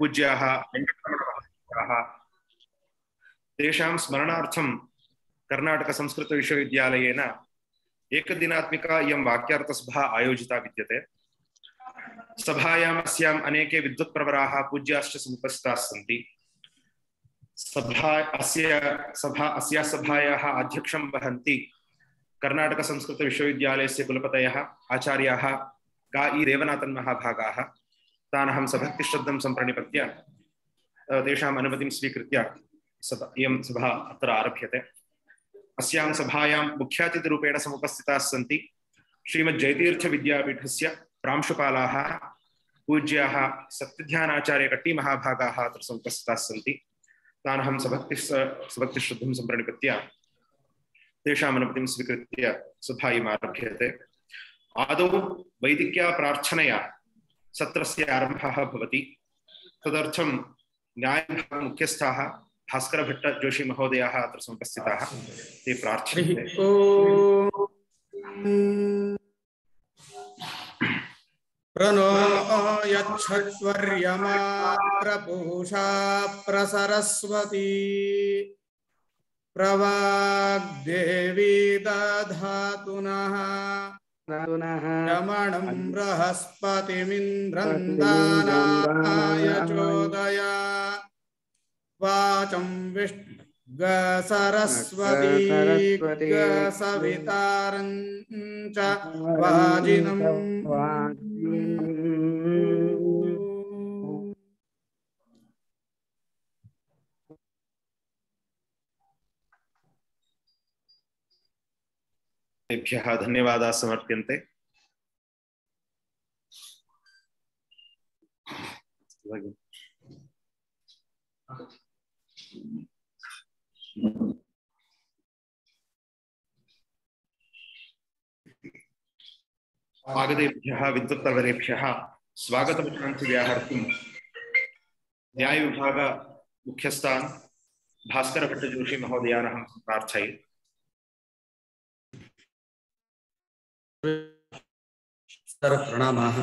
पूज्याः वेङ्कटरमणमहाभागाः तेषां स्मरणार्थं कर्नाटकसंस्कृतविश्वविद्यालयेन एकदिनात्मिका इयं वाक्यार्थसभा आयोजिता विद्यते। सभायाम् अस्याम् अनेके विद्वत्प्रवराः पूज्याश्च समुपस्थिताः सन्ति। अस्याः सभायाः अध्यक्षं वहन्ति कर्नाटकसंस्कृतविश्वविद्यालयस्य कुलपतयः आचार्याः गा ई रेवनाथन् महाभागाः। तानहं सभक्तिश्रद्धं सम्प्रणिपत्य तेषाम् अनुमतिं स्वीकृत्य इयं सभा अत्र आरभ्यते। अस्यां सभायां मुख्यातिथिरूपेण समुपस्थिताः सन्ति श्रीमज्जयतीर्थविद्यापीठस्य प्रांशुपालाः पूज्याः सत्यध्यानाचार्य कट्टी महाभागाः अत्र समुपस्थिताः सन्ति। तानहं सभक्तिश्रद्धं सम्प्रणिपत्य तेषाम् अनुमतिं स्वीकृत्य सभा आरभ्यते। आदौ वैदिक्या प्रार्थनया सत्रस्य आरम्भः भवति। तदर्थं न्यायविभागमुख्यस्थाः भास्करभट्ट जोशी महोदयाः अत्र समुपस्थिताः। ते प्रार्थ्यन्ते। प्रणो यच्छत्वर्यमा प्रपूषा प्रसरस्वती प्रवाग्देवी दधातुनः यमणं बृहस्पतिमिन्द्रन्दानाय चोदया वाचं विष्णु सरस्वती सवितारं च वाजिनं तेभ्यः धन्यवादाः समर्प्यन्ते। आगतेभ्यः विद्वत्प्रवरेभ्यः स्वागतवचनान् व्याहर्तुं न्यायविभाग मुख्यस्थान् भास्करभट्ट जोशी महोदयान् अहं प्रार्थये। प्रणामाः।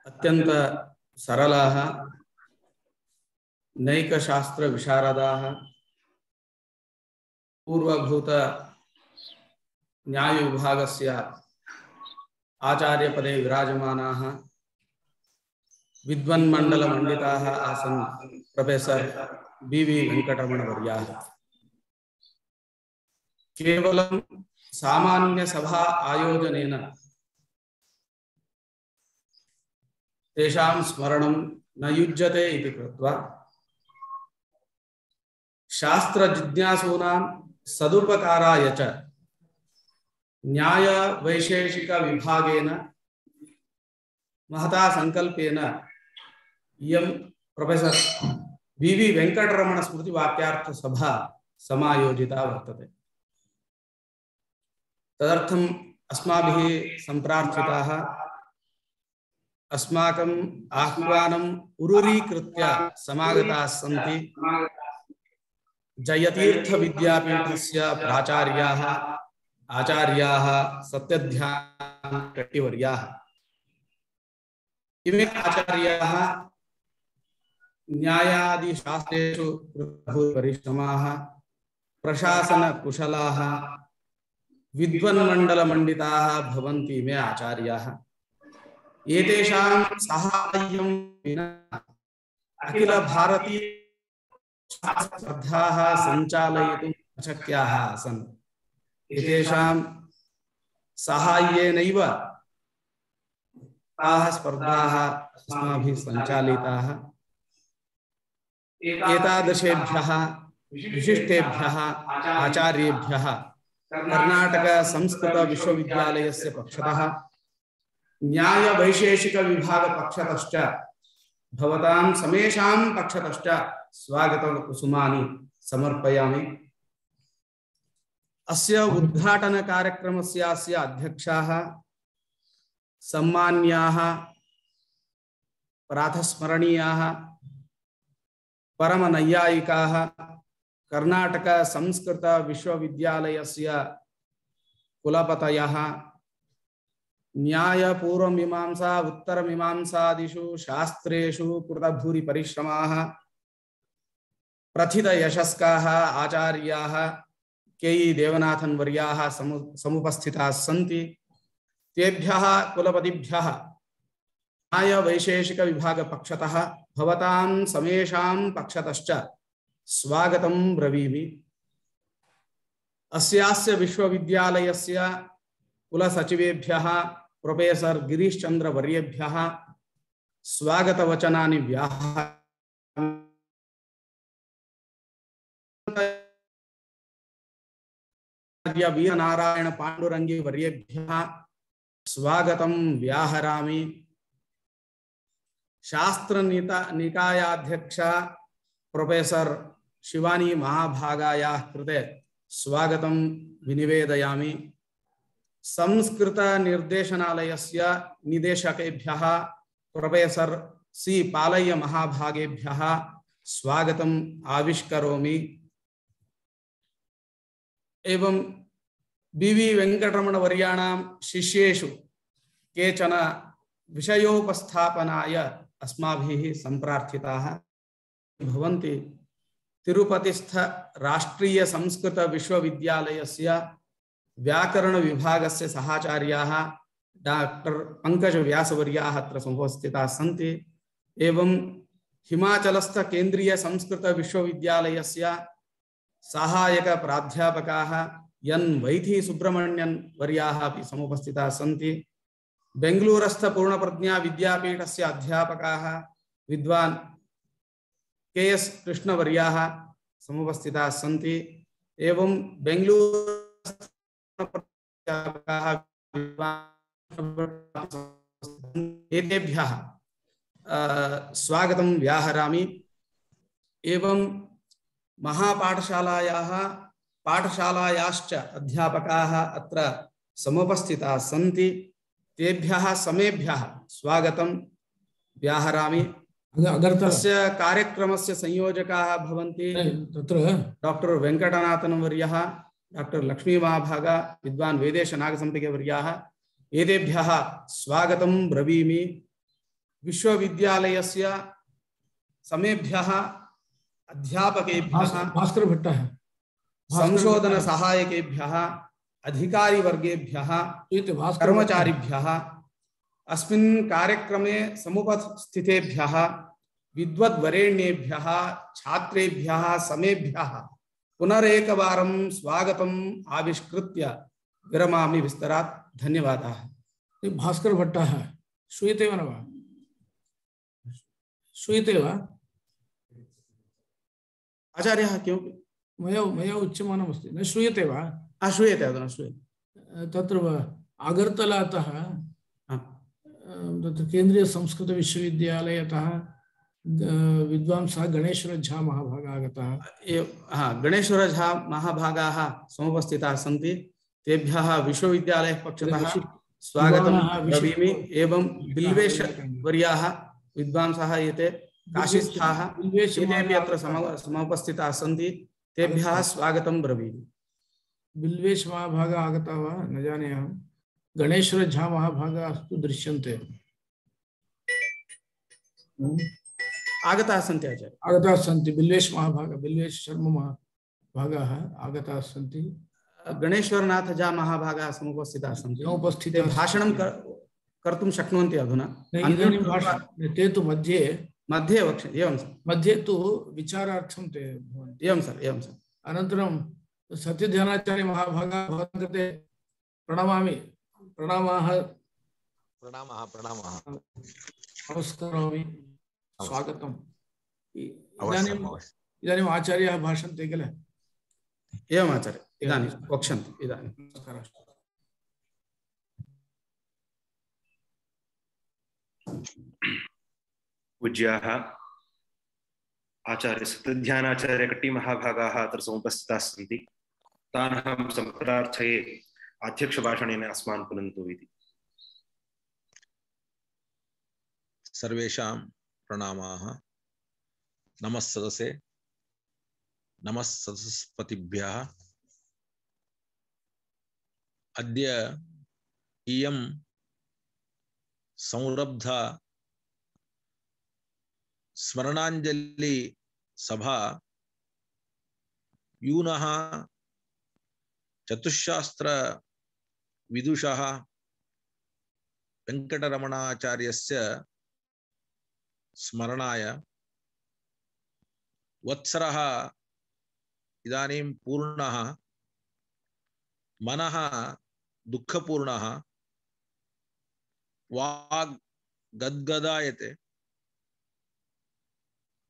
अत्यंत सरलाः नैकशास्त्र विशारदाः पूर्वभूत न्याय विभागस्य आचार्यपदे विराजमानाः विद्वन्मण्डलमण्डिताः आसन् प्रोफेसर बी.वी. वेङ्कटरमणवर्याः। केवलं सामान्य सभा आयोजनेन तेषां स्मरणं न युज्यते इति कृत्वा शास्त्रजिज्ञासूनां सदुपकाराय च न्याय वैशेषिक विभागेन महता संकल्पेन इयं प्रोफेसर बी.वी. वेङ्कटरमण स्मृति वाक्यार्थ सभा समायोजिता वर्तते। तदर्थम् अस्माभिः सम्प्रार्थिताः अस्माकम् आह्वानम् उरुरीकृत्य समागताः सन्ति जयतीर्थ विद्यापीठस्य प्राचार्याः आचार्याः सत्यध्यान कट्टिवर्याः। इमे आचार्याः न्यायादिशास्त्रेषु परिश्रमाः प्रशासन कुशलाः विद्वन्मण्डलमण्डिताः भवन्ति इमे आचार्याः। एतेषां साहाय्यं विना अखिल भारतीय स्पर्धाः सञ्चालयितुं अशक्याः आसन्। एतेषां साहाय्येनैव ताः स्पर्धाः अस्माभिः सञ्चालिताः। एतादृशेभ्यः विशिष्टेभ्यः आचार्येभ्यः कर्नाटक संस्कृत विश्वविद्यालयस्य पक्षतः न्याय वैशेषिक विभाग पक्षतश्च भवतां समेषां पक्षतश्च स्वागत कुसुमानि समर्पयामि। अस्य उद्घाटन कार्यक्रमस्य अध्यक्षाः सम्मान्याः प्रातस्मरणीयाः परमनैयायिकाः कर्नाटक संस्कृत विश्वविद्यालयस्य कुलपतयः न्याय पूर्व मीमांसा उत्तर मीमांसादिषु शास्त्रेषु कृतभूरि परिश्रमाः प्रथित यशस्काः आचार्याः के.ई. देवनाथन वर्याः समुपस्थिताः सन्ति। तेभ्यः कुलपतिभ्यः न्याय वैशेषिक विभाग पक्षतः भवतां समेषां पक्षतश्च स्वागतं ब्रवीमि। अस्यास्य विश्वविद्यालयस्य कुलसचिवेभ्यः प्रोफेसर गिरीश चंद्र वर्येभ्यः स्वागतवचनानि वीरनारायण पांडुरंगी वर्येभ्यः स्वागतं व्याहरामि। शास्त्र निकायाध्यक्ष प्रोफेसर शिवानी महाभागायाः कृते स्वागतं विनिवेदयामि। संस्कृत निर्देशनालयस्य निदेशकेभ्यः प्रोफेसर सी पालय्य महाभागेभ्यः स्वागतम् आविष्करोमि। एवं बी.वी. वेंकटरमण वर्याणां शिष्येषु केचन विषयोपस्थापनाय अस्माभिः संप्रार्थिताः भवन्ति। तिरुपतिस्थ राष्ट्रीय संस्कृत विश्वविद्यालयस्य व्याकरण विभागस्य सहाचार्याः डॉक्टर पंकज व्यासवर्याः अत्र समुपस्थिताः सन्ति। एवं हिमाचलस्थ केंद्रीय संस्कृत विश्वविद्यालयस्य सहायक प्राध्यापकाः एन् वैथी सुब्रह्मण्यन वर्याः अपि समुपस्थिताः सन्ति। बेंगलूरस्थ पूर्णप्रज्ञा विद्यापीठस्य अध्यापकाः विद्वान् के.एस. कृष्णवर्याः समुपस्थिताः सन्ति। एवं एतेभ्यः स्वागतं व्याहरामि। एवं महापाठशालायाः पाठशालायाश्च अध्यापकाः अत्र समुपस्थिताः सन्ति। तेभ्यः समेभ्यः स्वागतं व्याहरामि। अस्य कार्यक्रमस्य संयोजकाः भवन्ति डॉक्टर वेंकटनाथन वर्यः, डॉक्टर लक्ष्मी महाभागा, विद्वान् वेदेश नागसंपिके वर्याः। एतेभ्यः स्वागतं ब्रवीमि। विश्वविद्यालयस्य समेभ्यः अध्यापकेभ्यः, भास्कर भट्टः, संशोधन सहायकेभ्यः, अधिकारी वर्गेभ्यः, कर्मचारिभ्यः, अस्मिन् कार्यक्रमे समुपस्थितेभ्यः विद्वद्वरेण्येभ्यः, छात्रेभ्यः समेभ्यः पुनरेकवारं स्वागतम् आविष्कृत्य विरमामि विस्तरात्। धन्यवादाः। भास्कर भट्टः श्रूयते वा न वा? श्रूयते वा? आचार्यः किं मया उच्यमानमस्ति, न श्रूयते वा? श्रूयते, अधुना श्रूयते। तत्र अगर्तलातः तत्र केन्द्रीय संस्कृत विश्वविद्यालयतः विद्वांसः गणेश्वर झा महाभागाः आगताः। गणेश्वर झा महाभागाः समुपस्थिताः सन्ति। तेभ्यः विश्वविद्यालयः पक्षतः स्वागतं ब्रवीमि। एवं बिल्वेश वर्याः विद्वांसः एते काशीस्थाः, एतेपि अत्र समुपस्थिताः सन्ति। तेभ्यः स्वागतं ब्रवीमि। बिल्वेश महाभागाः आगताः वा न जाने अहं। गणेश्वर झा महाभागाः तु दृश्यन्ते। आगताः सन्ति आचार्य, आगताः सन्ति। बिल्वेश महाभागाः, बिल्वेश शर्मा महाभागाः आगताः सन्ति। गणेश्वरनाथ झा महाभागाः समुपस्थिताः सन्ति। ते भाषणं कर्तुं शक्नुवन्ति अधुना। ते तु मध्ये वक्ष्यन्ति। एवं सर, मध्ये तु विचारार्थं ते भवन्ति। एवं सर, एवं सर। अनन्तरं सत्यध्यानाचार्य महाभागाः भवतां कृते प्रणमामि। प्रणामाः। नमस्करोमि, स्वागतम्। इदानीम् आचार्याः भाषन्ते किल? एवम् आचार्य, इदानीं वक्ष्यन्ति। इदानीं पूज्याः आचार्य सत्यध्यानाचार्य कट्टी महाभागाः अत्र समुपस्थिताः सन्ति। तान् अहं सम्प्रार्थये अध्यक्षभाषणेन अस्मान् पुनन्तु इति। सर्वेषां प्रणामाः। नमः सदसे, नमः सदस्पतिभ्यः। अद्य इयं संरब्ध स्मरणांजलि सभा यूनः चतुशास्त्र विदुषः वेंकटरमणाचार्यस्य स्मरणाय वत्सरः इदानीं पूर्णः मनः दुःखपूर्णः वाग् गद्गदायते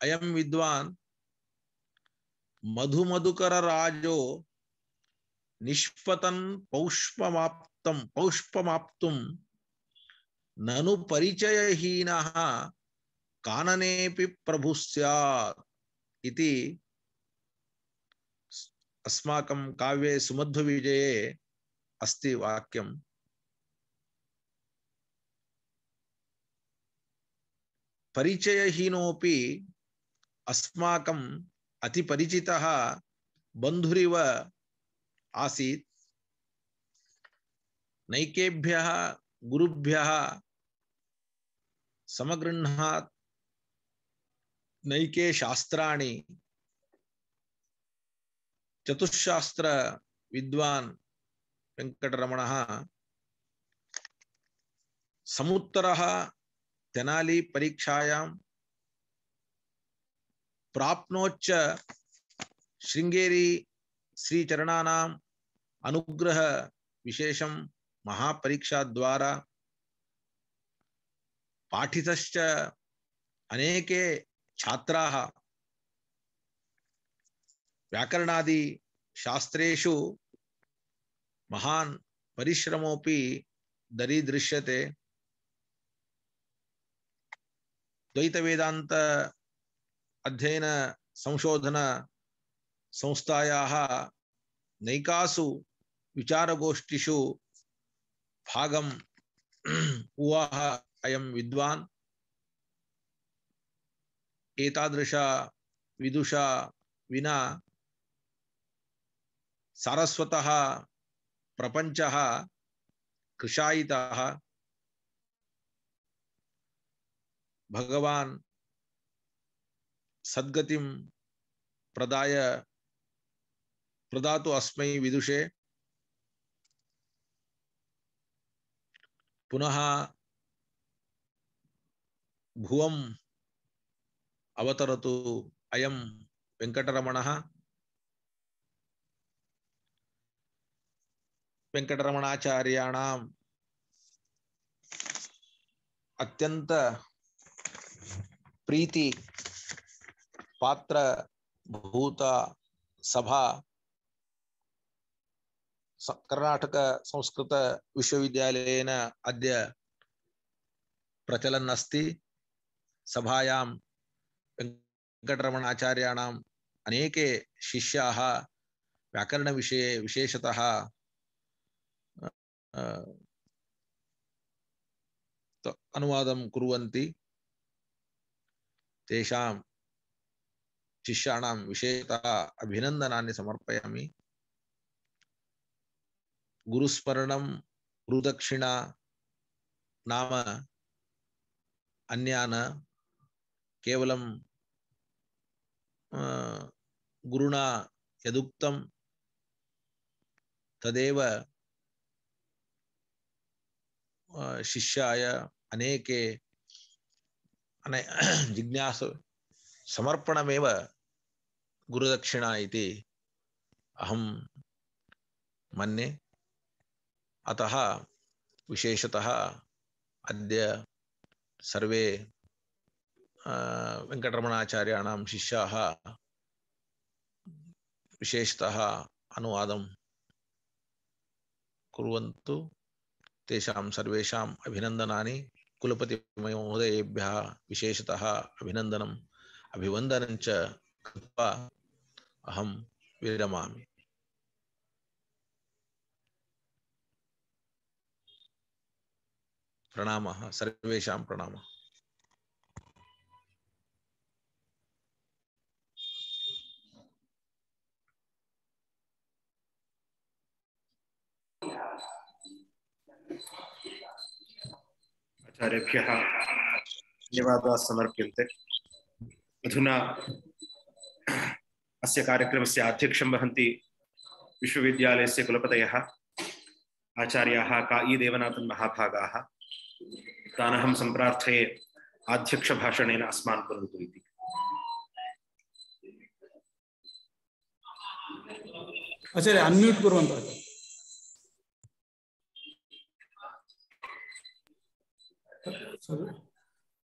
अयं विद्वान् मधुमधुकरराजो निष्पतन् पौष्पमाप्तुं ननु परिचयहीनः काननेऽपि प्रभुः स्यात् इति अस्माकं काव्ये सुमध्वविजये अस्ति वाक्यम्। परिचयहीनोऽपि अस्माकम् अतिपरिचितः बन्धुरिव आसीत्। नैकेभ्यः गुरुभ्यः समगृह्णात् नैके शास्त्राणि चतुशास्त्र विद्वान् वेंकटरमणः समुत्तरः तेनाली परीक्षायां प्राप्नोच्च शृंगेरी श्रीचरणानाम् अनुग्रह विशेषं महापरीक्षा द्वारा पाठितश्च अनेके छात्राः व्याकरणादि शास्त्रेषु महान् परिश्रमोऽपि दरीदृश्यते। द्वैत वेदांत अध्ययन संशोधन संस्थायाः नैकासु विचारगोष्ठिषु भागम् उवाह अयं विद्वान्। एतादृश विदुषा विना सारस्वतः प्रपंचः कृशायितः। भगवान् सद्गतिं प्रदातु अस्मै विदुषे। पुनः भुवम् अवतरतु अयं वेंकटरमणः। वेंकटरमणाचार्याणाम् अत्यंत प्रीति पात्र भूत सभा कर्नाटक संस्कृत विश्वविद्यालयेन अद्य प्रचलन् अस्ति। सभायां वेंकटरमणाचार्याणाम् अनेके शिष्याः व्याकरण विषये विशेषतः अनुवादं कुर्वन्ति। तेषां शिष्याणां विशेषतः अभिनन्दनानि समर्पयामि। गुरुस्मरणं गुरुदक्षिणा नाम अन्या न, केवलं गुरुणा यदुक्तं तदेव शिष्याय अनेके जिज्ञासु समर्पणमेव गुरुदक्षिणा इति अहं मन्ये। अतः विशेषतः अद्य सर्वे वेंकटरमणाचार्याणां शिष्याः विशेषतः अनुवादं कुर्वन्तु। तेषां सर्वेषाम् अभिनन्दनानि। कुलपति महोदयेभ्यः विशेषतः अभिनन्दनम् अभिवन्दनं च कृत्वा अहं विरमामि। प्रणामः, सर्वेषां प्रणामः। आचार्येभ्यः धन्यवादाः समर्प्यन्ते। अधुना अस्य कार्यक्रमस्य अध्यक्षं वहन्ति विश्वविद्यालयस्य कुलपतयः आचार्याः का.ई. देवनाथन् महाभागाः। तानहं सम्प्रार्थये अध्यक्षभाषणेन अस्मान् कुर्वन्तु इति। आचार्य अन्म्यूट् कुर्वन्तु।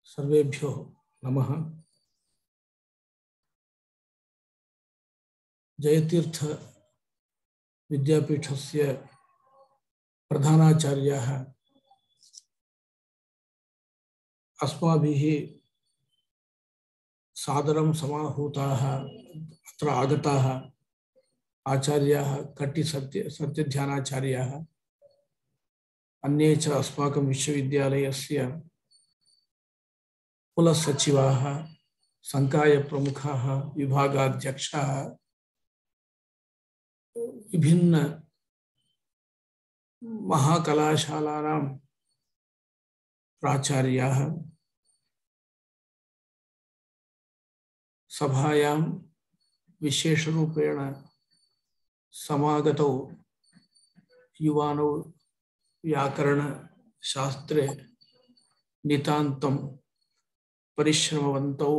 सर्वेभ्यो नमः। जयतीर्थ विद्यापीठस्य प्रधानाचार्याः अस्माभिः सादरं समाहूताः अत्र आगताः आचार्याः कट्टि सत्यध्यानाचार्याः अन्ये च अस्माकं विश्वविद्यालयस्य कुलसचिवाः संकायप्रमुखाः विभागाध्यक्षाः विभिन्न महाकलाशालानां प्राचार्याः सभायां विशेषरूपेण समागतौ युवानौ व्याकरणशास्त्रे नितान्तं परिश्रमवन्तौ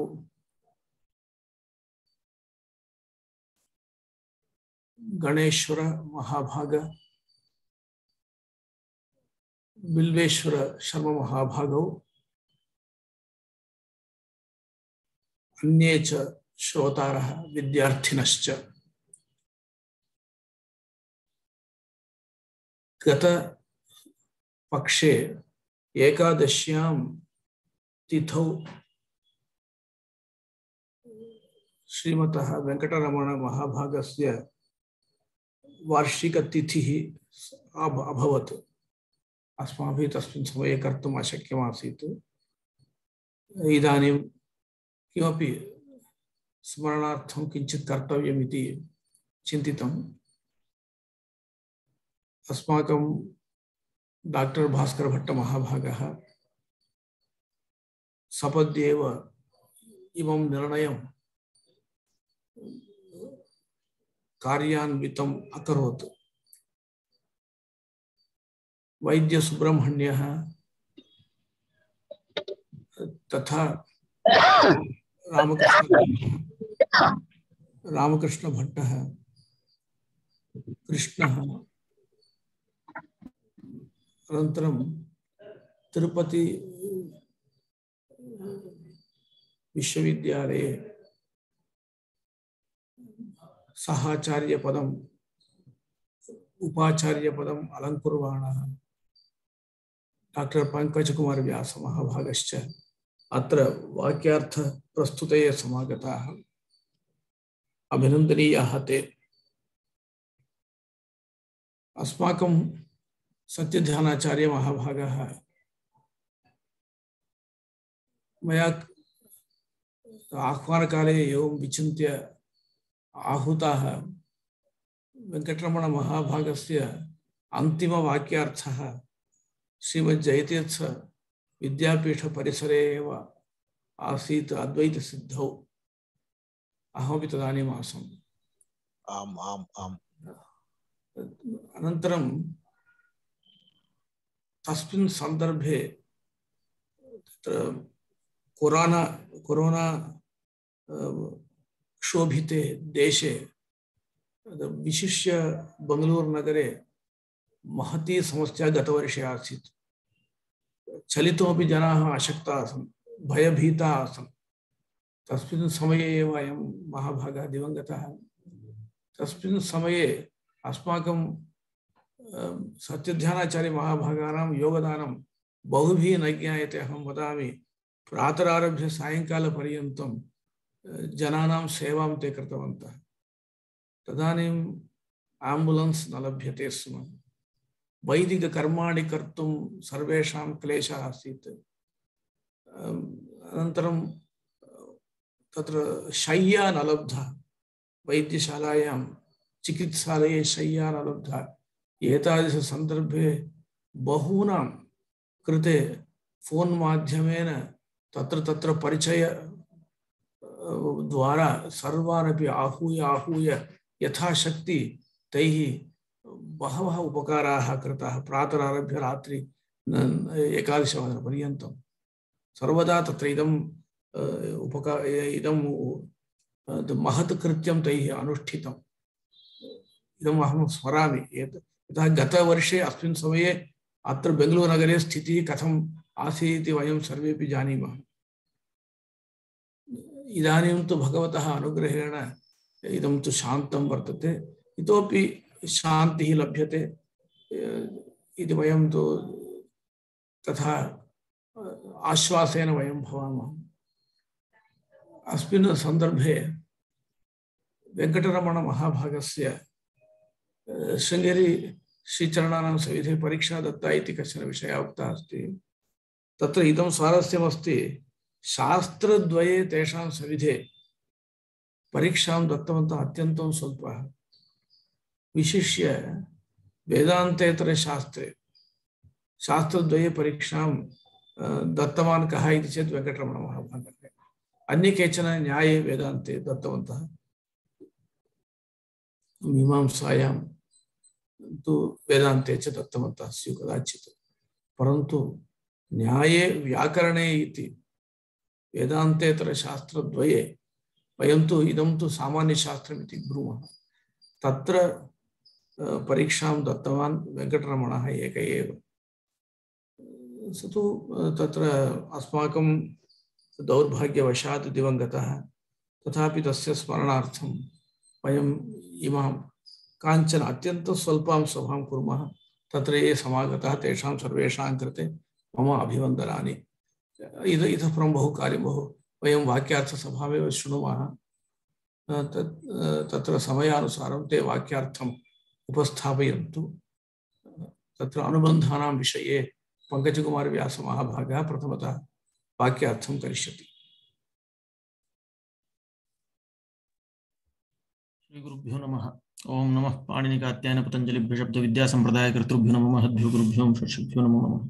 गणेश्वर महाभाग बिल्वेश्वर शर्मा महाभागौ अन्ये च श्रोतारः विद्यार्थिनश्च गत पक्षे एकादश्यां तिथौ श्रीमतः वेंकटरमण महाभागस्य वार्षिक तिथिः अभवत्। अस्माभिः तस्मिन् समये कर्तुम् अशक्यमासीत्। इदानीं किमपि स्मरणार्थं किञ्चित् कर्तव्यमिति चिन्तितम्। अस्माकं डॉक्टर भास्कर भट्ट महाभागः सपद्येव इमं निर्णयं कार्यान्वितम् अकरोत्। वैद्य सुब्रह्मण्यः तथा रामकृष्ण भट्टः कृष्णः अनन्तरं तिरुपति विश्वविद्यालये सहाचार्य पदम उपाचार्य पदम अलंकुर्वाणः डॉक्टर पंकज कुमार व्यास महाभागश्च अत्र वाक्यार्थ प्रस्तुतये समागताः। अभिनन्दनीयाः ते। अस्माकं सत्यध्यानाचार्य महाभागः मया आह्वानकाले एवं विचिन्त्य आहूताः वेंकटरमण महाभागस्य अंतिम वाक्यार्थः श्रीमज्जयतीर्थ विद्यापीठ परिसरे एव आसीत् अद्वैत सिद्धौ। अहमपि तदानीम् आसम्। आम् आम् आम्। अनन्तरं तस्मिन् सन्दर्भे तत्र कोरोना क्षोभिते देशे विशिष्य बंगलूर नगरे महती समस्या गतवर्षे आसीत्। चलितुमपि जनाः अशक्ताः आसन्, भयभीताः आसन्। तस्मिन् समये एव अयं महाभागः दिवङ्गतः। तस्मिन् समये अस्माकं सत्यध्यानाचार्य महाभागानां योगदानं बहुभिः न ज्ञायते। अहं वदामि, प्रातरारभ्य सायङ्कालपर्यन्तं जनानां सेवां ते कृतवन्तः। तदानीं एम्बुलेन्स् न लभ्यते स्म। वैदिककर्माणि कर्तुं सर्वेषां क्लेशः आसीत्। अनन्तरं तत्र शय्या न लब्धा। वैद्यशालायां चिकित्सालये शय्या न लब्धा। एतादृशसन्दर्भे बहूनां कृते फोन माध्यमेन तत्र तत्र परिचय द्वारा सर्वानपि आहूय आहूय यथाशक्ति तैः बहवः उपकाराः कृताः। प्रातरारभ्य रात्रि 11:00 सर्वदा तत्र इदं महत् कृत्यं तैः अनुष्ठितम्। इदम् अहं स्मरामि। यतः गतवर्षे अस्मिन् समये अत्र बेङ्गलूरुनगरे स्थितिः कथम् आसीत् इति वयं सर्वेपि जानीमः। इदानीं तु भगवतः अनुग्रहेण इदं तु शान्तं वर्तते, इतोपि शान्तिः लभ्यते इति वयं तु तथा आश्वासेन वयं भवामः। अस्मिन् सन्दर्भे वेङ्कटरमण महाभागस्य शृङ्गेरी श्रीचरणानां सविधे परीक्षा दत्ता इति कश्चन विषयः उक्तः अस्ति। तत्र इदं स्वारस्यमस्ति, शास्त्रद्वये तेषां सविधे परीक्षां दत्तवन्तः अत्यन्तं स्वल्पः। विशिष्य वेदान्तेतरे शास्त्रद्वये परीक्षां दत्तवान् कः इति चेत् वेङ्कटरमण महाभागः। अन्ये केचन न्याये वेदान्ते दत्तवन्तः, मीमांसायां तु वेदान्ते च दत्तवन्तः स्युः कदाचित्। परन्तु न्याये व्याकरणे इति वेदान्तेतरशास्त्रद्वये वयं तु इदं तु सामान्यशास्त्रमिति ब्रूमः, तत्र परीक्षां दत्तवान् वेङ्कटरमणः एक एव। स तु तत्र अस्माकं दौर्भाग्यवशात् दिवङ्गतः, तथापि तस्य स्मरणार्थं वयम् इमां काञ्चन अत्यन्तं स्वल्पां सभां कुर्मः। तत्र ये समागताः तेषां सर्वेषां कृते मम अभिवन्दनानि। इतः परं बहु कार्यं वयं वाक्यार्थसभामेव शृणुमः। तत्र समयानुसारं ते वाक्यार्थम् उपस्थापयन्तु। तत्र अनुबन्धानां विषये पङ्कजकुमारव्यासमहाभागः प्रथमतः वाक्यार्थं करिष्यति। श्रीगुरुभ्यो नमः। ओं नमः पाणिनिकात्यायन पतञ्जलिभ्यो शब्द विद्या संप्रदाय कर्तृभ्यो नमः महद्भ्यो गुरुभ्यो षट्भ्यो नमो नमः।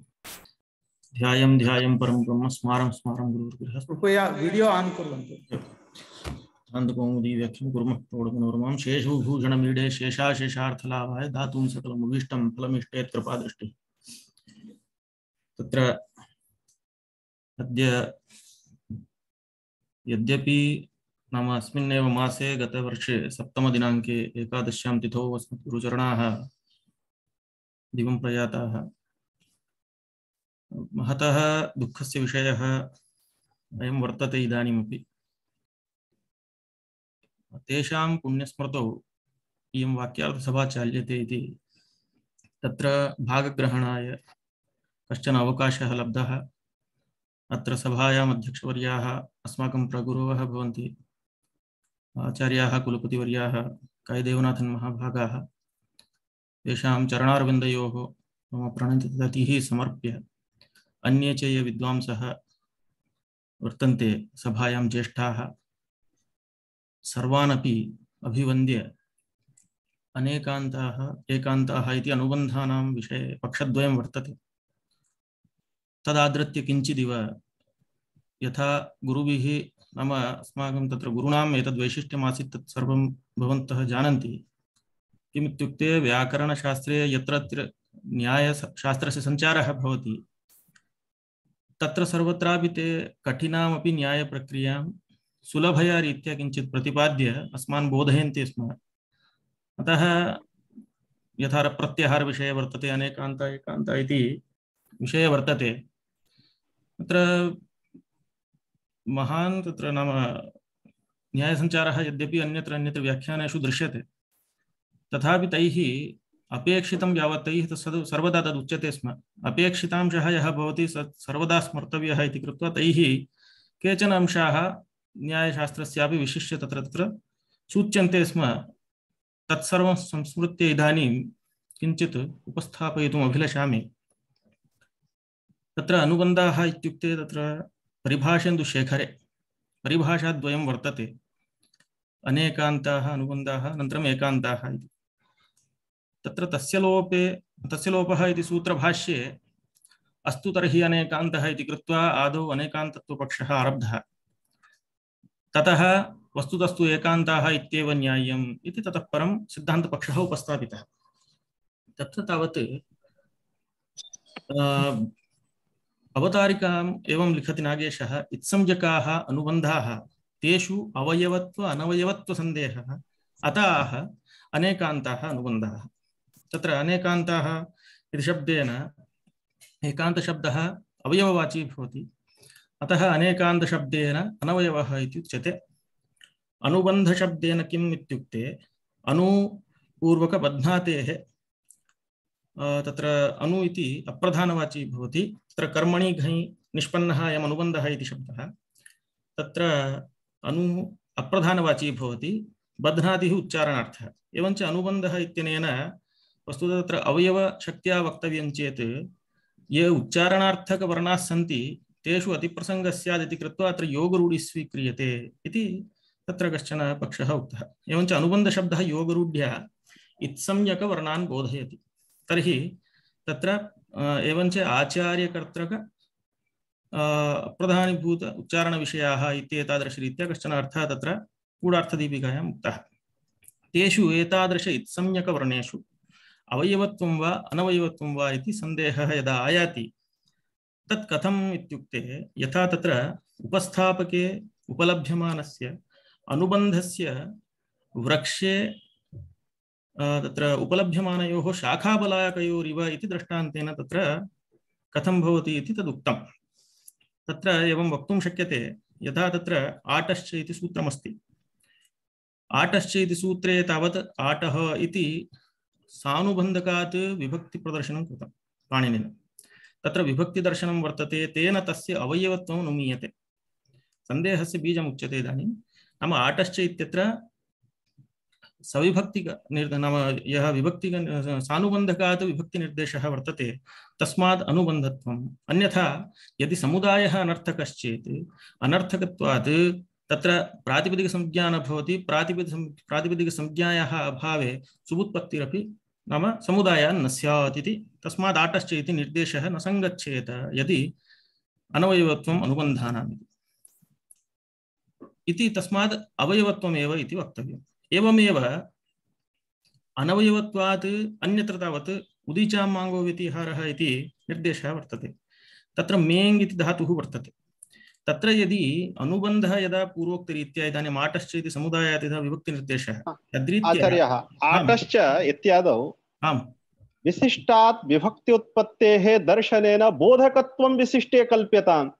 ध्यायं ध्यायं परं ब्रह्म स्मारं स्मारं गुरुर्गृह। कृपया वीडियो ऑन कुर्वन्तु। शान्तकौमुदी व्याख्यां कुर्मः प्रौढमनोरमां शेषभूषणमीडे शेषाशेषार्थलाभाय दातुं सकलमुभीष्टं फलमिष्टेत् कृपादृष्टिः। तत्र अद्य यद्यपि नाम अस्मिन्नेव मासे गतवर्षे सप्तमदिनाङ्के एकादश्यां तिथौ अस्मद्गुरुचरणाः दिवं प्रयाताः, महतः दुःखस्य विषयः अयं वर्तते। इदानीमपि तेषां पुण्यस्मृतौ इयं वाक्यार्थसभा चाल्यते इति तत्र भागग्रहणाय कश्चन अवकाशः लब्धः। अत्र सभायाम् अध्यक्षवर्याः अस्माकं प्रगुरवः भवन्ति, आचार्याः कुलपतिवर्याः कायदेवनाथन् महाभागाः। तेषां चरणारविन्दयोः मम प्रणतिः समर्प्य अन्ये च ये विद्वांसः वर्तन्ते सभायां ज्येष्ठाः, सर्वानपि अभिवन्द्य अनेकान्ताः एकान्ताः इति अनुबन्धानां विषये पक्षद्वयं वर्तते। तदादृत्य किञ्चिदिव यथा गुरुभिः नाम अस्माकं तत्र गुरूणाम् एतद्वैशिष्ट्यमासीत् तत् सर्वं भवन्तः जानन्ति। किमित्युक्ते व्याकरणशास्त्रे यत्र न्यायशास्त्रस्य सञ्चारः भवति तत्र सर्वत्रापि ते कठिनामपि न्यायप्रक्रियां सुलभया रीत्या किञ्चित् प्रतिपाद्य अस्मान् बोधयन्ति स्म। अतः यथा प्रत्याहारविषये वर्तते, अनेकान्त एकान्त इति विषये वर्तते। तत्र महान् तत्र नाम न्यायसञ्चारः यद्यपि अन्यत्र व्याख्यानेषु दृश्यते, तथापि तैः अपेक्षितं यावत् तैः सर्वदा तदुच्यते स्म। अपेक्षितांशः यः भवति सर्वदा स्मर्तव्यः इति कृत्वा तैः केचन अंशाः न्यायशास्त्रस्यापि विशिष्य तत्र सूच्यन्ते स्म। तत्सर्वं संस्मृत्य इदानीं किञ्चित् उपस्थापयितुम् अभिलषामि। तत्र अनुबन्धाः इत्युक्ते तत्र परिभाषेन्दुशेखरे परिभाषाद्वयं वर्तते, अनेकान्ताः अनुबन्धाः अनन्तरम् एकान्ताः इति। तत्र तस्य लोपः इति सूत्रभाष्ये अस्तु तर्हि अनेकान्तः इति कृत्वा आदौ अनेकान्तत्वपक्षः आरब्धः, ततः वस्तुतस्तु एकान्ताः इत्येव न्याय्यम् इति ततः परं सिद्धान्तपक्षः उपस्थापितः। तत्र तावत् अवतारिकाम् एवं लिखति नागेशः, इत्संज्ञकाः अनुबन्धाः तेषु अवयवत्व अनवयवत्व सन्देहः अतः अनेकान्ताः अनुबन्धाः। तत्र अनेकान्ताः इति शब्देन एकान्तशब्दः अवयववाची भवति, अतः अनेकान्तशब्देन अनवयवः इति उच्यते। अनुबन्धशब्देन किम् इत्युक्ते अनुपूर्वकबध्नातेः, तत्र अनु इति अप्रधानवाची भवति, तत्र कर्मणि घञ् निष्पन्नः अयम् अनुबन्धः इति शब्दः, तत्र अनु अप्रधानवाची भवति, बध्नातिः उच्चारणार्थः। एवञ्च अनुबन्धः इत्यनेन वस्तुतः तत्र अवयवशक्त्या वक्तव्यं चेत् ये उच्चारणार्थकवर्णाः सन्ति तेषु अतिप्रसङ्गः स्यात् इति कृत्वा अत्र योगरूढिः स्वीक्रियते इति तत्र कश्चन पक्षः उक्तः। एवञ्च अनुबन्धशब्दः योगरूढ्या इत्संज्ञकवर्णान् बोधयति। तर्हि तत्र एवञ्च आचार्यकर्तृक प्रधानीभूत उच्चारणविषयाः इत्येतादृशरीत्या कश्चन अर्थः तत्र गूढार्थदीपिकायाम् उक्तः। तेषु एतादृश इत्संज्ञकवर्णेषु अवयवत्वं वा अनवयवत्वं वा इति सन्देहः यदा आयाति तत् कथम् इत्युक्ते, यथा तत्र उपस्थापके उपलभ्यमानस्य अनुबन्धस्य वृक्षे तत्र उपलभ्यमानयोः शाखाबलाकयोरिव इति दृष्टान्तेन तत्र कथं भवति इति तदुक्तं। तत्र एवं वक्तुं शक्यते, यथा तत्र आटश्च इति सूत्रमस्ति, आटश्च इति सूत्रे तावत् आटः इति सानुबन्धकात् विभक्तिप्रदर्शनं कृतं पाणिनिना। तत्र विभक्तिदर्शनं वर्तते, तेन तस्य अवयवत्वं नुमीयते, सन्देहस्य बीजमुच्यते। इदानीं नाम आटश्च इत्यत्र सविभक्तिक नाम यः विभक्तिक सानुबन्धकात् विभक्तिनिर्देशः वर्तते तस्मात् अनुबन्धत्वम्। अन्यथा यदि समुदायः अनर्थकश्चेत् अनर्थकत्वात् तत्र प्रातिपदिकसंज्ञा न भवति, प्रातिपदिकसंज्ञायाः अभावे सुबुत्पत्तिरपि नाम समुदायः न स्यात् इति। तस्मात् आटश्च इति निर्देशः न सङ्गच्छेत यदि अनवयवत्वम् अनुबन्धानाम् इति, तस्मात् अवयवत्वमेव इति वक्तव्यम्। एवमेव अनवयवत्वात् अन्यत्र तावत् उदीचामाङ्गो व्यतिहारः इति निर्देशः वर्तते। तत्र मेङ् इति धातुः वर्तते। तत्र यदि अनुबन्धः यदा पूर्वोक्तरीत्या इदानीम् आटश्च इति समुदायात् यदा विभक्तिनिर्देशः तद्रीत्या आचार्यः आटश्च इत्यादौ आम् विशिष्टात् विभक्त्युत्पत्तेः दर्शनेन बोधकत्वं विशिष्टे कल्प्यताम्।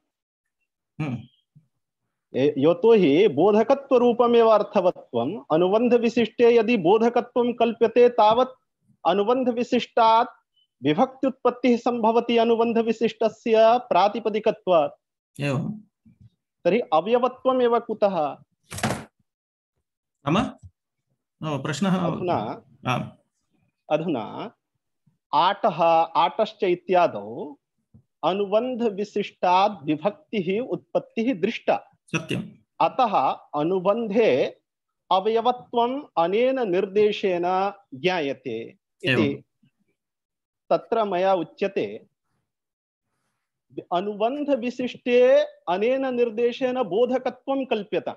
यतो हि बोधकत्वरूपमेव अर्थवत्वम्, अनुबन्धविशिष्टे यदि बोधकत्वं कल्प्यते तावत् अनुबन्धविशिष्टात् विभक्त्युत्पत्तिः सम्भवति अनुबन्धविशिष्टस्य प्रातिपदिकत्वात्। एवं तर्हि अवयवत्वमेव कुतः? नाम प्रश्नः अधुना आटः आटश्च इत्यादौ अनुबन्धविशिष्टात् विभक्तिः उत्पत्तिः दृष्टा। सत्यम्। अतः अनुबन्धे अवयवत्वम् अनेन निर्देशेन ज्ञायते इति तत्र मया उच्यते। अनुबन्धविशिष्टे अनेन निर्देशेन बोधकत्वं कल्प्यते।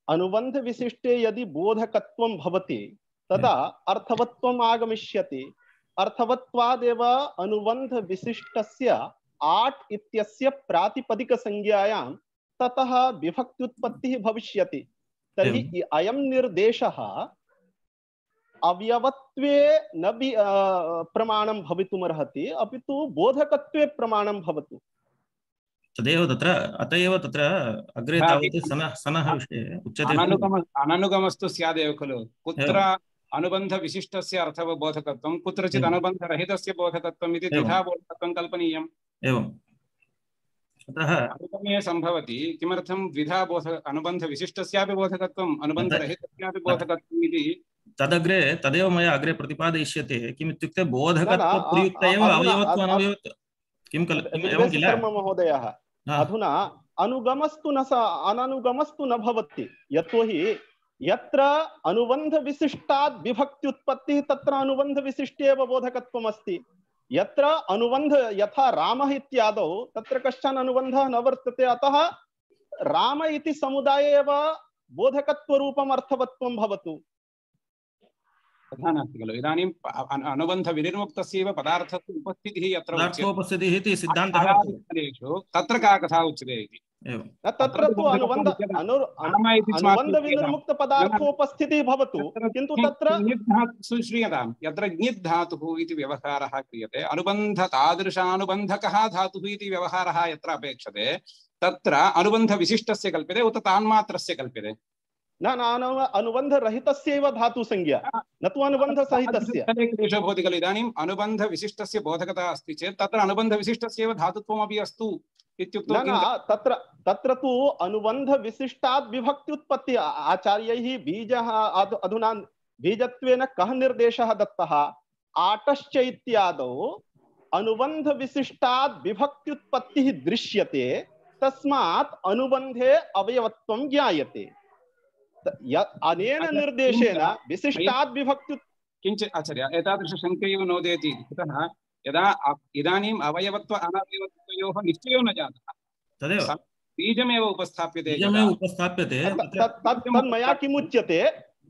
अनुबन्धविशिष्टे यदि बोधकत्वं भवति तदा अर्थवत्वम् आगमिष्यति। अर्थवत्वादेव अनुबन्धविशिष्टस्य आट् इत्यस्य प्रातिपदिकसंज्ञायां ततः विभक्त्युत्पत्तिः भविष्यति। तर्हि अयं निर्देशः अवयवत्वे न प्रमाणं भवितुमर्हति, अपि तु बोधकत्वे प्रमाणं भवतु। तदेव तत्र अत एव तत्र अग्रे तावत् सनः विषये उच्यते अननुगमस्तु स्यादेव खलु। कुत्र अनुबन्धविशिष्टस्य अर्थबोधकत्वं, कुत्रचित् अनुबन्धरहितस्य बोधकत्वम् इति द्विधा बोधकत्वं कल्पनीयम्। एवम् अतः अनुगमे सम्भवति। किमर्थं द्विधा अनुबन्धविशिष्टस्यापि बोधकत्वम् अनुबन्धरहितस्यापि बोधकत्वम् इति तदग्रे तदेव मया अग्रे प्रतिपादयिष्यते। किमित्युक्ते बोधकत्वप्रयुक्त एव अवयवत्व अनवयवत्व किं एवं किल महोदयः। अधुना अनुगमस्तु अननुगमस्तु न भवति, यतोहि यत्र अनुबन्धविशिष्टात् विभक्त्युत्पत्तिः तत्र अनुबन्धविशिष्टे एव बोधकत्वम् अस्ति। यत्र अनुबन्ध यथा रामः इत्यादौ तत्र कश्चन अनुबन्धः न वर्तते, अतः राम इति समुदाये एव बोधकत्वरूपम् अर्थवत्वं भवतु। तथा नास्ति खलु। इदानीं अनुबन्धविनिर्मुक्तस्यैव पदार्थस्य उपस्थितिः यत्र पदार्थोपस्थितिः इति सिद्धान्तः वर्तते। तत्र का कथा उच्यते इति। तत्र तु अनुबन्ध विनिर्मुक्त पदार्थोपस्थितिः भवतु, किन्तु तत्र श्रूयतां यत्र ङित् धातुः इति व्यवहारः क्रियते, अनुबन्ध तादृशानुबन्धकः धातुः इति व्यवहारः यत्र अपेक्षते तत्र अनुबन्धविशिष्टस्य कल्प्यते उत तान्मात्रस्य कल्प्यते? न अनुबन्धरहितस्यैव धातुसंज्ञा, न तु अनुबन्धसहितस्य। क्लेशो भवति खलु। इदानीम् अनुबन्धविशिष्टस्य बोधकता अस्ति चेत् तत्र अनुबन्धविशिष्टस्यैव धातुत्वमपि अस्तु इत्युक्तौ तत्र तु अनुबन्धविशिष्टात् विभक्त्युत्पत्ति आचार्यैः बीजः अधुना बीजत्वेन कः निर्देशः दत्तः? आटश्च इत्यादौ अनुबन्धविशिष्टात् विभक्त्युत्पत्तिः दृश्यते, तस्मात् अनुबन्धे अवयवत्वं ज्ञायते। अनेन निर्देशेन विशिष्टात् विभक्ति किञ्चित् आचार्य एतादृशशङ्कैव नोदेति। कुतः? यदा इदानीम् अवयवत्व अनवयवत्वयोः निश्चयो न जातः, तदेव बीजमेव उपस्थाप्यते। तत्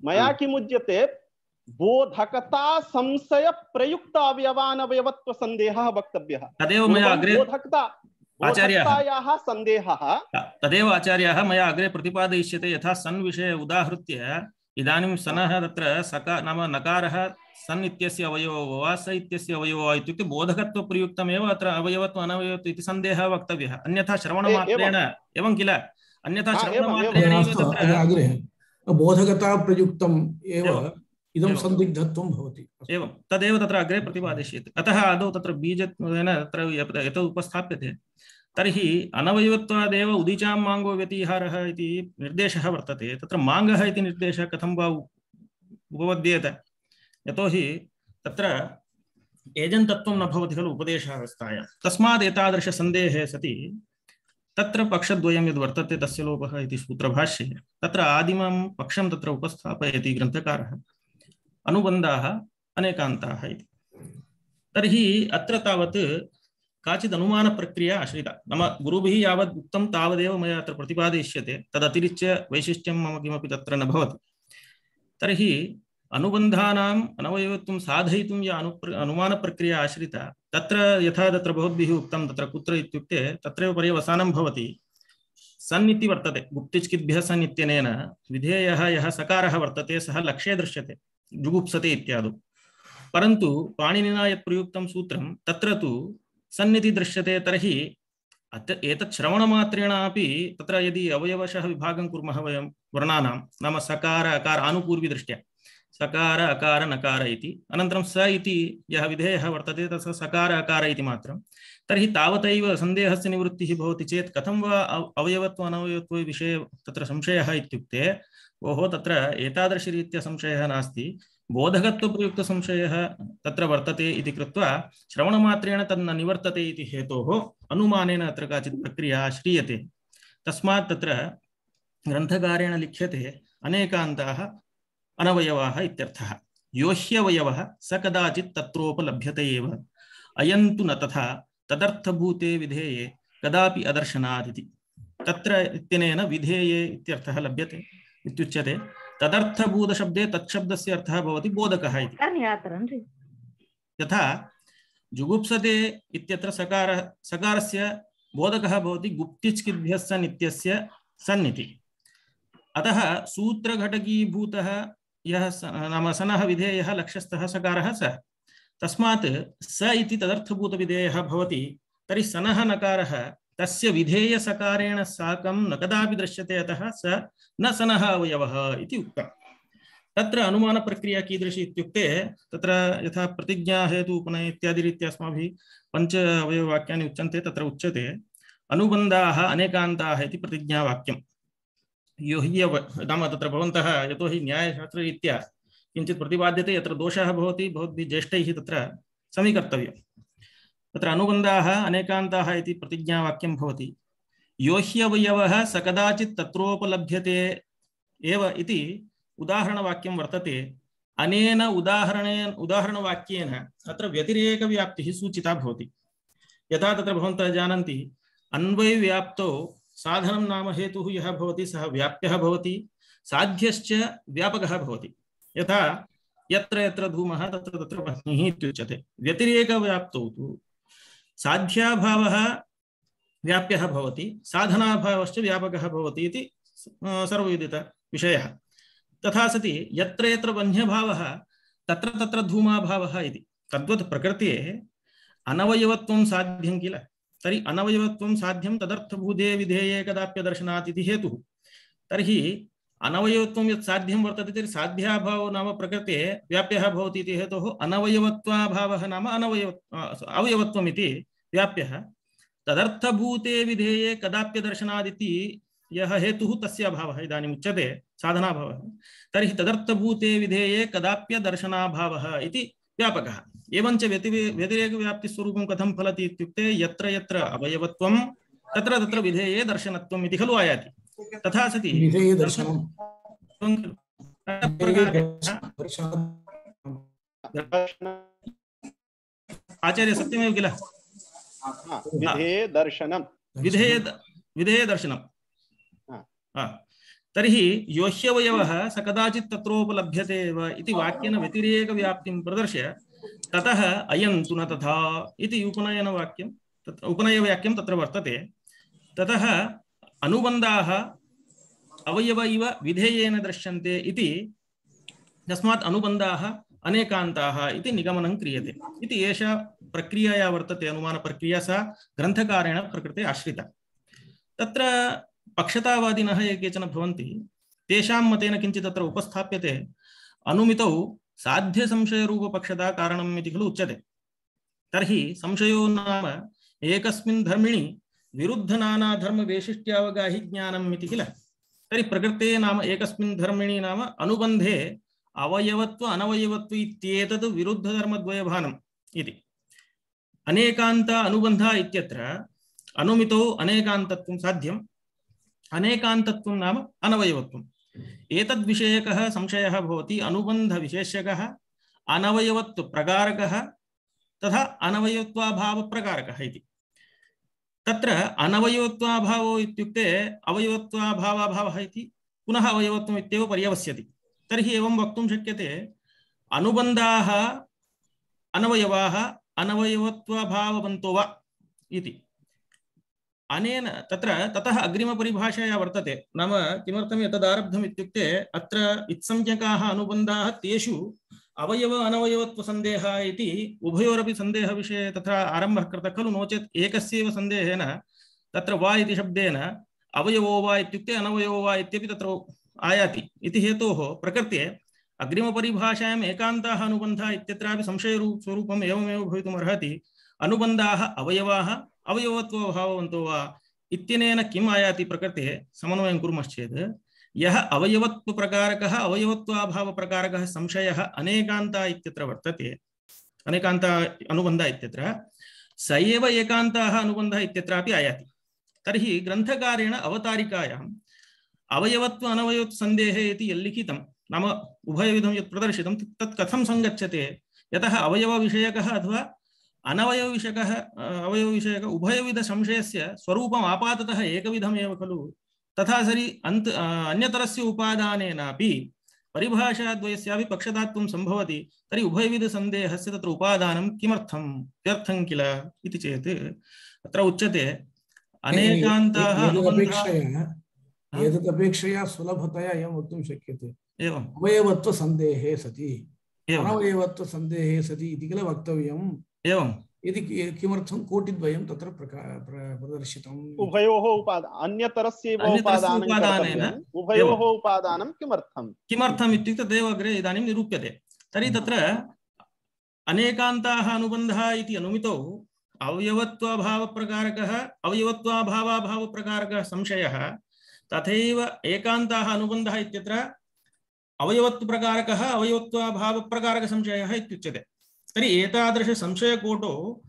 मया किमुच्यते बोधकता संशय प्रयुक्त अवयवानवयवत्व सन्देहः वक्तव्यः। तदेव मया अग्रे बोधकतायाः सन्देहः तदेव आचार्याः मया अग्रे प्रतिपादयिष्यते। यथा सन् विषये उदाहृत्य इदानीं सनः तत्र नाम नकारः सन् इत्यस्य अवयवो वा स इत्यस्य अवयवो वा इत्युक्ते बोधकत्वप्रयुक्तमेव अत्र अवयवत्व अनवयवत्व इति सन्देहः वक्तव्यः। अन्यथा श्रवणमात्रेण एवं किल, अन्यथा श्रवणमात्रेण अग्रे बोधकता प्रयुक्तम् एव इदं संदिग्धत्वं भवति। एवं तदेव तत्र अग्रे प्रतिपादयिष्यते। अतः आदौ तत्र बीजत्वेन तत्र यत् उपस्थाप्यते तर्हि अनवयवत्वादेव उदीचां माङ्गो व्यतिहारः इति निर्देशः वर्तते। तत्र माङ्गः इति निर्देशः कथं वा उपपद्येत? यतोहि तत्र एजन्तत्वं न भवति खलु उपदेशावस्थायां। तस्मात् एतादृशसन्देहे सति तत्र पक्षद्वयं यद् वर्तते तस्य लोपः इति सूत्रभाष्ये तत्र आदिमं पक्षं तत्र उपस्थापयति ग्रन्थकारः, अनुबन्धाः अनेकान्ताः इति। तर्हि अत्र तावत् काचित् अनुमानप्रक्रिया आश्रिता, नाम गुरुभिः यावत् उक्तं तावदेव मया अत्र प्रतिपादयिष्यते, तदतिरिच्य वैशिष्ट्यं मम किमपि तत्र न भवति। तर्हि अनुबन्धानाम् अनवयवत्वं साधयितुं या अनुमानप्रक्रिया आश्रिता तत्र यथा तत्र भवद्भिः उक्तं तत्र कुत्र इत्युक्ते तत्रैव पर्यवसानं भवति। सन् इति वर्तते, गुप्तिच्किद्भ्यः सन् इत्यनेन विधेयः यः सकारः वर्तते सः लक्ष्ये दृश्यते, जुगुप्सते इत्यादौ। परन्तु पाणिनिना यत् प्रयुक्तं सूत्रं तत्र तु सन्निधि दृश्यते। तर्हि एतत् श्रवणमात्रेणापि तत्र यदि अवयवशः विभागं कुर्मः वयं वर्णानां, नाम सकार अकार आनुपूर्विदृष्ट्या सकार अकार नकार इति, अनन्तरं स इति यः विधेयः वर्तते तस्य सकार अकार इति मात्रं, तर्हि तावतैव सन्देहस्य निवृत्तिः भवति चेत् कथं वा अवयवत्व अनवयवत्व विषये तत्र संशयः इत्युक्ते ओहो तत्र एतादृशरीत्या संशयः नास्ति, बोधकत्वप्रयुक्तसंशयः तत्र वर्तते इति कृत्वा श्रवणमात्रेण तन्न निवर्तते इति हेतोः अनुमानेन अत्र काचित् प्रक्रिया श्रीयते। तस्मात् तत्र ग्रन्थकारेण लिख्यते अनेकान्ताः अनवयवाः इत्यर्थः। यो ह्यवयवः स कदाचित् तत्रोपलभ्यते एव, अयन्तु न तथा तदर्थभूते विधेये कदापि अदर्शनात् इति। तत्र इत्यनेन विधेये इत्यर्थः लभ्यते इत्युच्यते। तदर्थभूतशब्दे तत्शब्दस्य अर्थः भवति बोधकः इति। यथा जुगुप्सते इत्यत्र सकारस्य बोधकः भवति गुप्तिच्किद्भ्यः सन् इत्यस्य सन् इति। अतः सूत्रघटकीभूतः यः नाम सनः विधेयः लक्ष्यस्थः सकारः स, तस्मात् स इति तदर्थभूतविधेयः भवति। तर्हि सनः नकारः तस्य विधेयसकारेण साकं न कदापि दृश्यते, अतः स न सनः अवयवः इति उक्तम्। तत्र अनुमानप्रक्रिया कीदृशी इत्युक्ते तत्र यथा प्रतिज्ञा हेतु उपनय इत्यादि रीत्या अस्माभिः पञ्च अवयववाक्यानि उच्यन्ते, तत्र उच्यते अनुबन्धाः अनेकान्ताः इति प्रतिज्ञावाक्यं। यो हि नाम तत्र भवन्तः यतोहि न्यायशास्त्ररीत्या किञ्चित् प्रतिपाद्यते, यत्र दोषः भवति भवद्भिः ज्येष्ठैः तत्र समीकर्तव्यम्। तत्र अनुबन्धाः अनेकान्ताः इति प्रतिज्ञावाक्यं भवति। यो ह्यवयवः स कदाचित् तत्रोपलभ्यते एव इति उदाहरणवाक्यं वर्तते। अनेन उदाहरणवाक्येन अत्र व्यतिरेकव्याप्तिः सूचिता भवति। यथा तत्र भवन्तः जानन्ति अन्वयव्याप्तौ साधनं नाम हेतुः यः भवति सः व्याप्यः भवति, साध्यश्च व्यापकः भवति। यथा यत्र यत्र धूमः तत्र तत्र वह्निः इत्युच्यते। व्यतिरेकव्याप्तौ तु साध्याभावः व्याप्यः भवति, साधनाभावश्च व्यापकः भवति इति सर्वविदितविषयः। तथा सति यत्र यत्र वह्न्यभावः तत्र तत्र धूमाभावः इति। तद्वत् प्रकृते अनवयवत्वं साध्यं किल। तर्हि अनवयवत्वं साध्यं तदर्थभूते विधेये कदाप्यदर्शनात् इति हेतुः। तर्हि अनवयवत्वं यत् साध्यं वर्तते तर्हि साध्याभावो नाम प्रकृते व्याप्यः भवति इति हेतोः अनवयवत्वाभावः नाम अवयवत्वम् इति व्याप्यः। तदर्थभूते विधेये कदाप्यदर्शनादिति यः हेतुः तस्य अभावः इदानीम् उच्यते साधनाभावः। तर्हि तदर्थभूते विधेये कदाप्यदर्शनाभावः इति व्यापकः। एवञ्च व्यतिरेकव्याप्तिस्वरूपं कथं फलति इत्युक्ते यत्र यत्र अवयवत्वं तत्र तत्र विधेये दर्शनत्वम् इति खलु आयाति। तथा सति विधेये दर्शनम् आचार्य सत्यमेव किल। विधेये दर्शनम्। तर्हि योह्यवयवः स कदाचित् तत्रोपलभ्यते एव इति वाक्येन व्यतिरेकव्याप्तिं प्रदर्श्य ततः अयं तु न तथा इति उपनयवाक्यं तत्र वर्तते। ततः अनुबन्धाः अवयव इव विधेयेन दृश्यन्ते इति तस्मात् अनुबन्धाः अनेकान्ताः इति निगमनं क्रियते इति एषा प्रक्रिया या वर्तते अनुमानप्रक्रिया सा ग्रन्थकारेण प्रकृते आश्रिता। तत्र पक्षतावादिनः ये केचन भवन्ति तेषां मतेन किञ्चित् तत्र उपस्थाप्यते अनुमितौ साध्यसंशयरूपपक्षता कारणम् इति खलु उच्यते। तर्हि संशयो नाम एकस्मिन् धर्मिणि विरुद्धनानाधर्मवैशिष्ट्यावगाहि ज्ञानम् इति किल। तर्हि प्रकृते नाम एकस्मिन् धर्मिणि नाम अनुबन्धे अवयवत्व अनवयवत्व इत्येतद् विरुद्धधर्मद्वयभानम् इति। अनेकान्त अनुबन्ध इत्यत्र अनुमितौ अनेकान्तत्वं साध्यम्, अनेकान्तत्वं नाम अनवयवत्वम्। एतद्विषयकः संशयः भवति अनुबन्धविशेष्यकः, अनवयवत्वप्रकारकः तथा अनवयवत्वाभावप्रकारकः इति। तत्र अनवयवत्वाभावो इत्युक्ते अवयवत्वाभावाभावः इति पुनः अवयवत्वम् इत्येव पर्यवस्यति। तर्हि एवं वक्तुं शक्यते अनुबन्धाः अनवयवाः अनवयवत्वाभाववन्तो वा इति। अनेन तत्र ततः अग्रिमपरिभाषया वर्तते। नाम किमर्थम् एतदारब्धम् इत्युक्ते अत्र इत्संज्ञकाः अनुबन्धाः तेषु अवयव अनवयवत्वसन्देहः इति उभयोरपि सन्देहविषये तत्र आरम्भः कृतः खलु। नो चेत् एकस्यैव सन्देहेन तत्र वा इति शब्देन अवयवो वा इत्युक्ते अनवयवो वा इत्यपि तत्र आयाति इति हेतोः प्रकृते अग्रिमपरिभाषायाम् एकान्ताः अनुबन्धाः इत्यत्रापि संशयस्वरूपम् एवमेव भवितुम् अर्हति। अनुबन्धाः अवयवाः अवयवत्वभाववन्तो वा इत्यनेन किम् आयाति प्रकृते समन्वयं कुर्मश्चेत् यः अवयवत्वप्रकारकः अवयवत्वाभावप्रकारकः संशयः अनेकान्ता इत्यत्र वर्तते, अनेकान्ता अनुबन्ध इत्यत्र स एव एकान्ताः अनुबन्धः इत्यत्रापि आयाति। तर्हि ग्रन्थकारेण अवतारिकायाम् अवयवत्व अनवयवत्व सन्देहे इति यल्लिखितं नाम उभयविधं यत् प्रदर्शितं तत् कथं सङ्गच्छते। यतः अवयवविषयकः अथवा अनवयवविषयकः अवयवविषयक उभयविधसंशयस्य स्वरूपम् आपाततः एकविधमेव खलु। तथा सरि अन्यतरस्य उपादानेनापि परिभाषाद्वयस्यापि पक्षतात्वं सम्भवति। तर्हि उभयविधसन्देहस्य तत्र उपादानं किमर्थं व्यर्थं किल इति चेत् अत्र उच्यते अनेकान्ताः एतदपेक्षया सुलभतया एवं वक्तुं शक्यते। एवम् अवयवत्वसन्देहे सति अनवयवत्वसन्देहे सति इति किल वक्तव्यम्। एवम् यदि किमर्थं कोटिद्वयं तत्र प्रदर्शितम्। उभयोः अन्यतरस्यैव उपादानेन उभयोः उपादानं किमर्थम् इत्युक्ते तदेव अग्रे इदानीं निरूप्यते। तर्हि तत्र अनेकान्ताः अनुबन्धः इति अनुमितौ अवयवत्वाभावप्रकारकः अवयवत्वाभावाभावप्रकारकः संशयः तथैव एकान्ताः अनुबन्धः इत्यत्र अवयवत्वप्रकारकः अवयवत्वाभावप्रकारकसंशयः इत्युच्यते। तर्हि एतादृशसंशयकोटौ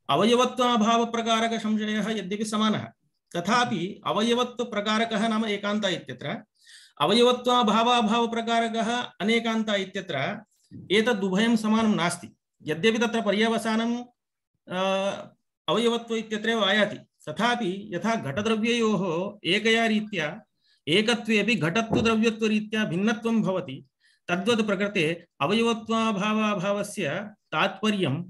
अवयवत्वाभावप्रकारकसंशयः यद्यपि समानः तथापि अवयवत्वप्रकारकः नाम एकान्त इत्यत्र अवयवत्वाभावाभावप्रकारकः अनेकान्त इत्यत्र एतदुभयं समानं नास्ति। यद्यपि तत्र पर्यवसानं अवयवत्व इत्यत्रैव आयाति, तथापि यथा घटद्रव्ययोः एकया रीत्या एकत्वेपि घटत्व द्रव्यत्वरीत्या भिन्नत्वं भवति, तद्वत् प्रकृते अवयवत्वाभावाभावस्य तात्पर्यम्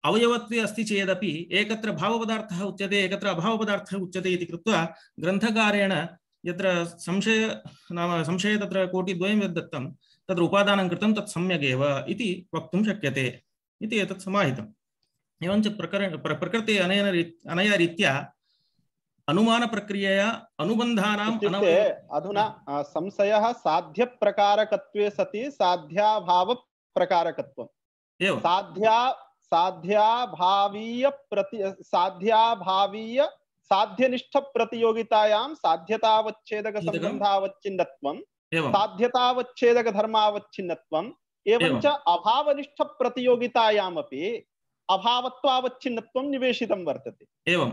अवयवत्वे अस्ति चेदपि एकत्र भावपदार्थः उच्यते एकत्र अभावपदार्थः उच्यते इति कृत्वा ग्रन्थकारेण यत्र संशये तत्र कोटिद्वयं यद्दत्तं तत्र उपादानं कृतं तत् सम्यगेव इति वक्तुं शक्यते इति एतत् समाहितम्। एवञ्च प्रकृते अनया रीत्या अनुमानप्रक्रियया अनुबन्धानाम् अधुना संशयः साध्यप्रकारकत्वे सति साध्याभावप्रकारकत्वम्। एवं साध्यनिष्ठ प्रतियोगितायां साध्यतावच्छेदक संबंधावच्छिन्नत्वं, साध्यतावच्छेदक धर्मावच्छिन्नत्वं, एवञ्च अभावनिष्ठ प्रतियोगितायामपि अभावत्वावच्छिन्नत्वं निवेशितं वर्तते। एवं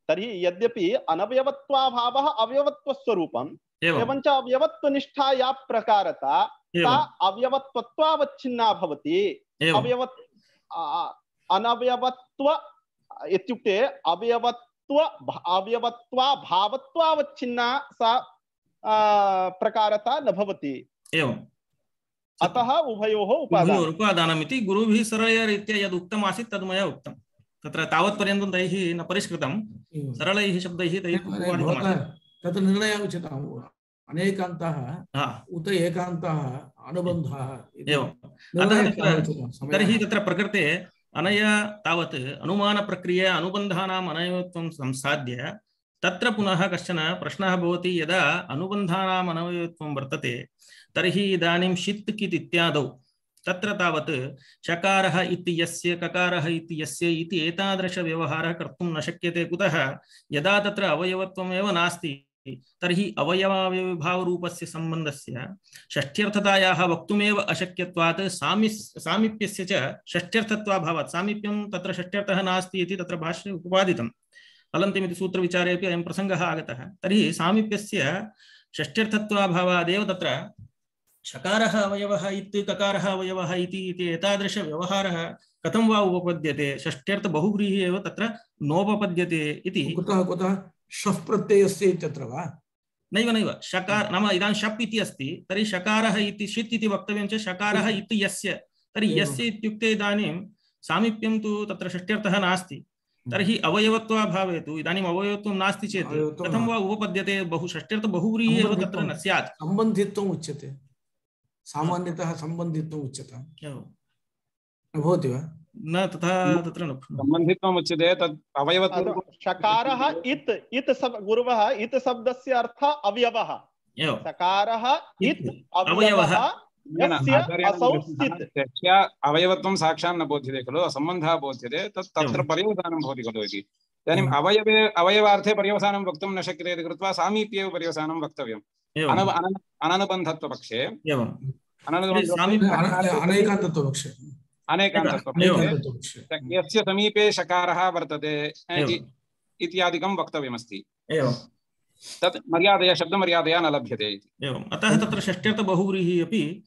तर्हि यद्यपि अनवयवत्वाभावः अवयवत्वस्वरूपम्, एवञ्च अवयवत्वनिष्ठा या प्रकारता सा अवयवत्वत्वावच्छिन्ना भवति। अनवयवत्व इत्युक्ते अवयवत्वाभावत्वावच्छिन्ना सा प्रकारता न भवति। एवं अतः उभयोः उपादानमिति गुरुभिः सरलया रीत्या यद् उक्तम् आसीत् तद् मया उक्तं। तत्र तावत्पर्यन्तं तैः न परिष्कृतं, सरलैः शब्दैः तैः तत्र निर्णयः उचितः। अनेकान्तः उत एकान्तः अनुबन्धः। एवं तर्हि तत्र प्रकृते अनया तावत् अनुमानप्रक्रिया अनुबन्धानाम् अनवयवत्वं संसाद्य तत्र पुनः कश्चन प्रश्नः भवति। यदा अनुबन्धानाम् अनवयवत्वं वर्तते तर्हि इदानीं षित् कित् इत्यादौ तत्र तावत् शकारः इति यस्य ककारः इति यस्य इति एतादृशव्यवहारः कर्तुं न शक्यते। कुतः? यदा तत्र अवयवत्वमेव नास्ति तर्हि अवयवावयवभावरूपस्य सम्बन्धस्य षष्ठ्यर्थतायाः वक्तुमेव अशक्यत्वात् सामीप्यस्य च षष्ठ्यर्थत्वाभावात्, सामीप्यं तत्र षष्ठ्यर्थः नास्ति इति तत्र भाष्ये उपपादितम्। अलन्त्यमिति सूत्रविचारेपि अयं प्रसङ्गः आगतः। तर्हि सामीप्यस्य षष्ठ्यर्थत्वाभावादेव तत्र शकारः अवयवः इति ककारः अवयवः इति एतादृशव्यवहारः कथं वा उपपद्यते? षष्ठ्यर्थबहुव्रीहिः एव तत्र नोपपद्यते इति। कुतः शफ् प्रत्ययस्य इत्यत्र वा? नैव शकार नाम इदानीं शप् इति अस्ति, तर्हि शकारः इति षित् इति वक्तव्यं च शकारः इति यस्य, तर्हि यस्य इत्युक्ते इदानीं सामीप्यं तु तत्र षष्ठ्यर्थः नास्ति। तर्हि अवयवत्वाभावे तु इदानीम् अवयवत्वं नास्ति चेत् कथं वा उपपद्यते? षष्ठ्यर्थबहुव्रीहिः एव तत्र न स्यात्। सम्बन्धित्वम् उच्यते, सामान्यतः सम्बन्धित्वम् उच्यते, न भवति वा? न तथा तत्र न सम्बन्धित्वम् उच्यते। तद् अवयवत्वं शकारः इत् गुरुवः इत् शब्दस्य अर्थः अवयवः। शकारः इत् अवयवः अवयवत्वं साक्षात् न बोध्यते खलु, असम्बन्धः बोध्यते। तत्र पर्यवसानं भवति खलु इति। इदानीम् अवयवार्थे पर्यवसानं वक्तुं न शक्यते इति कृत्वा सामीप्येव पर्यवसानं वक्तव्यम्। अननुबन्धत्वपक्षे अनेकान्तत्वपक्षे यस्य समीपे शकारः वर्तते इत्यादिकं वक्तव्यमस्ति। तत् मर्यादया शब्दमर्यादया न लभ्यते इति। एवम् अतः तत्र षष्ठ्यर्थबहुव्रीहिः अपि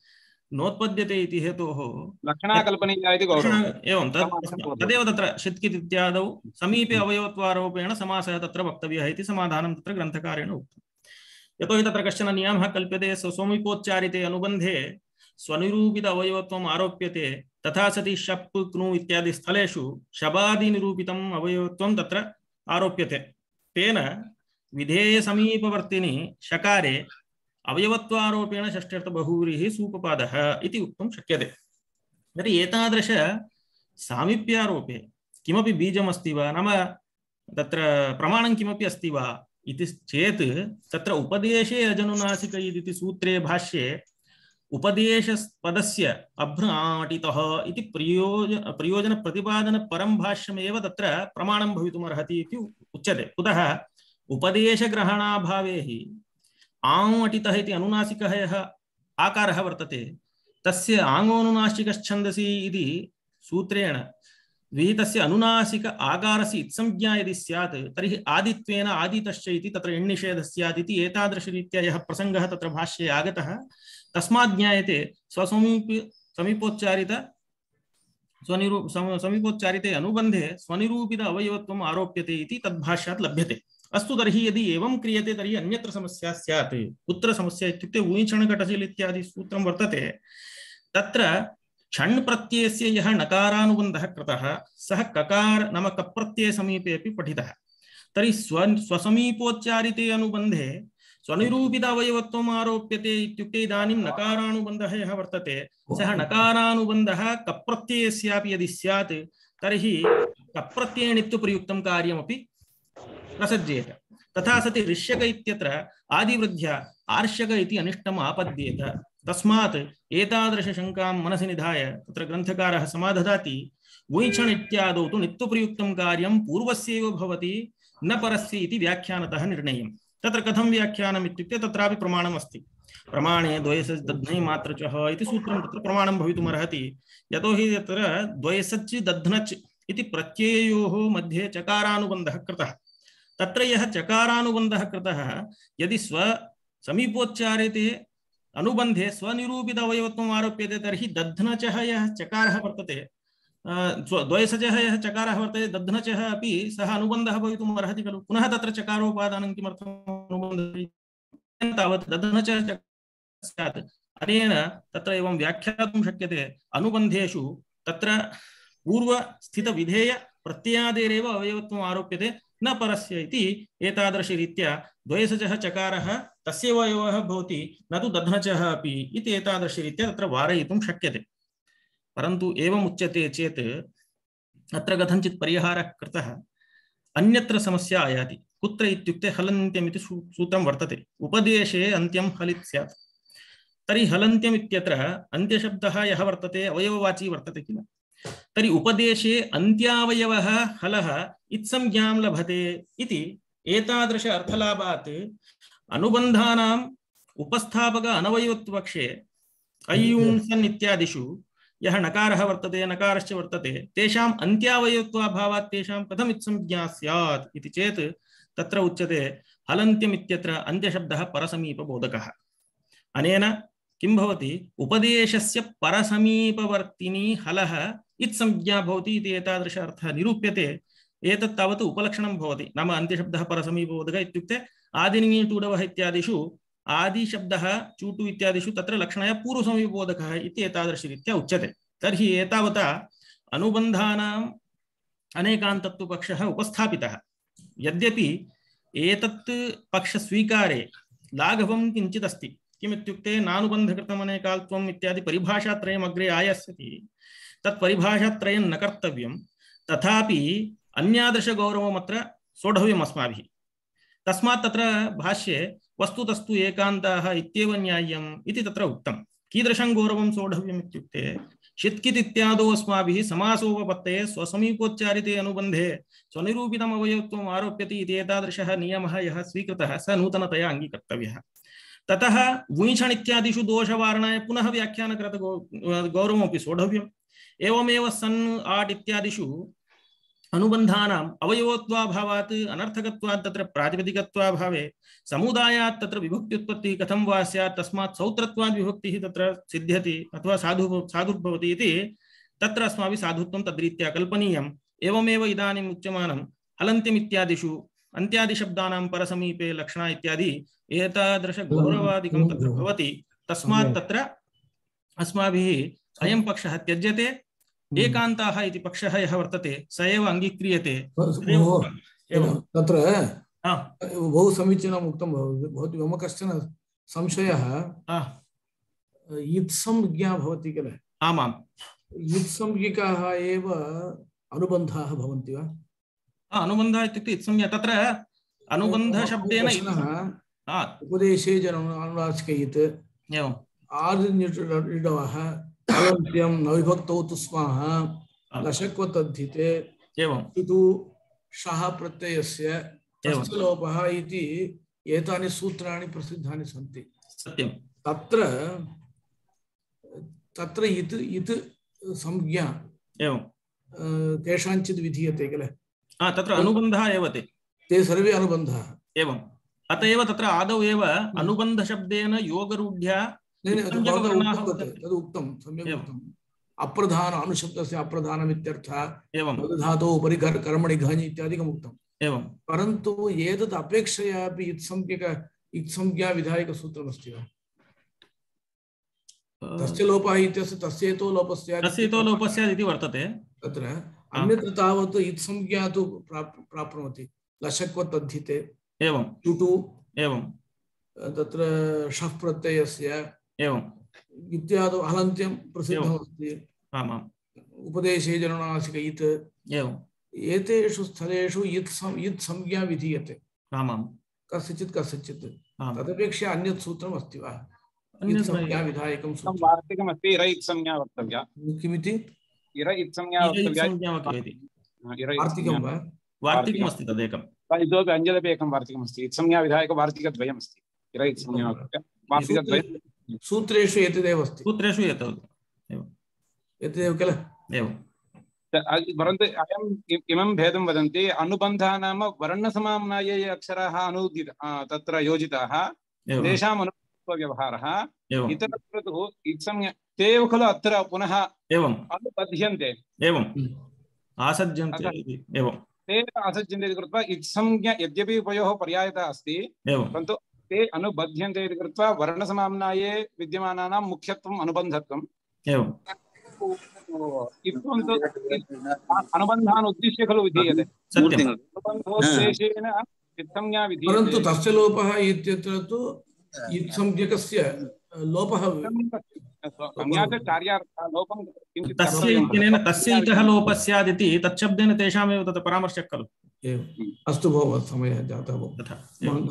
नोत्पद्यते इति हेतोः लक्षणाकल्पनीया इति गौरवम्। एवं तदेव तत्र षित् कित् इत्यादौ समीपे अवयवत्वारोपेण समासः तत्र वक्तव्यः इति समाधानं तत्र ग्रन्थकारेण उक्तम्। यतोहि तत्र कश्चन नियमः कल्प्यते। स्वसमीपोच्चारिते अनुबन्धे स्वनिरूपित अवयवत्वम् आरोप्यते, तथा सति शप् क्नु इत्यादि स्थलेषु शबादिनिरूपितम् अवयवत्वं तत्र आरोप्यते। तेन विधेय समीपवर्तिनि शकारे अवयवत्वारोपेण षष्ठ्यर्थबहुव्रीहिः सूपपादः इति वक्तुं शक्यते। तर्हि एतादृश सामीप्यारोपे किमपि बीजमस्ति वा, नाम तत्र प्रमाणं किमपि अस्ति वा इति चेत् तत्र उपदेशे अजनुनासिक इति सूत्रे भाष्ये उपदेशपदस्य अभ्राटितः इति प्रयोजन प्रतिपादन परं भाष्यमेव तत्र प्रमाणं भवितुमर्हति इति उच्यते। कुतः? उपदेशग्रहणाभावे हि आङ् अटितः इति अनुनासिकः यः आकारः वर्तते तस्य आङ्गोनुनासिकच्छन्दसि इति सूत्रेण विहितस्य अनुनासिक आकारस्य इत्संज्ञा यदि स्यात् तर्हि आदित्वेन आदितश्च इति तत्र एण्निषेधः स्यात् इति एतादृशरीत्या यः प्रसङ्गः तत्र भाष्ये आगतः तस्मात् ज्ञायते समीपोच्चारित समीपोच्चारिते अनुबंधे स्वनिरूपित अवयवत्वम् आरोप्यते इति तद्भाष्यात् लभ्यते। अस्तु तर्हि यदि एवं क्रियते तर्हि अन्यत्र समस्या स्यात्। कुत्र समस्या इत्युक्ते ऊञ्छणघटशिल् इत्यादि सूत्रं वर्तते, तत्र छण् प्रत्ययस्य यः नकारानुबन्धः कृतः सः ककार नाम कप्रत्यय समीपे अपि पठितः। तर्हि स्वसमीपोच्चारिते अनुबन्धे स्वनिरूपित अवयवत्वम् आरोप्यते इत्युक्ते इदानीं नकारानुबन्धः यः वर्तते सः नकारानुबन्धः कप्रत्ययस्यापि यदि स्यात् तर्हि कप्रत्ययनित्यप्रयुक्तं कार्यमपि प्रसज्येत। तथा सति ऋष्यक इत्यत्र आदिवृद्ध्या आर्षक इति अनिष्टम् आपद्येत। तस्मात् एतादृशशङ्कां मनसि निधाय तत्र ग्रन्थकारः समादधाति वैछण् इत्यादौ तु नित्यप्रयुक्तं कार्यं पूर्वस्यैव भवति न परस्य इति व्याख्यानतः निर्णयम्। तत्र कथं व्याख्यानम् इत्युक्ते तत्रापि प्रमाणम् अस्ति। प्रमाणे द्वयसच् दध्नै मात्रचः इति सूत्रं तत्र प्रमाणं भवितुमर्हति। यतोहि तत्र द्वयसच् दध्नच् इति प्रत्यययोः मध्ये चकारानुबन्धः कृतः। तत्र यः चकारानुबन्धः कृतः यदि समीपोच्चारिते अनुबन्धे स्वनिरूपित अवयवत्वम् आरोप्यते तर्हि दध्नचः यः चकारः वर्तते द्वयसजः यः चकारः वर्तते दध्नचः अपि सः अनुबन्धः भवितुम् अर्हति खलु। पुनः तत्र चकारोपादानं किमर्थम् अनुबन्धः तावत् दध्नचः स्यात्। अनेन तत्र एवं व्याख्यातुं शक्यते अनुबन्धेषु तत्र पूर्वस्थितविधेय प्रत्ययादेरेव अवयवत्वम् आरोप्यते न परस्य इति एतादृशरीत्या द्वयसजः चकारः तस्यैव अवयवः भवति न तु दध्नचः अपि इति एतादृशरीत्या तत्र वारयितुं शक्यते। परन्तु एवम् उच्यते चेत् अत्र कथञ्चित् परिहारः कृतः। अन्यत्र समस्या आयाति। कुत्र इत्युक्ते हलन्त्यम् इति सूत्रं वर्तते। उपदेशे अन्त्यं हलित् स्यात्। तर्हि हलन्त्यम् इत्यत्र अन्त्यशब्दः यः वर्तते अवयववाची वर्तते किल। तर्हि उपदेशे अन्त्यावयवः हलः इत्संज्ञां लभते इति एतादृश अर्थलाभात् अनुबन्धानाम् उपस्थापक अनवयवत्वपक्षे अयुंसन् इत्यादिषु यः नकारः वर्तते नकारश्च वर्तते तेषाम् अन्त्यावयवत्वाभावात् तेषां कथम् इत्संज्ञा स्यात् इति चेत् तत्र उच्यते हलन्त्यम् इत्यत्र अन्त्यशब्दः परसमीपबोधकः। अनेन किं भवति उपदेशस्य परसमीपवर्तिनी हलः इत्संज्ञा भवति इति एतादृश अर्थः निरूप्यते। एतत् तावत् उपलक्षणं भवति। नाम अन्त्यशब्दः परसमीपबोधकः इत्युक्ते आदिनिङि टूडवः इत्यादिषु आदिशब्दः चूटु इत्यादिषु तत्र लक्षणाय पूर्वसमीपबोधकः इति एतादृशरीत्या उच्यते। तर्हि एतावता अनुबन्धानाम् अनेकान्तत्वपक्षः उपस्थापितः। यद्यपि एतत् पक्षस्वीकारे लाघवं किञ्चित् अस्ति। किमित्युक्ते नानुबन्धकृतम् अनेकाल्त्वम् इत्यादि परिभाषात्रयम् अग्रे आयास्यति। तत् परिभाषात्रयं न कर्तव्यं। तथापि अन्यादृशगौरवम् अत्र सोढव्यम् अस्माभिः। तस्मात् तत्र भाष्ये वस्तुतस्तु एकान्ताः इत्येव न्याय्यम् इति तत्र उक्तं। कीदृशं गौरवं सोढव्यम् इत्युक्ते शित्कित् इत्यादौ अस्माभिः समासोपपत्तये स्वसमीपोच्चारिते अनुबन्धे स्वनिरूपितम् अवयवत्वम् आरोप्यते इति एतादृशः नियमः यः स्वीकृतः स नूतनतया अङ्गीकर्तव्यः। ततः वुञ्छण् इत्यादिषु दोषवारणाय पुनः व्याख्यानकृत गौरवमपि सोढव्यम्। एवमेव सन् आट् इत्यादिषु अनुबन्धानाम् अवयवत्वाभावात् अनर्थकत्वात् तत्र प्रातिपदिकत्वाभावे समुदायात् तत्र विभक्त्युत्पत्तिः कथं वा स्यात् तस्मात् सौत्रत्वात् विभक्तिः तत्र सिद्ध्यति अथवा साधुर्भवति इति तत्र अस्माभिः साधुत्वं तद्रीत्या कल्पनीयम्। एवमेव इदानीम् उच्यमानं हलन्त्यम् इत्यादिषु अन्त्यादिशब्दानां परसमीपे लक्षणा इत्यादि एतादृश गौरवादिकं तत्र भवति। तस्मात् तत्र अस्माभिः अयं पक्षः त्यज्यते। एकान्ताः इति पक्षः यः वर्तते स एव अङ्गीक्रियते। तत्र बहु समीचीनम् उक्तं भवति। मम कश्चन संशयः इत्संज्ञा भवति किल। आमाम् इत्संज्ञकाः एव अनुबन्धाः भवन्ति वा? अनुबन्धः इत्युक्ते इत्संज्ञा तत्र अनुबन्धशब्देन उपदेशे अनुनासिकयित् एवम् आदिनिडवः हलन्त्यं न विभक्तौ तु स्मः लशक्वतद्धिते एवं तु शः प्रत्ययस्य तस्य लोपः इति एतानि सूत्राणि प्रसिद्धानि सन्ति। सत्यं तत्र इत् संज्ञा एवं केषाञ्चित् विधीयते किल। तत्र अनुबन्धः एव ते सर्वे अनुबन्धाः एवम्। अत एव तत्र आदौ एव अनुबन्धशब्देन योगरूढ्या तदुक्तं सम्यक् उक्तम् अप्रधान अनुशब्दस्य अप्रधानमित्यर्थः धातोः उपरि कर्मणि घञ् इत्यादिकम् उक्तम् एवं परन्तु एतद् अपेक्षया अपि इत्संज्ञा विधायकसूत्रमस्ति वा तस्य लोपः इत्यस्य तस्येतो लोपस्य इति वर्तते तत्र अन्यत्र तावत् इत्संज्ञा तु प्राप्नोति लशक्वतद्धिते एवं टुटु एवं तत्र शफ् प्रत्ययस्य एवं इत्यादौ हलन्त्यं प्रसिद्धमस्ति उपदेशे जननासिक इत् एवं एतेषु स्थलेषु इत् संज्ञा विधीयते आमां कस्यचित् तदपेक्षया अन्यत् सूत्रम् अस्ति वा संज्ञा विधायकं सूत्रं वार्तिकमस्ति इर इत् संज्ञा वक्तव्या किमिति इर इत् संज्ञा वक्तव्या वार्तिकं वा वार्तिकमस्ति तदेकं इतोपि अन्यदपि एकं वार्तिकमस्ति इत् संज्ञा विधायकवार्तिकद्वयमस्ति इर इत् संज्ञा वक्तव्या वार्तिकद्वयं सूत्रेषु एतदेव अस्ति सूत्रेषु एतदेव किल एवं परन्तु अयम् इमं भेदं वदन्ति अनुबन्धः नाम वर्णसमाम्नाये ये अक्षराः अनुदित तत्र योजिताः तेषाम् अनुबन्धव्यवहारः इतरत्र तु इत्संज्ञा ते एव खलु अत्र पुनः अनुबध्यन्ते एवं आसज्यन्ते एवं ते आसज्यन्ते इति कृत्वा इत्संज्ञा यद्यपि उभयोः पर्यायता अस्ति परन्तु ते अनुबध्यन्ते इति कृत्वा वर्णसमाम्नाये विद्यमानानां मुख्यत्वम् अनुबन्धत्वम् एवं अनुबन्धान् उद्दिश्य खलु विधीयते अनुबन्धोद्देशेन इत्संज्ञा विधीयते परन्तु तस्य लोपः इत्यत्र तु इत्संज्ञकस्य लोपः तस्य इत्यनेन तस्य इतः लोपः स्यादिति तच्छब्देन तेषामेव तत् परामर्शः खलु अस्तु भोः समयः जातः भोः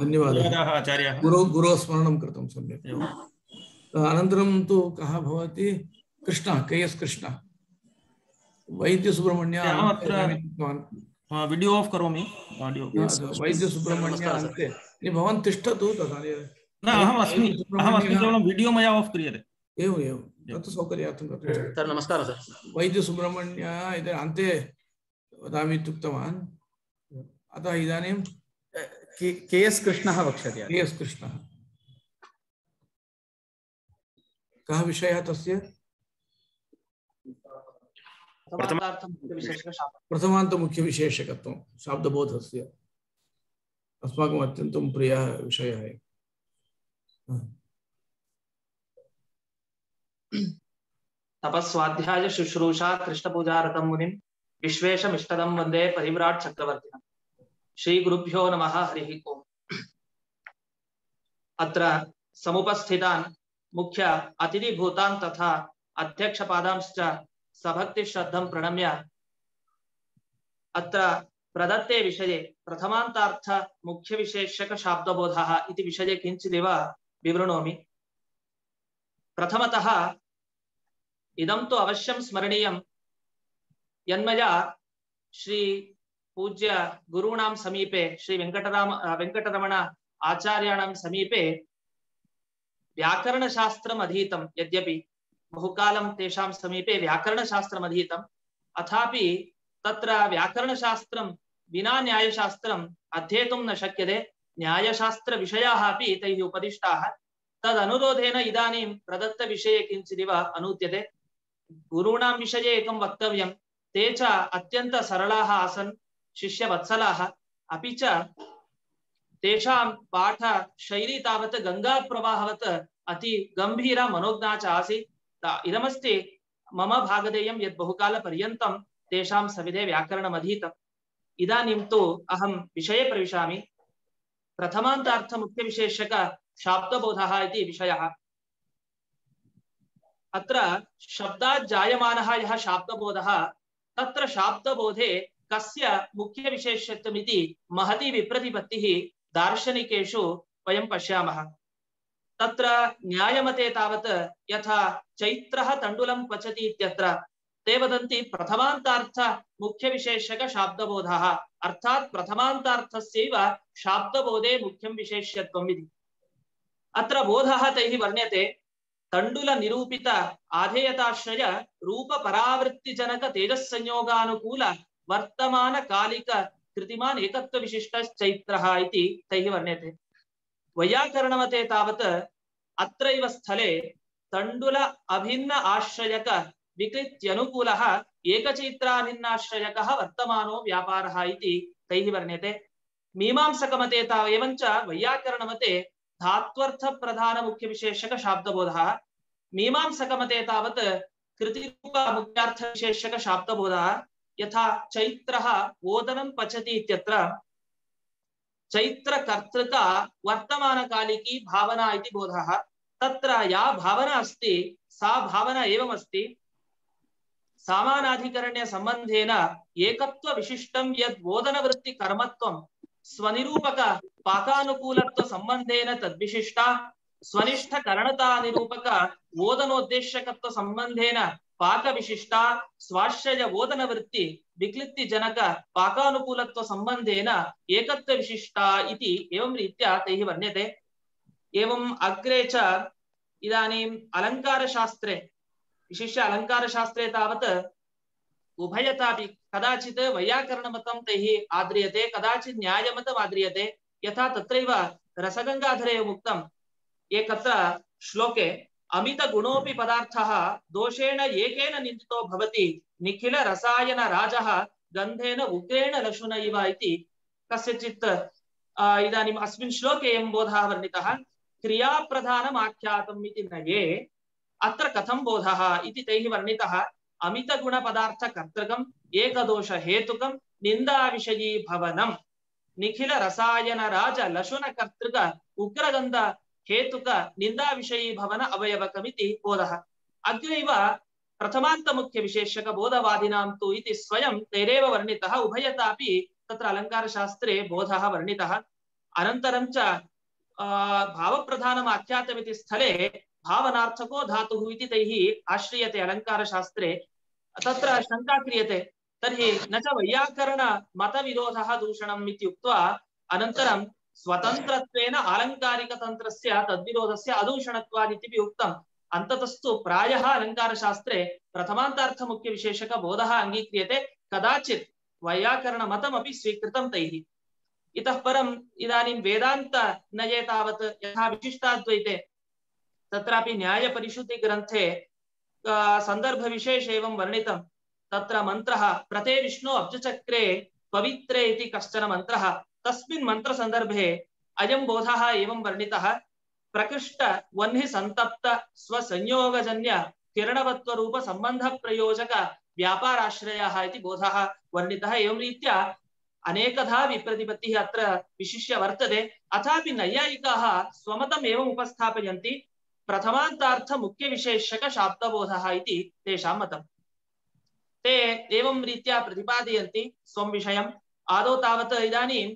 धन्यवादः आचार्याः गुरोः स्मरणं कृतं सम्यक् अनन्तरं तु कः भवति Krishna KS Krishna Vaidyasubrahmanya video off करोमि ऑडियो वैद्यसुब्रह्मण्य अन्ते भवान् तिष्ठतु तदानीं न अहम् अस्मि केवलं वीडियो मया ऑफ क्रियते एवं तत् सौकर्यार्थं कर्तुं सर नमस्कारः सर वैद्यसुब्रह्मण्य इति अन्ते वदामि इत्युक्तवान् अतः इदानीं KS कृष्णः वक्ष्यति KS कृष्णः कः विषयः तस्य प्रथमान्तमुख्यविशेषकत्वं शाब्दबोधस्य अस्माकम् अत्यन्तं प्रियः विषयः तपस्वाध्याय शुश्रूषा कृष्णपूजारतं मुनिं विश्वेशमिष्टदं वन्दे परिव्राट् चक्रवर्तिनम् श्रीगुरुभ्यो नमः हरिः ओम् अत्र समुपस्थितान् मुख्य अतिथिभूतान् तथा अध्यक्षपादांश्च सभक्तिश्रद्धं प्रणम्य अत्र प्रदत्ते विषये प्रथमान्तार्थ मुख्यविशेषक शाब्दबोधः इति विषये किञ्चिदेव विवृणोमि। प्रथमतः इदं तु अवश्यं स्मरणीयं यन्मया श्री पूज्य गुरूणां समीपे श्री वेंकटरमण आचार्याणां समीपे व्याकरणशास्त्रम् अधीतं यद्यपि बहुकालं तेषां समीपे व्याकरणशास्त्रम् अधीतम् अथापि तत्र व्याकरणशास्त्रं विना न्यायशास्त्रम् अध्येतुं न शक्यते न्यायशास्त्रविषयाः अपि तैः उपदिष्टाः तदनुरोधेन इदानीं प्रदत्तविषये किञ्चिदिव अनूद्यते गुरूणां विषये एकं वक्तव्यं ते च अत्यन्त सरलाः आसन् शिष्यवत्सलाः अपि च तेषां पाठ शैली तावत् गंगाप्रवाहवत् अति गंभीरा मनोज्ञा च आसीत् इदमस्ति मम भागधेयं यत् बहुकालपर्यन्तं तेषां सविधे व्याकरणम् अधीतम् इदानीं तु अहं विषये प्रविशामि। प्रथमान्तार्थ मुख्यविशेषक शाब्दबोधः इति विषयः। अत्र शब्दात् जायमानः यः शाब्दबोधः तत्र शाब्दबोधे कस्य मुख्यविशेषत्वमिति महती विप्रतिपत्तिः दार्शनिकेषु वयं पश्यामः। तत्र न्यायमते तावत् यथा चैत्रः तण्डुलं पचति इत्यत्र ते वदन्ति प्रथमान्तार्थ मुख्यविशेषक शाब्दबोधः अर्थात् प्रथमान्तार्थस्यैव शाब्दबोधे मुख्यं विशेष्यत्वम् इति। अत्र बोधः तैः वर्ण्यते तण्डुल निरूपित आधेयताश्रय रूप परावृत्तिजनक तेजस्संयोगानुकूल वर्तमान कालिक कृतिमान् एकत्व विशिष्टश्चैत्रः इति तैः वर्ण्यते। वैयाकरणमते तावत् अत्रैव स्थले तण्डुल अभिन्न आश्रयक विकृत्यनुकूलः एकचैत्राभिन्नाश्रयकः वर्तमानो व्यापारः इति तैः वर्ण्यते। मीमांसकमते एवञ्च वैयाकरणमते धात्वर्थ प्रधान मुख्य विशेषक शाब्दबोधः, मीमांसकमते तावत् कृतिरूप मुख्यार्थ विशेषक शाब्दबोधः। यथा चैत्रः ओदनं पचति इत्यत्र चैत्रकर्तृका वर्तमानकालिकी भावना इति बोधः। तत्र या भावना अस्ति सा भावना एवमस्ति, सामानाधिकरण्य संबंधेन एकत्व विशिष्टं यद् ओदनवृत्ति कर्मत्वं स्वनिरूपक पाकानुकूलत्व संबंधेन तद्विशिष्टा, स्वनिष्ठ करणता निरूपक ओदनोद्देश्यकत्व संबंधेन पाक विशिष्टा, स्वाश्रय ओदन वृत्ति विक्लित्ति जनक पाकानुकूलत्व संबंधेन एकत्व विशिष्टा इति एवं रीत्या तैः वर्ण्यते। एवं अग्रे च इदानीम् अलङ्कारशास्त्रे, विशिष्य अलङ्कारशास्त्रे तावत् उभयतापि कदाचित् वैयाकरणमतं तैः आद्रियते, कदाचित् न्यायमतम् आद्रियते। यथा तत्रैव रसगङ्गाधरे उक्तम् एकत्र श्लोके अमित गुणोपि पदार्थः दोषेण एकेन निन्दितो भवति निखिल रसायन राजः गन्धेन उग्रेण लशुन इव इति कस्यचित् इदानीम् अस्मिन् श्लोके एवं बोधः वर्णितः। क्रियाप्रधानम् आख्यातम् इति नये अत्र कथं बोधः इति तैः वर्णितः। अमित गुण पदार्थ कर्तृकम् एकदोष हेतुकं निंदा विषयी भवनम् निखिल रसायन राज लशुन कर्तृक उग्रगन्ध हेतुक निंदा विषयी भवन अवयवकमिति बोधः। अग्रैव प्रथमान्त मुख्य विशेषक बोधवादिनां तु इति स्वयं तैरेव वर्णितः। उभयतापि तत्र अलङ्कारशास्त्रे बोधः वर्णितः। अनन्तरं च भावप्रधानम् आख्यातमिति स्थले भावनार्थको धातुः इति तैः आश्रियते अलङ्कारशास्त्रे। तत्र शङ्का क्रियते, तर्हि न च वैयाकरण मतविरोधः दूषणम् इति उक्त्वा अनन्तरं स्वतन्त्रत्वेन आलङ्कारिकतन्त्रस्य तद्विरोधस्य अदूषणत्वात् इति उक्तम्। अन्ततस्तु प्रायः अलङ्कारशास्त्रे प्रथमान्तार्थमुख्यविशेषकबोधः अङ्गीक्रियते, कदाचित् वैयाकरणमतमपि स्वीकृतं तैः। इतः परम् इदानीं वेदान्तनये तावत् यथा विशिष्टाद्वैते तत्रापि न्यायपरिशुद्धिग्रन्थे सन्दर्भविशेषे एवं वर्णितं। तत्र मन्त्रः प्रते विष्णु अब्जचक्रे पवित्रे इति कश्चन मन्त्रः, तस्मिन् मन्त्रसन्दर्भे अयं बोधः एवं वर्णितः। प्रकृष्ट वह्नि संतप्त स्वसंयोगजन्य किरणवत्वरूप संबंध प्रयोजक व्यापाराश्रयः इति बोधः वर्णितः। एवं रीत्या अनेकधा विप्रतिपत्तिः अत्र विशिष्य वर्तते। अथापि नैयायिकाः स्वमतम् एवम् उपस्थापयन्ति, प्रथमान्तार्थ मुख्य विशेषक शाब्दबोधः इति तेषां मतम्। ते एवं रीत्या प्रतिपादयन्ति स्वं विषयम्। आदौ तावत् इदानीं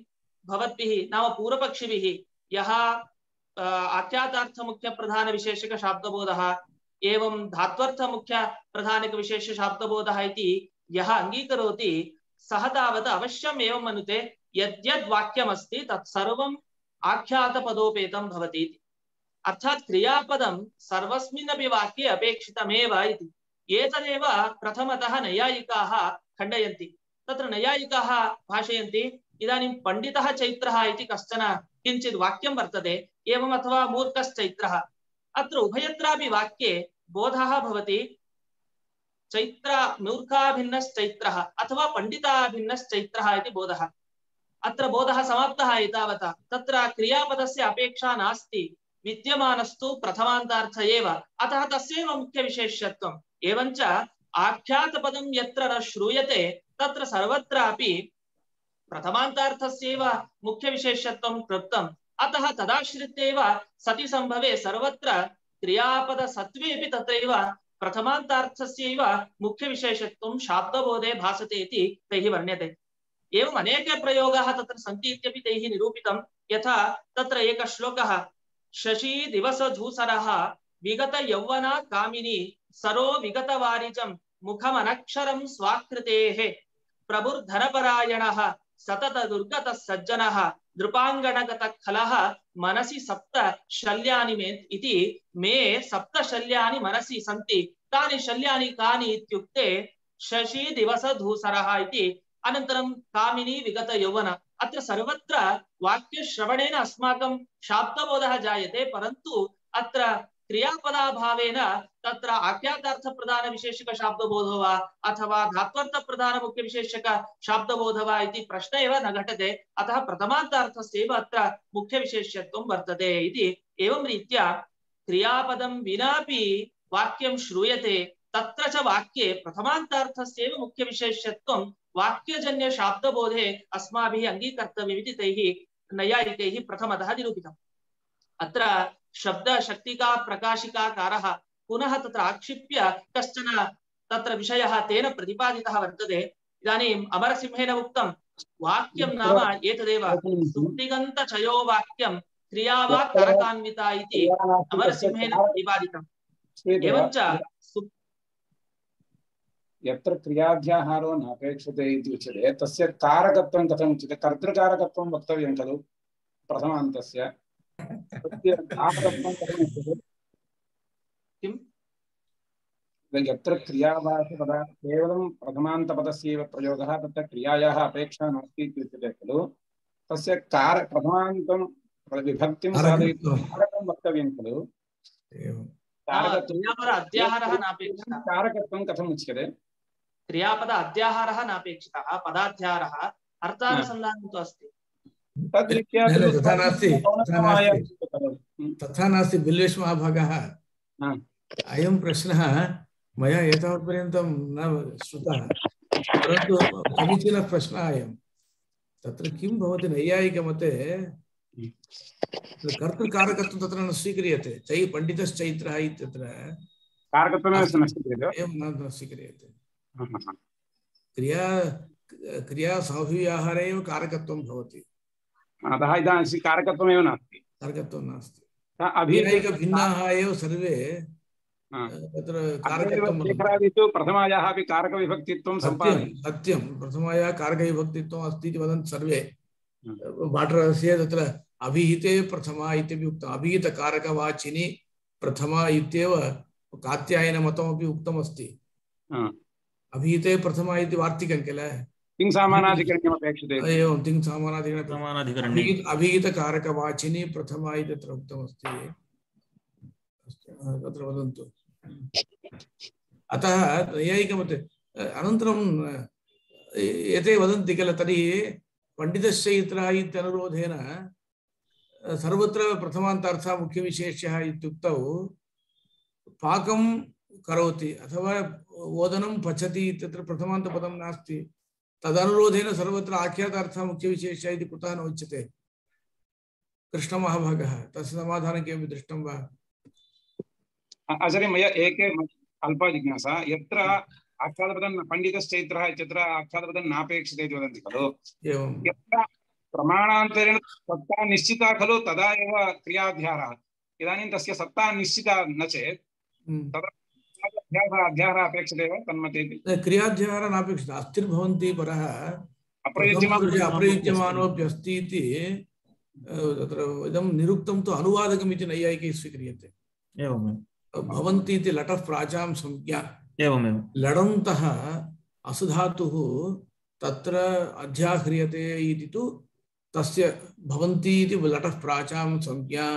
भवद्भिः नाम पूर्वपक्षिभिः यः आख्यातार्थ मुख्य प्रधान विशेषक शाब्दबोधः एवं धात्वर्थ मुख्य प्रधानक विशेष शाब्दबोधः इति यः अङ्गीकरोति सः तावत् अवश्यम् एवं मनुते यद्यद् वाक्यमस्ति तत्सर्वम् आख्यातपदोपेतं भवति। अर्थात् क्रियापदं सर्वस्मिन्नपि वाक्ये अपेक्षितमेव इति। एतदेव प्रथमतः नैयायिकाः खण्डयन्ति। तत्र नैयायिकाः भाषयन्ति, इदानीं पंडितः चैत्रः इति कश्चन किञ्चित् वाक्यं वर्तते, एवम् अथवा मूर्खश्चैत्रः। अत्र उभयत्रापि वाक्ये बोधः भवति चैत्र मूर्खाभिन्नश्चैत्रः अथवा पंडिताभिन्नश्चैत्रः इति बोधः। अत्र बोधः समाप्तः एतावता। तत्र क्रियापदस्य अपेक्षा नास्ति, विद्यमानस्तु प्रथमान्तार्थ एव, अतः तस्यैव मुख्यविशेष्यत्वम्। एवञ्च आख्यातपदं यत्र न श्रूयते तत्र सर्वत्रापि प्रथमान्तार्थस्यैव मुख्यविशेष्यत्वं कृतम्। अतः तदाश्रित्यैव सति संभवे सर्वत्र क्रियापदसत्त्वेऽपि तत्रैव प्रथमान्तार्थस्यैव मुख्यविशेषत्वं शाब्दबोधे भासते इति तैः वर्ण्यते। एवम् अनेके प्रयोगाः तत्र सन्ति इत्यपि तैः निरूपितं। यथा तत्र एकः श्लोकः, शशी दिवसधूसरः विगत यौवना कामिनी सरो विगतवारिजं मुखमनक्षरं स्वाकृतेः प्रभुर्धनपरायणः सतत दुर्गतः सज्जनः नृपाङ्गणगतः खलः मनसि सप्त शल्यानि मे इति मे सप्त शल्यानि मनसि सन्ति, तानि शल्यानि कानि इत्युक्ते शशी दिवसधूसरः इति। अनन्तरं कामिनी विगत यौवन। अत्र सर्वत्र वाक्यश्रवणेन अस्माकं शाब्दबोधः जायते, परन्तु अत्र क्रियापदाभावेन तत्र आख्यातार्थप्रधानविशेषकशाब्दबोधो वा अथवा धात्वर्थप्रधानमुख्यविशेषकशाब्दबोधो वा इति प्रश्न एव न घटते। अतः प्रथमान्तार्थस्यैव अत्र मुख्यविशेष्यत्वं वर्तते इति। एवं रीत्या क्रियापदं विनापि वाक्यं श्रूयते, तत्र च वाक्ये प्रथमान्तार्थस्यैव मुख्यविशेष्यत्वं वाक्यजन्यशाब्दबोधे अस्माभिः अङ्गीकर्तव्यमिति तैः नैयायिकैः प्रथमतः निरूपितम्। अत्र शब्दशक्तिका प्रकाशिकाकारः पुनः तत्र आक्षिप्य कश्चन तत्र विषयः तेन प्रतिपादितः वर्तते। इदानीम् अमरसिंहेन उक्तं वाक्यं नाम एतदेव सुप्तिगन्तचयो वाक्यं क्रिया वा कारकान्विता इति अमरसिंहेन प्रतिपादितम्। एवञ्च यत्र क्रियाध्याहारो नापेक्षते इति उच्यते तस्य कारकत्वं कथम् उच्यते? कर्तृकारकत्वं वक्तव्यं खलु प्रथमान्तस्य। तस्य कारकत्वं कथम् उच्यते? किम्? यत्र क्रियावाचपदा केवलं प्रथमान्तपदस्यैव प्रयोगः, तत्र क्रियायाः अपेक्षा नास्ति इति उच्यते खलु। तस्य प्रथमान्तं विभक्तिं साधयितुं कारकं वक्तव्यं खलु। अध्याहारः नापेक्षितः। कारकत्वं कथम् उच्यते? क्रियापद अध्याहारः नापेक्षितः, पदाध्याहारः अर्थानुसन्धानं तु अस्ति। तथा नास्ति बिल्वेश महाभागः। अयं प्रश्नः मया एतावत्पर्यन्तं न श्रुतः, परन्तु समीचीनः प्रश्नः अयं। तत्र किं भवति नैयायिकमते कर्तृकारकत्वं तत्र न स्वीक्रियते। चै पण्डितश्चैत्रः इत्यत्र कारकत्वमेव न स्वीक्रियते। क्रिया साहुव्याहारे एव कारकत्वं भवति। अतः इदानीं कारकत्वमेव नास्ति। कारकत्वं नास्ति। अभिनयिकभिन्नाः एव सर्वे तत्र कारकत्वं प्रथमायाः अपि कारकविभक्तित्वं सम्पादयति। सत्यं, प्रथमायाः कारकविभक्तित्वम् अस्ति इति वदन्ति सर्वे। भाटरस्य तत्र अभिहिते प्रथमा इत्यपि उक्तम्। अभिहितकारकवाचिनि प्रथमा इत्येव कात्यायनमतमपि उक्तमस्ति। अभिहिते प्रथमा इति वार्तिकं किल। तिङ्सामानाधिकरण्यमपेक्षते। एवं तिङ्सामानाधिकरणे अभिहितकारकवाचिनि प्रथमा इति तत्र उक्तमस्ति। तत्र वदन्तु। अतः नैयायिकमते अनन्तरं एते वदन्ति किल, तर्हि पण्डितश्चैत्रः इत्यनुरोधेन सर्वत्र प्रथमान्तार्थः मुख्यविशेष्यः इत्युक्तौ पाकं करोति अथवा ओदनं पचति इत्यत्र प्रथमान्तपदं नास्ति। तदनुरोधेन सर्वत्र आख्यातार्थः मुख्यविशेष्यः इति कुतः न उच्यते? कृष्णमहाभागः तस्य समाधानं किमपि दृष्टं वा? आचार्य मया एके अल्पा जिज्ञासा। यत्र आख्यातपदं पण्डितश्चैत्रः इत्यत्र आख्यातपदं नापेक्षते इति वदन्ति खलु। यत्र प्रमाणान्तरेण सत्ता निश्चिता खलु तदा एव क्रियाध्याहारः। इदानीं तस्य सत्ता निश्चिता न चेत् तदा अध्याहारः अपेक्षते वा तन्मते? क्रियाध्याहारः नापेक्षितः। अस्तिर्भवन्ति परः अप्रयुज्यमानोऽपि अस्ति इति तत्र इदं निरुक्तं तु अनुवादकम् इति नैयायिकैः स्वीक्रियते। एवमेव भवन्ति इति लटः प्राचां संज्ञा। एवमेव लडन्तः असुधातुः तत्र अध्याह्रियते इति तु तस्य भवन्ति इति लटः प्राचां संज्ञा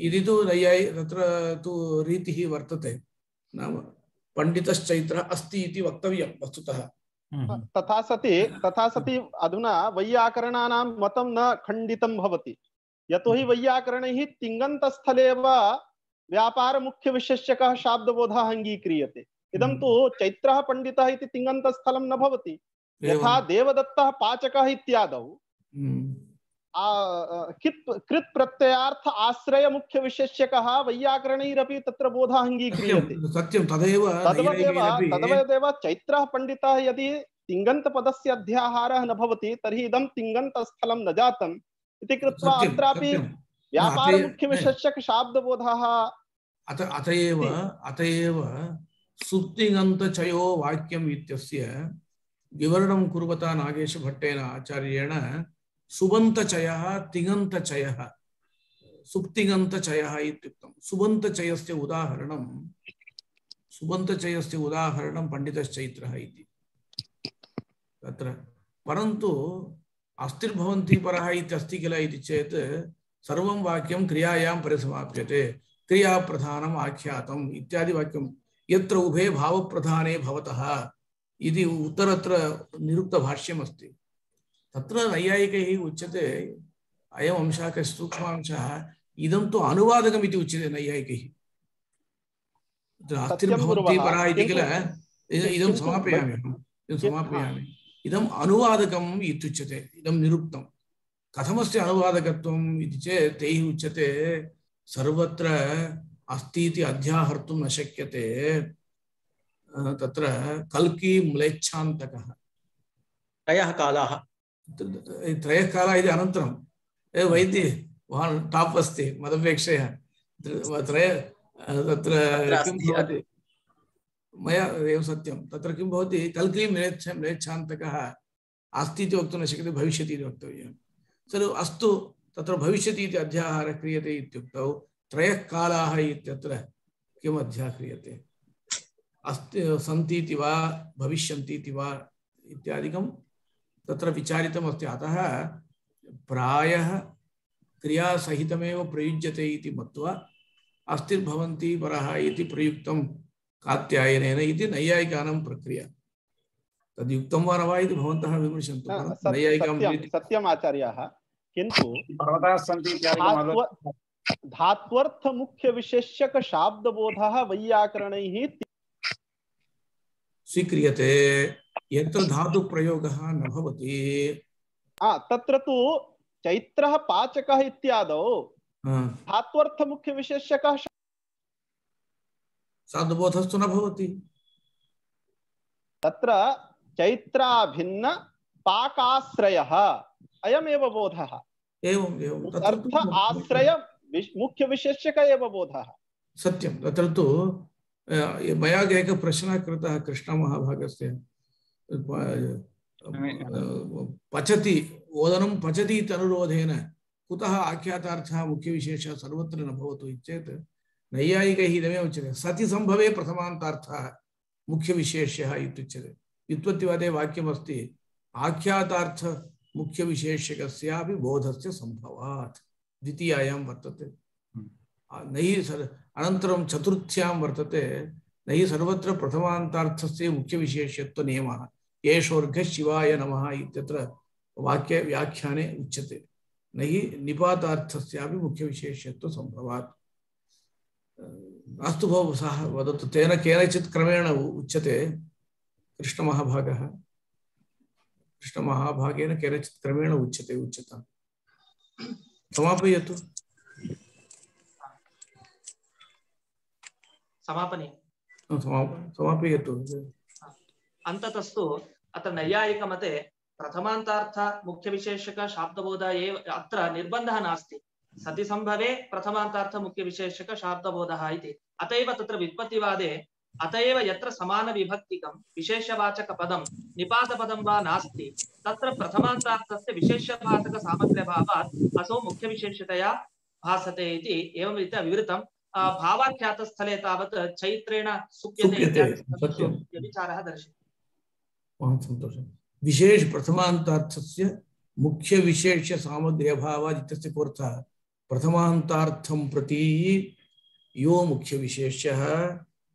इति तु तत्र तु रीतिः वर्तते। नाम पण्डितश्चैत्रः अस्ति इति वक्तव्यं वस्तुतः। तथा सति अधुना वैयाकरणानां मतं न खण्डितं भवति। यतोहि वैयाकरणैः तिङन्तस्थले एव व्यापारमुख्यविशेष्यकः शाब्दबोधः अङ्गीक्रियते। इदं तु चैत्रः पण्डितः इति तिङन्तस्थलं न भवति। यथा देवदत्तः पाचकः इत्यादौ कृत् प्रत्ययार्थ आश्रय मुख्यविशेष्यकः वैयाकरणैरपि तत्र बोधः अङ्गीक्रियते। सत्यं तदेव चैत्रः पण्डितः यदि तिङन्तपदस्य अध्याहारः न भवति तर्हि इदं तिङन्तस्थलं न जातम् इति कृत्वा अत्रापि व्यापारमुख्यविशेष्यक शाब्दबोधः। अतएव सुप्तिङन्तचयो वाक्यम् इत्यस्य विवरणं कुर्वता नागेशभट्टेन आचार्येण सुबन्तचयः तिङन्तचयः सुप्तिङन्तचयः इत्युक्तं। सुबन्तचयस्य उदाहरणं पण्डितश्चैत्रः इति तत्र। परन्तु अस्तिर्भवन्ति परः इत्यस्ति किल इति चेत् सर्वं वाक्यं क्रियायां परिसमाप्यते। क्रियाप्रधानम् आख्यातम् इत्यादि वाक्यं यत्र उभे भावप्रधाने भवतः इति उत्तरत्र निरुक्तभाष्यमस्ति तत्र नैयायिकैः उच्यते अयम् अंशः कः सूक्ष्मांशः इदं तु अनुवादकम् इति उच्यते नैयायिकैः अस्तिर्भवन्ति परा इति किल इदं समापयामि इदम् अनुवादकम् इत्युच्यते इदं निरुक्तं कथमस्ति अनुवादकत्वम् इति चेत् तैः उच्यते सर्वत्र अस्ति इति अध्याहर्तुं न शक्यते तत्र कल्की म्लेच्छान्तकः त्रयः कालाः इति अनन्तरं वैद्य भवान् टाप् अस्ति मदपेक्षया तत्र किं भवति मया एव सत्यं तत्र किं भवति कल्की म्लेच्छान्तकः अस्ति इति वक्तुं न शक्यते भविष्यति इति वक्तव्यं सर्व अस्तु तत्र भविष्यति इति अध्याहारः क्रियते इत्युक्तौ त्रयः कालाः इत्यत्र किम् अध्याहारः क्रियते अस्ति सन्ति इति वा भविष्यन्ति इति वा इत्यादिकं तत्र विचारितमस्ति अतः प्रायः क्रियासहितमेव प्रयुज्यते इति मत्वा अस्तिर्भवन्ति परः इति प्रयुक्तं कात्यायनेन इति नैयायिकानां प्रक्रिया तद्युक्तं वा न वा इति भवन्तः विमर्शन्तु सत्यम् आचार्याः किन्तु पर्वताः सन्ति धात्वर्थ मुख्य विशेष्यक शाब्दबोधः वैयाकरणैः स्वीक्रियते यत्र धातु प्रयोगः न भवति तत्र तु चैत्रः पाचकः इत्यादौ धात्वर्थ मुख्य विशेष्यकः शाब्दबोधस्तु न भवति तत्र चैत्राभिन्न पाकाश्रयः अयमेव बोधः एवं अर्थ आश्रय मुख्य विशेष्यक एव बोधः सत्यं तत्र तु मया एकः प्रश्नः कृतः कृष्णमहाभागस्य पचति ओदनं पचति इति अनुरोधेन कुतः आख्यातार्थः मुख्यविशेषः सर्वत्र न भवतु चेत् नैयायिकैः इदमेव उच्यते सति सम्भवे प्रथमान्तार्थः मुख्यविशेष्यः इत्युच्यते व्युत्पत्तिवादे वाक्यमस्ति आख्यातार्थ मुख्यविशेष्यकस्यापि बोधस्य सम्भवात् द्वितीयायां वर्तते नहि अनन्तरं चतुर्थ्यां वर्तते नहि सर्वत्र प्रथमान्तार्थस्य मुख्यविशेष्यत्वनियमः येषोर्घः शिवाय नमः इत्यत्र वाक्ये व्याख्याने उच्यते नहि निपातार्थस्यापि मुख्यविशेष्यत्वसम्भवात् अस्तु भोः सः वदतु तेन केनचित् क्रमेण उच्यते कृष्णमहाभागेन केनचित् क्रमेण उच्यते उच्यतां समापयतु समापयतु अन्ततस्तु अत्र नैयायिकमते प्रथमान्तार्थ मुख्यविशेषक शाब्दबोध एव अत्र निर्बन्धः नास्ति सति सम्भवे प्रथमान्तार्थ मुख्यविशेषक शाब्दबोधः इति अतएव तत्र व्युत्पत्तिवादे अतएव यत्र समानविभक्तिकं विशेषवाचकपदं निपातपदं वा नास्ति तत्र प्रथमान्तार्थस्य विशेषवाचकसामग्र्यभावात् असौ मुख्यविशेषतया भासते इति एवं रीत्या विवृतं भावाख्यातस्थले तावत् चैत्रेण सुप्यते इत्यादि विचारः दर्शितः महान् सन्तोषः विशेष प्रथमान्तार्थस्य मुख्यविशेष्य सामग्र्यभावात् इत्यस्य कोऽर्थः प्रथमान्तार्थं प्रति यो मुख्यविशेष्यः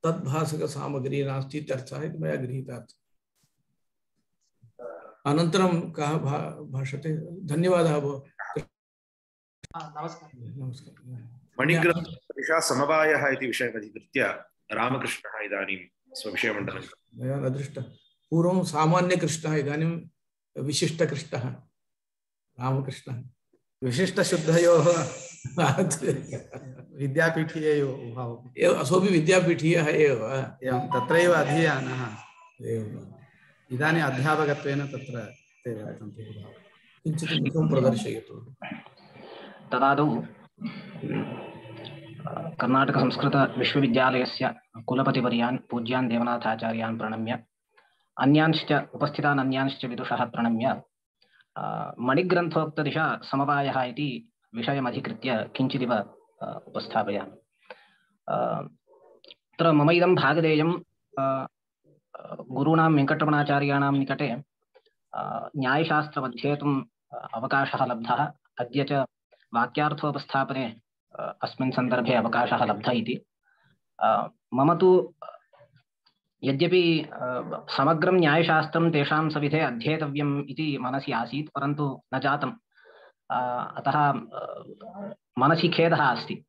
तद्भासकसामग्री नास्ति इत्यर्थः इति मया गृहीतः अनन्तरं कः भाषते धन्यवादः भो नमस्कारः मणिग्रन्थदिशा समवायः इति विषयमधिकृत्य रामकृष्णः इदानीं स्वविषयमण्डलं मया न दृष्टः पूर्वं सामान्यकृष्णः इदानीं विशिष्टकृष्णः रामकृष्णः विशिष्टशुद्धयोः विद्यापीठीययोः भावः असोऽपि विद्यापीठीयः एव एवं तत्रैव अधीयानः इदानीम् अध्यापकत्वेन तत्र ते वर्तन्ते किञ्चित् मुखं प्रदर्शयतु तदादौ कर्नाटकसंस्कृतविश्वविद्यालयस्य कुलपतिवर्यान् पूज्यान् देवनाथाचार्यान् प्रणम्य अन्यांश्च उपस्थितान् अन्यांश्च विदुषः प्रणम्य मणिग्रन्थोक्तदिशा समवायः इति विषयमधिकृत्य किञ्चिदिव उपस्थापयामि। अत्र मम इदं भागधेयं गुरूणां वेङ्कटरमणाचार्याणां निकटे न्यायशास्त्रमध्येतुम् अवकाशः लब्धः। अद्य च वाक्यार्थोपस्थापने अस्मिन् सन्दर्भे अवकाशः लब्धः इति। मम तु यद्यपि समग्रं न्यायशास्त्रं तेषां सविधे अध्येतव्यम् इति मनसि आसीत्, परन्तु न जातम्। अतः मनसि खेदः अस्ति।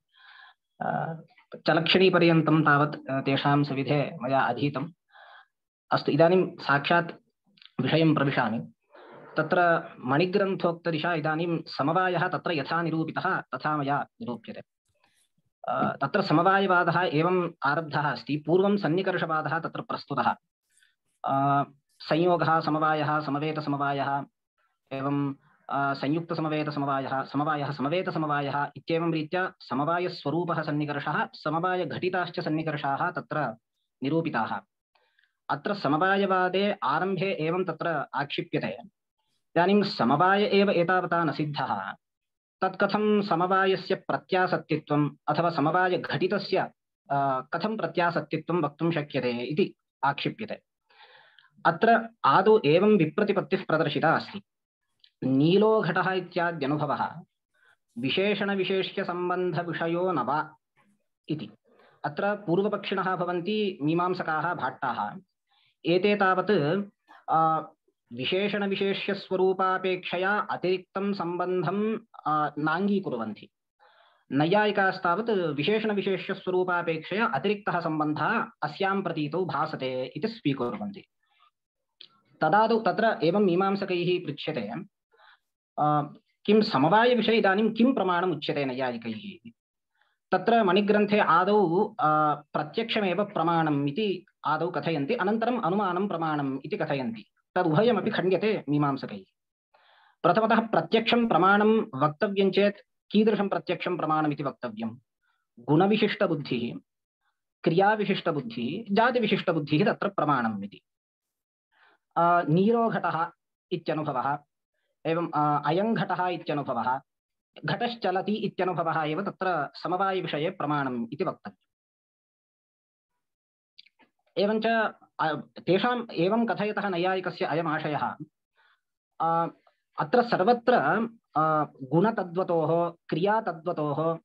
चलक्षणीपर्यन्तं तावत् तेषां सविधे मया अधीतम्। अस्तु, इदानीं साक्षात् विषयं प्रविशामि। तत्र मणिग्रन्थोक्तदिशा इदानीं समवायः तत्र यथा निरूपितः तथा मया निरूप्यते। तत्र समवायवादः एवम् आरब्धः अस्ति। पूर्वं सन्निकर्षवादः तत्र प्रस्तुतः। संयोगः समवायः, समवेतसमवायः, एवं संयुक्तसमवेतसमवायः, समवायः समवेतसमवायः इत्येवं रीत्या समवायस्वरूपः सन्निकर्षः, समवायघटिताश्च सन्निकर्षाः तत्र निरूपिताः। अत्र समवायवादे आरम्भे एवं तत्र आक्षिप्यते, इदानीं समवाय एव एतावता न सिद्धः, तत्कथं समवायस्य प्रत्यासत्तित्वम् अथवा समवायघटितस्य कथं प्रत्यासत्तित्वं वक्तुं शक्यते इति आक्षिप्यते। अत्र आदौ एवं विप्रतिपत्तिः प्रदर्शिता अस्ति। नीलो घटः इत्याद्यनुभवः विशेषणविशेष्यसम्बन्धविषयो न वा इति। अत्र पूर्वपक्षिणः भवन्ति मीमांसकाः, भाट्टाः। एते तावत् विशेषणविशेष्यस्वरूपापेक्षया अतिरिक्तं सम्बन्धं नाङ्गीकुर्वन्ति। नैयायिकास्तावत् विशेषणविशेष्यस्वरूपापेक्षया अतिरिक्तः सम्बन्धः अस्यां प्रतीतौ भासते इति स्वीकुर्वन्ति। तदादौ तत्र एवं मीमांसकैः पृच्छ्यते, किं समवायविषये इदानीं किं प्रमाणम् उच्यते नैयायिकैः? तत्र मणिग्रन्थे आदौ प्रत्यक्षमेव प्रमाणम् इति आदौ कथयन्ति, अनन्तरम् अनुमानं प्रमाणम् इति कथयन्ति। तदुभयमपि खण्ड्यते मीमांसकैः। प्रथमतः प्रत्यक्षं प्रमाणं वक्तव्यं चेत् कीदृशं प्रत्यक्षं प्रमाणमिति वक्तव्यं? गुणविशिष्टबुद्धिः, क्रियाविशिष्टबुद्धिः, जातिविशिष्टबुद्धिः तत्र प्रमाणम् इति। नीरो घटः इत्यनुभवः, एवं अयं घटः इत्यनुभवः, घटश्चलति इत्यनुभवः एव तत्र समवायविषये प्रमाणम् इति वक्तव्यम्। एवञ्च तेषाम् एवं कथयतः नैयायिकस्य अयमाशयः, अत्र सर्वत्र गुणतद्वतोः, क्रियातद्वतोः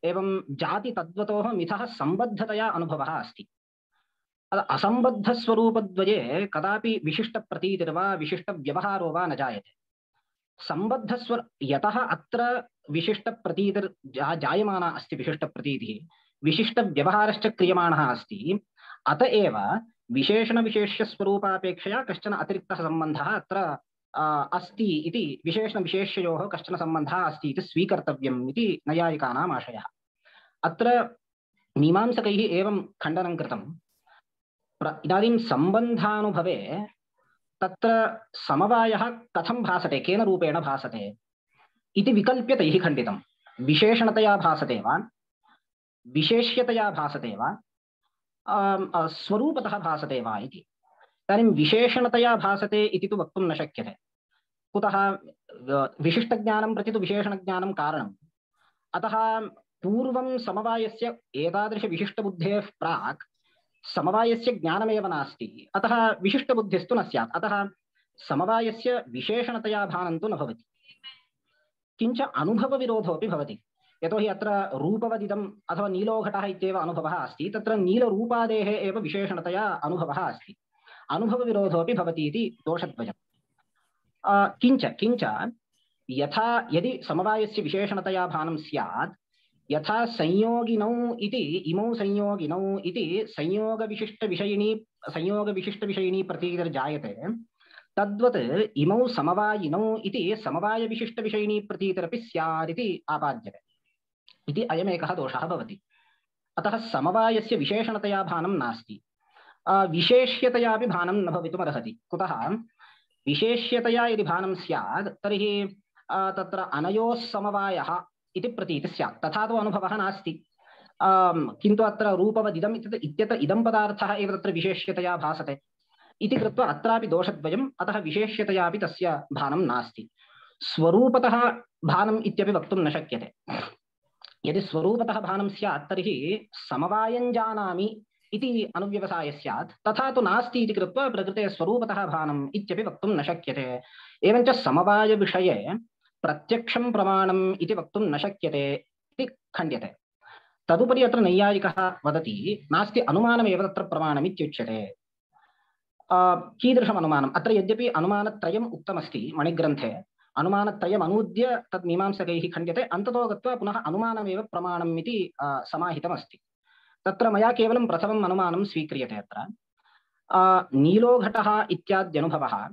एवं जातितद्वतोः मिथः सम्बद्धतया अनुभवः अस्ति। असम्बद्धस्वरूपद्वये कदापि विशिष्टप्रतीतिर्वा विशिष्टव्यवहारो वा न जायते। यतः अत्र जायमाना अस्ति विशिष्टप्रतीतिः, विशिष्टव्यवहारश्च क्रियमाणः अस्ति, अत एव विशेषणविशेष्यस्वरूपापेक्षया कश्चन अतिरिक्तः सम्बन्धः अत्र अस्ति इति, विशेषणविशेष्ययोः कश्चन सम्बन्धः अस्ति इति स्वीकर्तव्यम् इति नैयायिकानाम् आशयः। अत्र मीमांसकैः एवं खण्डनं कृतम्। इदानीं सम्बन्धानुभवे तत्र समवायः कथं भासते, केन रूपेण भासते इति विकल्प्य तैः खण्डितं। विशेषणतया भासते वा, विशेष्यतया भासते वा, स्वरूपतः भासते वा इति। इदानीं विशेषणतया भासते इति तु वक्तुं न शक्यते। कुतः? विशिष्टज्ञानं प्रति तु विशेषणज्ञानं कारणम्। अतः पूर्वं समवायस्य एतादृशविशिष्टबुद्धेः प्राक् समवायस्य ज्ञानमेव नास्ति, अतः विशिष्टबुद्धिस्तु न स्यात्। अतः समवायस्य विशेषणतया भानं तु न भवति, किञ्च अनुभवविरोधोऽपि भवति। यतोहि अत्र रूपवदिदम् अथवा नीलोघटः इत्येव अनुभवः अस्ति, तत्र नीलरूपादेः एव विशेषणतया अनुभवः अस्ति, अनुभवविरोधोऽपि भवति इति दोषद्वयम्। किञ्च यथा यदि समवायस्य विशेषणतया भानं स्यात्, यथा संयोगिनौ इति, इमौ संयोगिनौ इति संयोगविशिष्टविषयिणी प्रतीतिर्जायते, तद्वत् इमौ समवायिनौ इति समवायविशिष्टविषयिणी प्रतीतिरपि स्यात् इति आपाद्यते। इति अयमेकः दोषः भवति। अतः समवायस्य विशेषणतया भानं नास्ति, विशेष्यतयापि भानं न भवितुमर्हति। कुतः? विशेष्यतया यदि भानं स्यात् तर्हि तत्र अनयोः समवायः इति प्रतीतिः स्यात्, तथा तु अनुभवः नास्ति। किन्तु अत्र रूपवदिदम् इत्यत्र इदं पदार्थः एव तत्र विशेष्यतया भासते इति कृत्वा अत्रापि दोषद्वयम्। अतः विशेष्यतयापि तस्य भानं नास्ति। स्वरूपतः भानम् इत्यपि वक्तुं न शक्यते। यदि स्वरूपतः भानं स्यात् तर्हि समवायं जानामि इति अनुव्यवसायः स्यात्, तथा तु नास्ति इति कृत्वा प्रकृते स्वरूपतः भानम् इत्यपि वक्तुं न शक्यते। एवञ्च समवायविषये प्रत्यक्षं प्रमाणम् इति वक्तुं न शक्यते इति खण्ड्यते। तदुपरि अत्र नैयायिकः वदति नास्ति अनुमानमेव तत्र प्रमाणमित्युच्यते। कीदृशम् अनुमानम्? अत्र यद्यपि अनुमानत्रयम् उक्तमस्ति मणिग्रन्थे, अनुमानत्रयम् अनूद्य तद् मीमांसकैः खण्ड्यते, अन्ततो गत्वा पुनः अनुमानमेव प्रमाणम् इति समाहितमस्ति। तत्र मया केवलं प्रथमम् अनुमानं स्वीक्रियते। अत्र नीलोघटः इत्याद्यनुभवः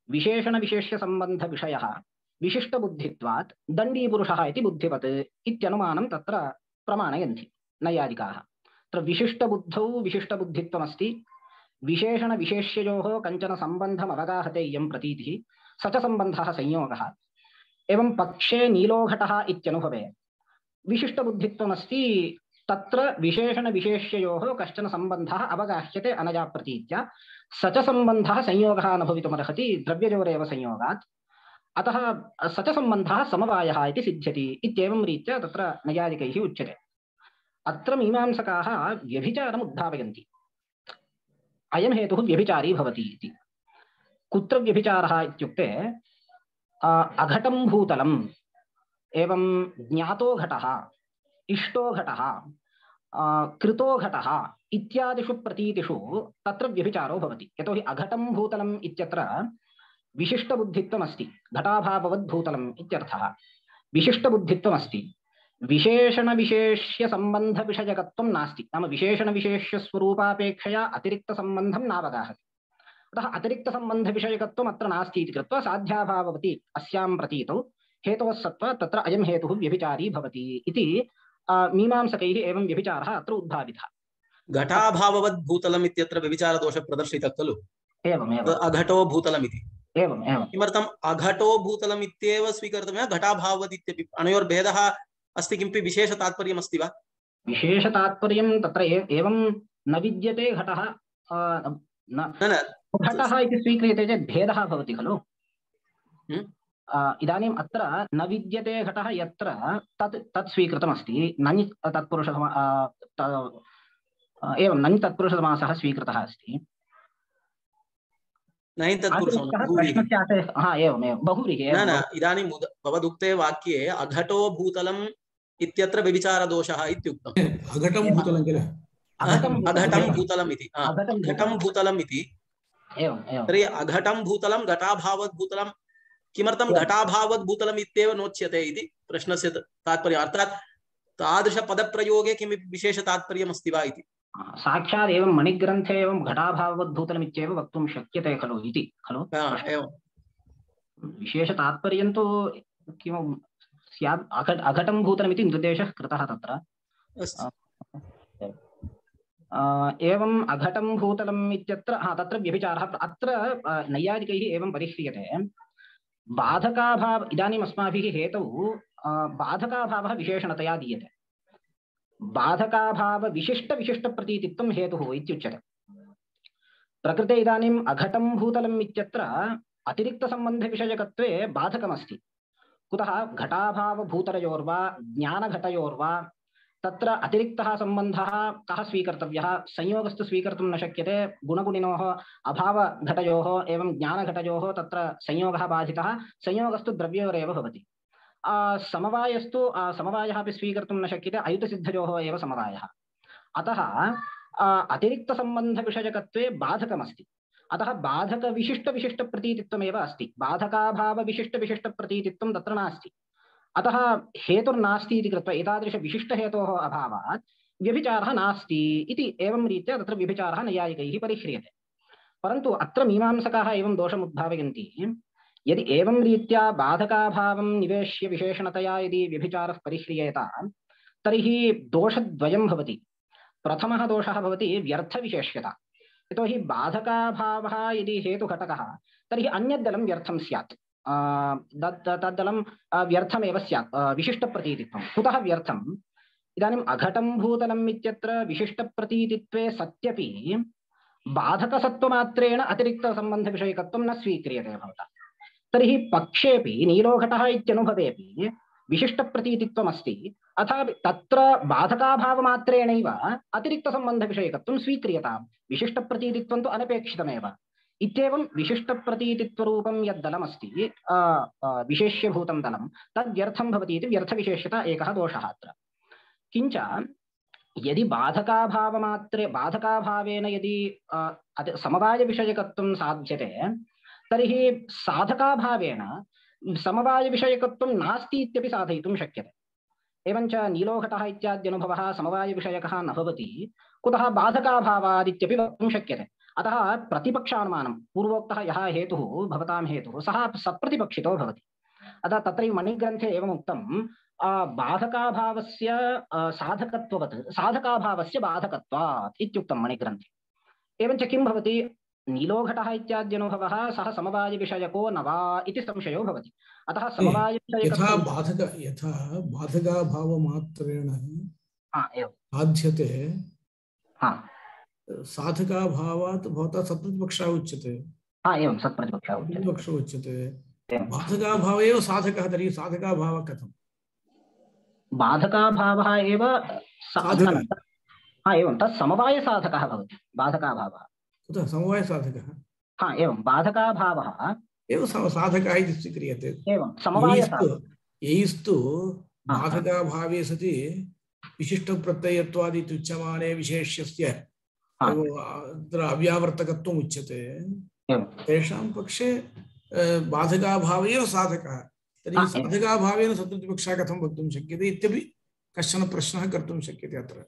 विशेषणविशेष्यसम्बन्धविषयः विशिष्टबुद्धित्वात् दण्डीपुरुषः इति बुद्धिवत् इत्यनुमानं तत्र प्रमाणयन्ति नैयायिकाः। तत्र विशिष्टबुद्धौ विशिष्टबुद्धित्वमस्ति, विशेषणविशेष्ययोः कञ्चन सम्बन्धम् अवगाहते इयं प्रतीतिः, स च सम्बन्धः संयोगः। एवं पक्षे नीलोघटः इत्यनुभवे विशिष्टबुद्धित्वमस्ति, तत्र विशेषणविशेष्ययोः कश्चन सम्बन्धः अवगाह्यते अनया प्रतीत्या, स च सम्बन्धः संयोगः न भवितुमर्हति द्रव्ययोरेव संयोगात्, अतः स च सम्बन्धः समवायः इति सिद्ध्यति इत्येवं रीत्या तत्र नैयायिकैः उच्यते। अत्र मीमांसकाः व्यभिचारम् उद्भावयन्ति। अयं हेतुः व्यभिचारी भवति इति। कुत्र व्यभिचारः इत्युक्ते अघटं भूतलम्, एवं ज्ञातो घटः, इष्टो घटः, कृतो घटः इत्यादिषु प्रतीतिषु तत्र व्यभिचारो भवति। यतोहि अघटं भूतलम् इत्यत्र विशिष्टबुद्धित्वमस्ति, घटाभाववद्भूतलम् इत्यर्थः। विशिष्टबुद्धित्वमस्ति, विशेषणविशेष्यसम्बन्धविषयकत्वं नास्ति, नाम विशेषणविशेष्यस्वरूपापेक्षया अतिरिक्तसम्बन्धं नावगाहति। अतः अतिरिक्तसम्बन्धविषयकत्वम् अत्र नास्ति इति कृत्वा साध्याभाववति अस्यां प्रतीतौ हेतोः सत्त्वात् तत्र अयं हेतुः व्यभिचारी भवति इति मीमांसकैः एवं व्यभिचारः अत्र उद्भावितः। घटाभाववद्भूतलम् इत्यत्र व्यभिचारदोषः प्रदर्शितः खलु? एवमेव। अघटो भूतलमिति। एवम् एवम्। किमर्थम् अघटो भूतलम् इत्येव स्वीकर्तव्यं? घटाभाववद् इत्यपि अनयोर्भेदः अस्ति, किमपि विशेषतात्पर्यमस्ति वा? विशेषतात्पर्यं तत्र एवं न विद्यते घटः, घटः इति स्वीक्रियते चेत् भेदः भवति खलु। इदानीम् अत्र न विद्यते घटः यत्र तत् स्वीकृतमस्ति, नञ् तत्पुरुषः एवं नञ् तत्पुरुषसमासः स्वीकृतः अस्ति। इदानीं भवदुक्ते वाक्ये अघटो भूतलम् इत्यत्र व्यभिचारदोषः इत्युक्तम्। अघटं भूतलं किल? अघटं भूतलम् इति, घटं भूतलम् इति। तर्हि अघटं भूतलं घटाभावद्भूतलं किमर्थं घटाभावद्भूतलम् इत्येव नोच्यते इति प्रश्नस्य तात्पर्यम्। अर्थात् तादृशपदप्रयोगे किमपि विशेषतात्पर्यमस्ति वा इति। साक्षात् एवं मणिग्रन्थे एवं घटाभाववद्भूतलम् इत्येव वक्तुं शक्यते खलु इति खलु। विशेषतात्पर्यं तु किं स्यात्, अघटं भूतलमिति निर्देशः कृतः तत्र। एवं अघटं भूतलम् इत्यत्र तत्र व्यभिचारः अत्र नैयायिकैः एवं परिह्रियते। बाधकाभाव, इदानीम् अस्माभिः हेतौ बाधकाभावः विशेषणतया दीयते। बाधकाभाव विशिष्टप्रतीतित्वं हेतुः इत्युच्यते। प्रकृते इदानीम् अघटं भूतलम् इत्यत्र अतिरिक्तसम्बन्धविषयकत्वे बाधकमस्ति। कुतः? घटाभावभूतलयोर्वा ज्ञानघटयोर्वा तत्र अतिरिक्तः सम्बन्धः कः स्वीकर्तव्यः? संयोगस्तु स्वीकर्तुं न शक्यते। गुणगुणिनोः अभावघटयोः एवं ज्ञानघटयोः तत्र संयोगः बाधितः, संयोगस्तु द्रव्ययोरेव भवति। समवायस्तु समवायः अपि स्वीकर्तुं न शक्यते, अयुतसिद्धयोः एव समवायः। अतः अतिरिक्तसम्बन्धविषयकत्वे बाधकमस्ति। अतः बाधकविशिष्टप्रतीतित्वमेव अस्ति, बाधकाभावविशिष्टप्रतीतित्वं तत्र नास्ति। अतः हेतुर्नास्ति इति कृत्वा एतादृशविशिष्टहेतोः अभावात् व्यभिचारः नास्ति इति एवं रीत्या तत्र व्यभिचारः नैयायिकैः परिह्रियते। परन्तु अत्र मीमांसकाः एवं दोषमुद्भावयन्ति, यदि एवं रीत्या बाधकाभावं निवेश्य विशेषणतया यदि व्यभिचारः परिह्रियेत तर्हि दोषद्वयं भवति। प्रथमः दोषः भवति व्यर्थविशेष्यता। यतोहि बाधकाभावः यदि हेतुघटकः तर्हि अन्यद्दलं व्यर्थं स्यात्, तद्दलं व्यर्थमेव स्यात् विशिष्टप्रतीतित्वं। कुतः व्यर्थम्? इदानीम् अघटं भूतलम् इत्यत्र विशिष्टप्रतीतित्वे सत्यपि बाधकसत्त्वमात्रेण अतिरिक्तसम्बन्धविषयकत्वं न स्वीक्रियते भवता। तर्हि पक्षेपि नीलोघटः इत्यनुभवेपि विशिष्टप्रतीतित्वमस्ति, अथापि तत्र बाधकाभावमात्रेणैव अतिरिक्तसम्बन्धविषयकत्वं स्वीक्रियताम्। विशिष्टप्रतीतित्वं तु अनपेक्षितमेव। इत्येवं विशिष्टप्रतीतित्वरूपं यद्दलमस्ति विशेष्यभूतं दलं तद्व्यर्थं भवति इति व्यर्थविशेष्यता एकः दोषः अत्र। किञ्च यदि बाधकाभावेन यदि समवायविषयकत्वं साध्यते तर्हि साधकाभावेन समवायविषयकत्वं नास्ति इत्यपि साधयितुं शक्यते। एवञ्च नीलोघटः इत्याद्यनुभवः समवायविषयकः न भवति कुतः बाधकाभावादित्यपि वक्तुं शक्यते। अतः प्रतिपक्षानुमानं पूर्वोक्तः यः हेतुः भवतां हेतुः सः सप्रतिपक्षितो भवति। अतः तत्रैव मणिग्रन्थे एवम् उक्तं बाधकाभावस्य साधकत्ववत् साधकाभावस्य बाधकत्वात् इत्युक्तं मणिग्रन्थे। एवञ्च किं भवति नीलोघटः इत्याद्यनुभवः सः समवायविषयको न वा इति संशयो भवति। अतः यथा बाधकाभावमात्रेण साध्यते साधकाभावात् भवता सत्प्रतिपक्षः उच्यते। एवं सत्प्रतिपक्षः उच्यते। बाधकाभाव एव साधकः, तर्हि साधकाभावः कथं? बाधकाभावः एव एवं तत् समवायसाधकः भवति बाधकाभावः। कुतः समवायसाधकः? एवं बाधकाभावः एव साधकः इति स्वीक्रियते। एवं समवायसाधकः यैस्तु बाधकाभावे सति विशिष्टप्रत्ययत्वादिति उच्यमाने विशेष्यस्य अव्यावर्तकत्वम् उच्यते, तेषां पक्षे बाधकाभाव एव साधकः। तर्हि साधकाभावेन सत्प्रतिपक्षः कथं वक्तुं शक्यते इत्यपि कश्चन प्रश्नः कर्तुं शक्यते अत्र।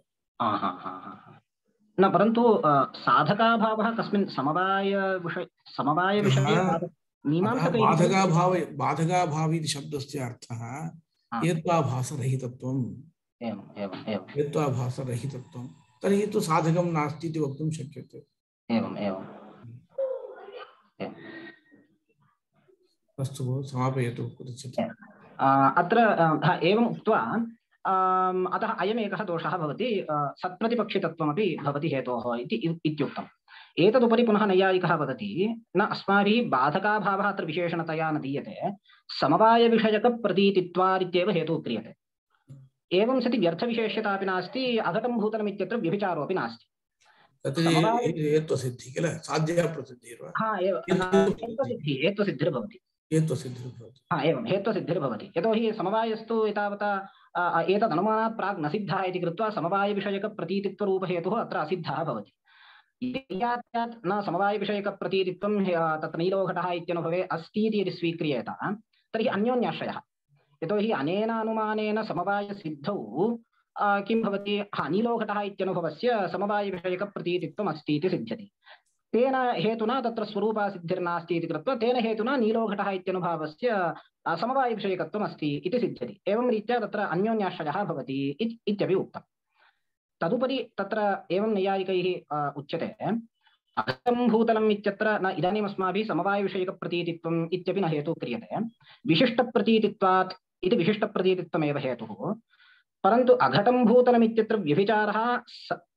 न परन्तु साधकाभावः कस्मिन् समवायविषये बाधकाभाव इति शब्दस्य अर्थः हेत्वाभासरहितत्वम्। हेत्वाभासरहितत्वं तर्हि तु साधकं नास्ति इति वक्तुं शक्यते। अस्तु भो, समापयतु कुत्रचित्। अत्र एवम् उक्त्वा अतः अयमेकः दोषः भवति, सत्प्रतिपक्षितत्वमपि भवति हेतोः इत्युक्तम्। एतदुपरि पुनः नैयायिकः वदति न अस्माभिः बाधकाभावः अत्र विशेषणतया न दीयते, समवायविषयकप्रतीतित्वादित्येव हेतुः क्रियते। एवं सति व्यर्थविशेष्यतापि नास्ति, अघटं भूतलम् इत्यत्र व्यभिचारोऽपि नास्ति। हेत्वसिद्धिः किल, साध्यप्रसिद्धिर्वा? हेत्वसिद्धिर्भवति। एवं हेत्वसिद्धिर्भवति। यतोहि समवायस्तु एतावता एतदनुमानात् प्राक् न सिद्धः इति कृत्वा समवायविषयकप्रतीतित्वरूपहेतुः अत्र असिद्धः भवति। न समवायविषयकप्रतीतित्वं तत्र नीलोघटः इत्यनुभवे अस्ति इति यदि स्वीक्रियेत तर्हि अन्योन्याश्रयः। यतोहि अनेन अनुमानेन समवायसिद्धौ किं भवति, नीलोघटः इत्यनुभवस्य समवायविषयकप्रतीतित्वम् अस्ति इति सिद्ध्यति। तेन हेतुना तत्र स्वरूपासिद्धिर्नास्ति इति कृत्वा तेन हेतुना नीलोघटः इत्यनुभावस्य समवायविषयकत्वम् अस्ति इति सिद्ध्यति। एवं रीत्या तत्र अन्योन्याश्रयः भवति इत्यपि उक्तम्। तदुपरि तत्र एवं नैयायिकैः उच्यते अघटं भूतलम् इत्यत्र न इदानीम् अस्माभिः समवायविषयकप्रतीतित्वम् इत्यपि न हेतुः क्रियते, विशिष्टप्रतीतित्वात् इति विशिष्टप्रतीतित्वमेव हेतुः। परन्तु अघटं भूतलम् इत्यत्र व्यभिचारः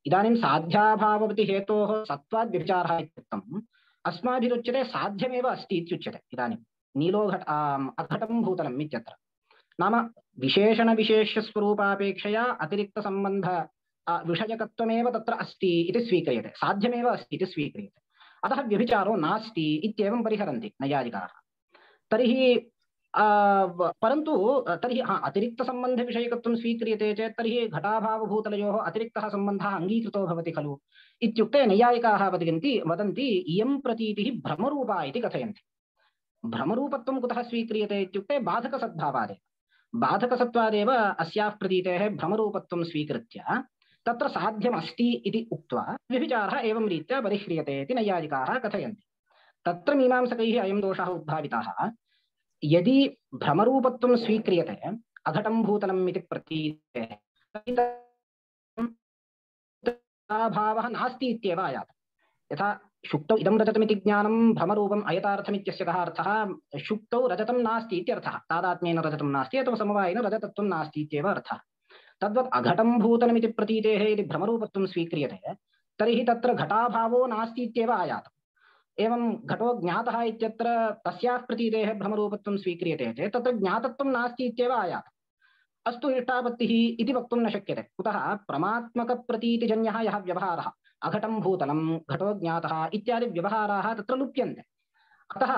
इदानीं साध्याभाववति हेतोः सत्त्वात् व्यभिचारः इत्युक्तम् अस्माभिरुच्यते साध्यमेव अस्ति इत्युच्यते। इदानीं अघटं भूतलम् इत्यत्र नाम विशेषणविशेष्यस्वरूपापेक्षया अतिरिक्तसम्बन्ध विषयकत्वमेव तत्र अस्ति इति स्वीक्रियते, साध्यमेव अस्ति इति स्वीक्रियते। अतः व्यभिचारो नास्ति इत्येवं परिहरन्ति नैयायिकाः। तर्हि परन्तु तर्हि अतिरिक्तसम्बन्धविषयकत्वं स्वीक्रियते चेत् तर्हि घटाभावभूतलयोः अतिरिक्तः सम्बन्धः अङ्गीकृतो भवति खलु इत्युक्ते नैयायिकाः वदन्ति इयं प्रतीतिः भ्रमरूपा इति कथयन्ति। भ्रमरूपत्वं कुतः स्वीक्रियते इत्युक्ते बाधकसद्भावादेव, बाधकसत्त्वादेव अस्याः प्रतीतेः भ्रमरूपत्वं स्वीकृत्य तत्र साध्यमस्ति इति उक्त्वा व्यभिचारः एवं रीत्या परिह्रियते इति नैयायिकाः कथयन्ति। तत्र मीमांसकैः अयं दोषः उद्भावितः, यदि भ्रमरूपत्वं स्वीक्रियते अघटं भूतलम् इति प्रतीतेः भावः नास्ति इत्येव आयात। यथा शुक्तौ इदं रजतमिति ज्ञानं भ्रमरूपम् अयथार्थमित्यस्य कः अर्थः, शुक्तौ रजतं नास्ति इत्यर्थः, तादात्म्येन रजतं नास्ति अथवा समवायेन रजतत्वं नास्ति इत्येव अर्थः। तद्वत् अघटं भूतलमिति प्रतीतेः यदि भ्रमरूपत्वं स्वीक्रियते तर्हि तत्र घटाभावो नास्ति इत्येव आयात। एवं घटो ज्ञातः इत्यत्र तस्याः प्रतीतेः भ्रमरूपत्वं स्वीक्रियते चेत् तत्र ज्ञातत्वं नास्ति इत्येव आयात। अस्तु इष्टापत्तिः इति वक्तुं न शक्यते। कुतः प्रमात्मकप्रतीतिजन्यः यः व्यवहारः अघटं भूतलं घटो ज्ञातः इत्यादि व्यवहाराः तत्र लुप्यन्ते। अतः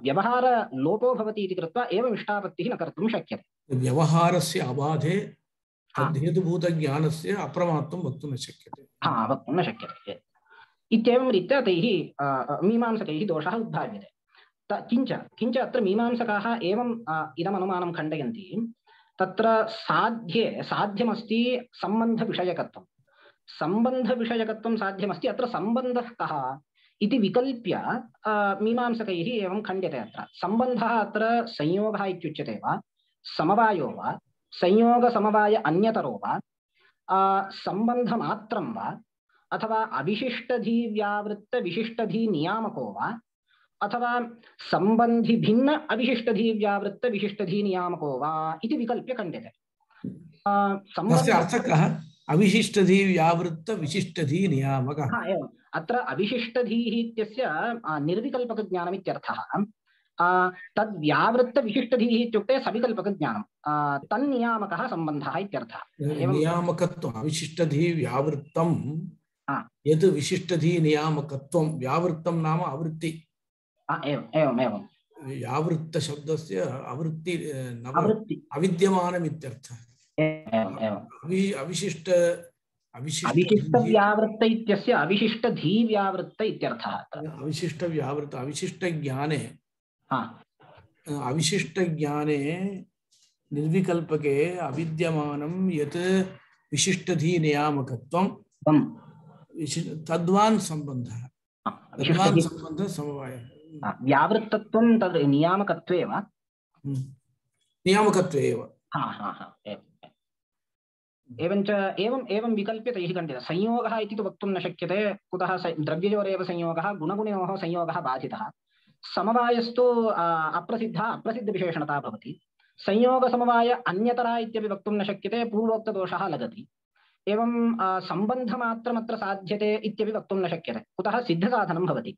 व्यवहारलोपो भवति इति कृत्वा एवम् इष्टापत्तिः न कर्तुं शक्यते। व्यवहारस्य अबाधे तद्धेतुभूतज्ञानस्य अप्रमात्वं वक्तुं न शक्यते। वक्तुं न शक्यते इत्येवं रीत्या तैः मीमांसकैः दोषः उद्भाव्यते। किञ्च अत्र मीमांसकाः एवम् इदमनुमानं खण्डयन्ति, तत्र साध्यमस्ति सम्बन्धविषयकत्वं। सम्बन्धविषयकत्वं साध्यमस्ति, अत्र सम्बन्धः कः इति विकल्प्य मीमांसकैः एवं खण्ड्यते। अत्र सम्बन्धः अत्र संयोगः इत्युच्यते वा, समवायो वा, संयोगसमवाय अन्यतरो वा, सम्बन्धमात्रं वा, अथवा अविशिष्टधीव्यावृत्तविशिष्टधीनियामको वा, अथवा सम्बन्धिभिन्न अविशिष्टधीव्यावृत्तविशिष्टधीनियामको वा इति विकल्प्य खण्ड्यते। तस्य अर्थः कः? अविशिष्टधीव्यावृत्तविशिष्टधीनियामकः। एवम्। अत्र अविशिष्टधीः इत्यस्य निर्विकल्पकज्ञानम् इत्यर्थः। तद्व्यावृत्तविशिष्टधीः इत्युक्ते सविकल्पकज्ञानं, तन्नियामकः सम्बन्धः इत्यर्थः। नियामकत्वम् अविशिष्टधीव्यावृत्तं यत् विशिष्टधीनियामकत्वं, व्यावृत्तं नाम आवृत्ति। एवं व्यावृत्तशब्दस्य आवृत्ति अविद्यमानमित्यर्थः। अविशिष्टव्यावृत्त इत्यस्य अविशिष्टधीव्यावृत्त इत्यर्थः। अविशिष्टज्ञाने अविशिष्टज्ञाने निर्विकल्पके अविद्यमानं यत् विशिष्टधीनियामकत्वं तद्वान् सम्बन्धः, तद्वान् सम्बन्धः समवायः। व्यावृत्तत्वं तद् नियामकत्वे वा? नियामकत्वे एव। एवं विकल्प्य तैः खण्डितः। संयोगः इति तु वक्तुं न शक्यते, कुतः द्रव्ययोरेव संयोगः, गुणगुणयोः संयोगः बाधितः। समवायस्तु अप्रसिद्धविशेषणता भवति। संयोगसमवाय अन्यतरा इत्यपि वक्तुं न शक्यते, पूर्वोक्तदोषः लगति। एवं सम्बन्धमात्रमत्र साध्यते इत्यपि वक्तुं न शक्यते, कुतः सिद्धसाधनं भवति।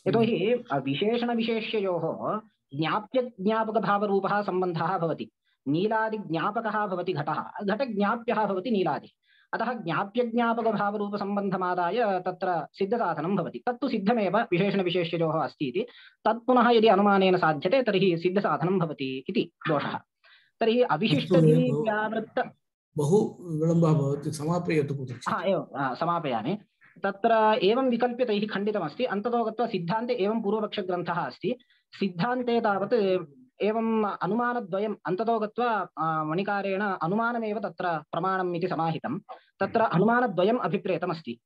यतोहि विशेषणविशेष्ययोः ज्ञाप्यज्ञापकभावरूपः सम्बन्धः भवति। नीलादिज्ञापकः भवति घटः, घटज्ञाप्यः भवति नीलादि। अतः ज्ञाप्यज्ञापकभावरूपसम्बन्धमादाय तत्र सिद्धसाधनं भवति। तत्तु सिद्धमेव विशेषणविशेष्ययोः अस्ति इति। तत् पुनः यदि अनुमानेन साध्यते तर्हि सिद्धसाधनं भवति इति दोषः। तर्हि अविशिष्टधीव्यावृत्त बहु विलम्बः भवति, समापयतु। एवं समापयामि। तत्र एवं विकल्प्य तैः खण्डितमस्ति। अन्ततो गत्वा सिद्धान्ते एवं पूर्वपक्षग्रन्थः अस्ति। सिद्धान्ते तावत् एवं अनुमानद्वयम् अन्ततो गत्वा मणिकारेण अनुमानमेव तत्र प्रमाणम् इति समाहितं। तत्र अनुमानद्वयम् अभिप्रेतमस्ति।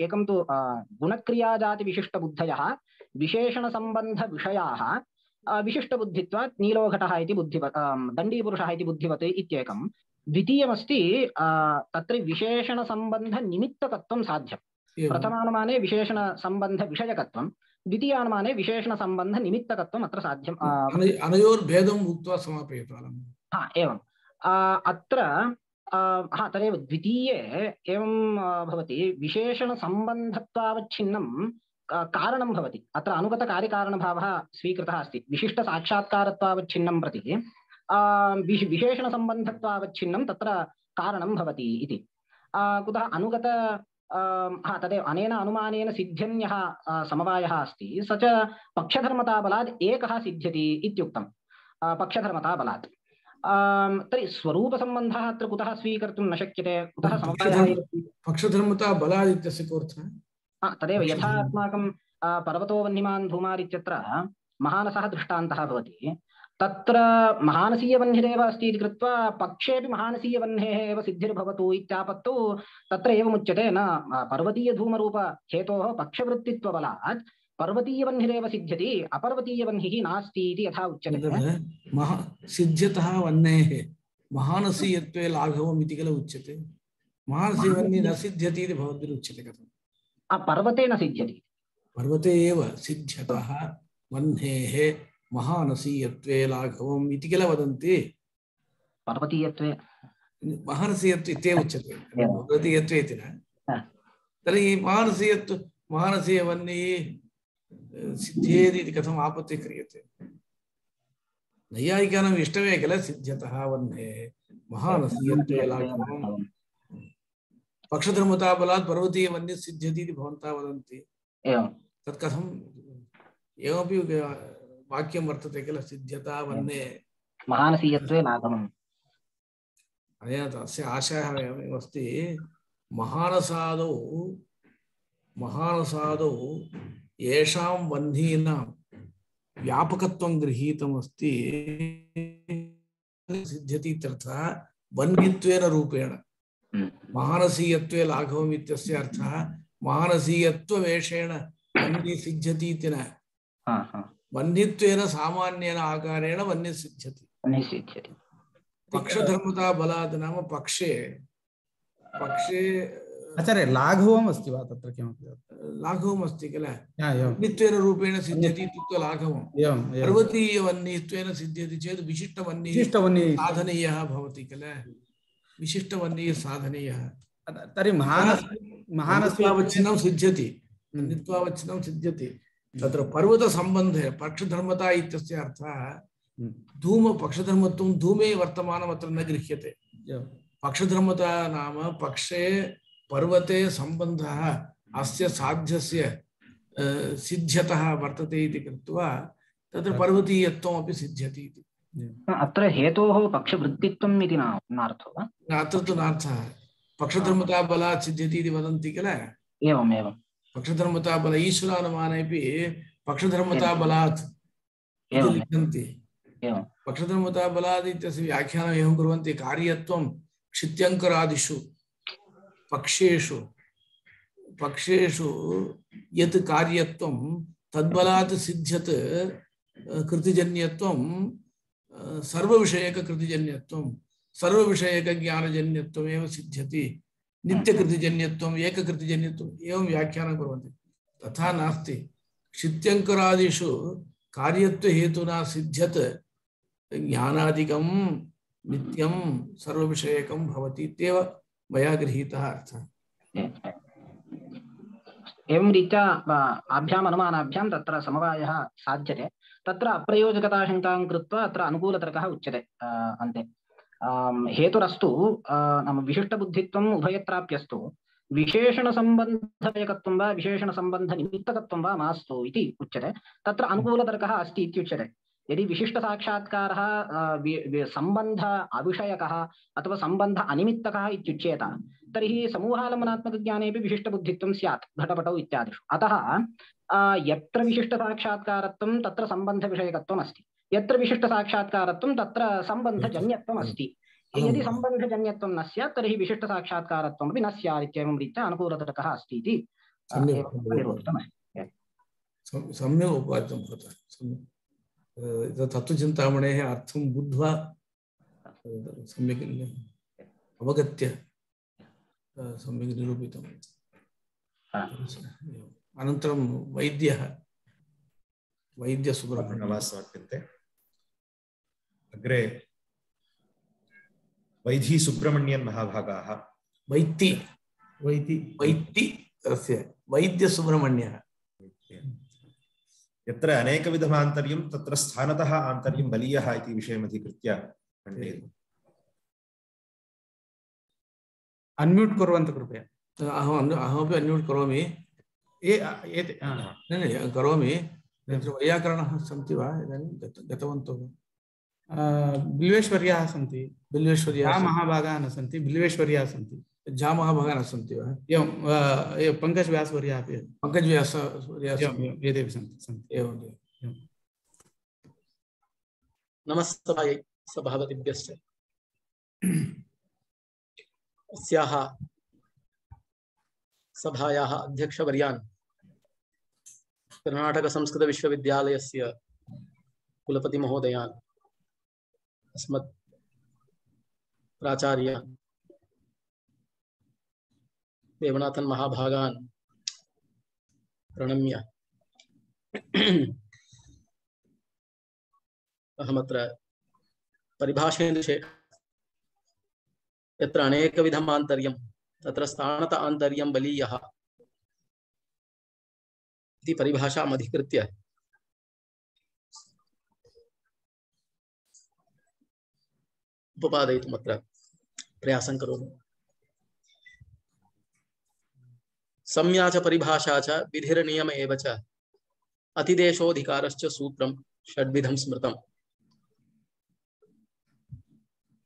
एकं तु गुणक्रियाजातिविशिष्टबुद्धयः विशेषणसम्बन्धविषयाः विशिष्टबुद्धित्वात् नीलोघटः इति दण्डीपुरुषः इति बुद्धिवत् इत्येकं। द्वितीयमस्ति तत्र विशेषणसम्बन्धनिमित्तकत्वं साध्यम्। प्रथमानुमाने विशेषणसम्बन्धविषयकत्वं, द्वितीयानुमाने विशेषणसम्बन्धनिमित्तकत्वम् अत्र साध्यम्। अनयोर्भेदम् उक्त्वा समापयतु। एवं अत्र तदेव द्वितीये एवं भवति। विशेषणसम्बन्धत्वावच्छिन्नं कारणं भवति। अत्र अनुगतकार्यकारणभावः स्वीकृतः अस्ति। विशिष्टसाक्षात्कारत्वावच्छिन्नं प्रति विशेषणसम्बन्धत्वावच्छिन्नं तत्र कारणं भवति इति। कुतः अनुगत तदेव अनेन अनुमानेन सिद्ध्यन्यः समवायः अस्ति, स च पक्षधर्मताबलात् एकः सिद्ध्यति इत्युक्तं। पक्षधर्मताबलात् तर्हि स्वरूपसम्बन्धः अत्र कुतः स्वीकर्तुं न शक्यते, कुतः समवायः? पक्षधर्मताबलात् इत्यस्य कोऽर्थः? तदेव यथा अस्माकं पर्वतो वह्निमान् धूमात् इत्यत्र महानसः दृष्टान्तः भवति। तत्र महानसीयवह्निरेव अस्ति इति कृत्वा पक्षेपि महानसीयवह्नेः एव सिद्धिर्भवतु इत्यापत्तु तत्र एवमुच्यते, न पर्वतीयधूमरूप हेतोः पक्षवृत्तित्वबलात् पर्वतीयवह्निरेव सिद्ध्यति, अपर्वतीयवह्निः नास्ति इति यथा उच्यते। सिद्ध्यतः वह्नेः महानसीयत्वे लाघवम् इति किल उच्यते। महानसीयवह्निः न सिद्ध्यति इति भवद्भिरुच्यते। कथं? पर्वते न सिद्ध्यति। पर्वते एव सिद्ध्यतः वह्नेः महानसीयत्वे लाघवम् इति किल वदन्ति। पर्वतीयत्वे महानसीयत्वे इत्येव उच्यते, पर्वतीयत्वे इति न। तर्हि महानसीयवह्निः सिद्ध्येति इति कथम् आपत्तिः क्रियते? नैयायिकानाम् इष्टमे किल सिद्ध्यतः वह्नेः महानसीयत्वे लाघवम्। पक्षधर्मताबलात् पर्वतीयवन्यः सिद्ध्यति इति भवन्तः वदन्ति। एवं तत् कथम् एवमपि वाक्यं वर्तते किल, सिद्ध्यता वन्ये महानसीयत्वे लाघवम्। अनेन तस्य आशयः एवमस्ति, महानसादौ येषां वह्नीनां व्यापकत्वं गृहीतमस्ति सिद्ध्यति इत्यर्थः वह्नित्वेन रूपेण। महानसीयत्वे लाघवम् इत्यस्य अर्थः महानसीयत्ववेषेण वह्नि सिद्ध्यति इति न, वह्नित्वेन सामान्येन आकारेण वह्नि सिद्ध्यति। पक्षधर्मता बलात् नाम पक्षे आचार्य लाघवम् अस्ति वा तत्र किमपि? लाघवम् अस्ति किल, वह्नित्वेन रूपेण सिद्ध्यति इत्युक्ते लाघवम्। पर्वतीयवह्नित्वेन सिद्ध्यति चेत् विशिष्टवह्निः साधनीयः भवति किल, विशिष्टवह्निः साधनीयः। तर्हि महानस्यावच्छिन्नं सिद्ध्यति, नित्वावच्छिन्नं सिद्ध्यति। तत्र पर्वतसम्बन्धे पक्षधर्मता इत्यस्य अर्थः धूम पक्षधर्मत्वं धूमे वर्तमानमत्र न गृह्यते। पक्षधर्मता नाम पक्षे पर्वते सम्बन्धः अस्य साध्यस्य सिद्ध्यतः वर्तते इति कृत्वा तत्र पर्वतीयत्वमपि सिद्ध्यति इति। अत्र हेतोः पक्षवृत्तित्वम् इति नार्थो वा? अत्र तु नार्थः, पक्षधर्मता बलात् सिद्ध्यति इति वदन्ति किल। एवमेवं पक्षधर्मता बल ईश्वरानुमानेपि पक्षधर्मता बलात् इति लिखन्ति। पक्षधर्मता बलात् इत्यस्य व्याख्यानम् एवं कुर्वन्ति, कार्यत्वं क्षित्यङ्करादिषु पक्षेषु यत् कार्यत्वं तद्बलात् सिद्ध्यत् कृतिजन्यत्वं सर्वविषयककृतिजन्यत्वं सर्वविषयकज्ञानजन्यत्वमेव सिद्ध्यति, नित्यकृतिजन्यत्वम् एककृतिजन्यत्वम् एवं व्याख्यानं कुर्वन्ति। तथा नास्ति, क्षित्यङ्करादिषु कार्यत्वहेतुना सिद्ध्यत् ज्ञानादिकं नित्यं सर्वविषयकं भवति इत्येव मया गृहीतः अर्थः। एवं रीत्या आभ्याम् अनुमानाभ्यां तत्र समवायः साध्यते। तत्र अप्रयोजकताशङ्कां कृत्वा अत्र अनुकूलतर्कः उच्यते अन्ते। हेतुरस्तु नाम विशिष्टबुद्धित्वम् उभयत्राप्यस्तु विशेषणसम्बन्धयकत्वं वा विशेषणसम्बन्धनिमित्तकत्वं वा मास्तु इति उच्यते। तत्र अनुकूलतर्कः अस्ति इत्युच्यते। यदि विशिष्टसाक्षात्कारः सम्बन्ध अविषयकः अथवा सम्बन्ध अनिमित्तकः इत्युच्येत तर्हि समूहालम्बनात्मकज्ञानेपि विशिष्टबुद्धित्वं स्यात् घटपटौ इत्यादिषु। अतः यत्र विशिष्टसाक्षात्कारत्वं तत्र सम्बन्धविषयकत्वम् अस्ति, यत्र विशिष्टसाक्षात्कारत्वं तत्र सम्बन्धजन्यत्वम् अस्ति। यदि सम्बन्धजन्यत्वं न स्यात् तर्हि विशिष्टसाक्षात्कारत्वमपि न स्यात् इत्येवं रीत्या अनुकूलतर्कः अस्ति इति निरूपितमस्ति। सम्यक् उपादितं भवतः। तत्त्वचिन्तामणेः अर्थं बुद्ध्वा सम्यक् अवगत्य सम्यक् निरूपितम्। अनन्तरं वैद्यसुब्रह्मण्यः समर्प्यन्ते। अग्रे वैधी सुब्रह्मण्यन् महाभागाः वैद्यसुब्रह्मण्यः यत्र अनेकविधमान्तर्यं तत्र स्थानतः आन्तर्यं बलीयः इति विषयमधिकृत्य खण्डयतु। अन्म्यूट् कुर्वन्तु कृपया। अहमपि अन्म्यूट् करोमि। करोमि। वैयाकरणाः सन्ति वा इदानीं गतवन्तौ? बिल्वेश्वर्याः सन्ति, बिल्वेश्वर्याः महाभागाः न सन्ति, बिल्वेश्वर्याः सन्ति, महाभागाः न सन्ति वा? एवं पङ्कजव्यासवर्याः अपि एतेपि सन्ति। एवं नमस्ते सभापतिभ्यश्च। अस्याः सभायाः अध्यक्षवर्यान् कर्णाटकसंस्कृतविश्वविद्यालयस्य कुलपतिमहोदयान् अस्मत् प्राचार्यान् देवनाथन् महाभागान् प्रणम्य अहमत्र परिभाषेन्दुषे यत्र अनेकविधम् आन्तर्यं तत्र स्थानत आन्तर्यं बलीयः इति परिभाषाम् अधिकृत्य उपपादयितुम् अत्र प्रयासं करोमि। संज्ञा च परिभाषा च विधिर्नियम एव च अतिदेशोऽधिकारश्च सूत्रं षड्विधं स्मृतम्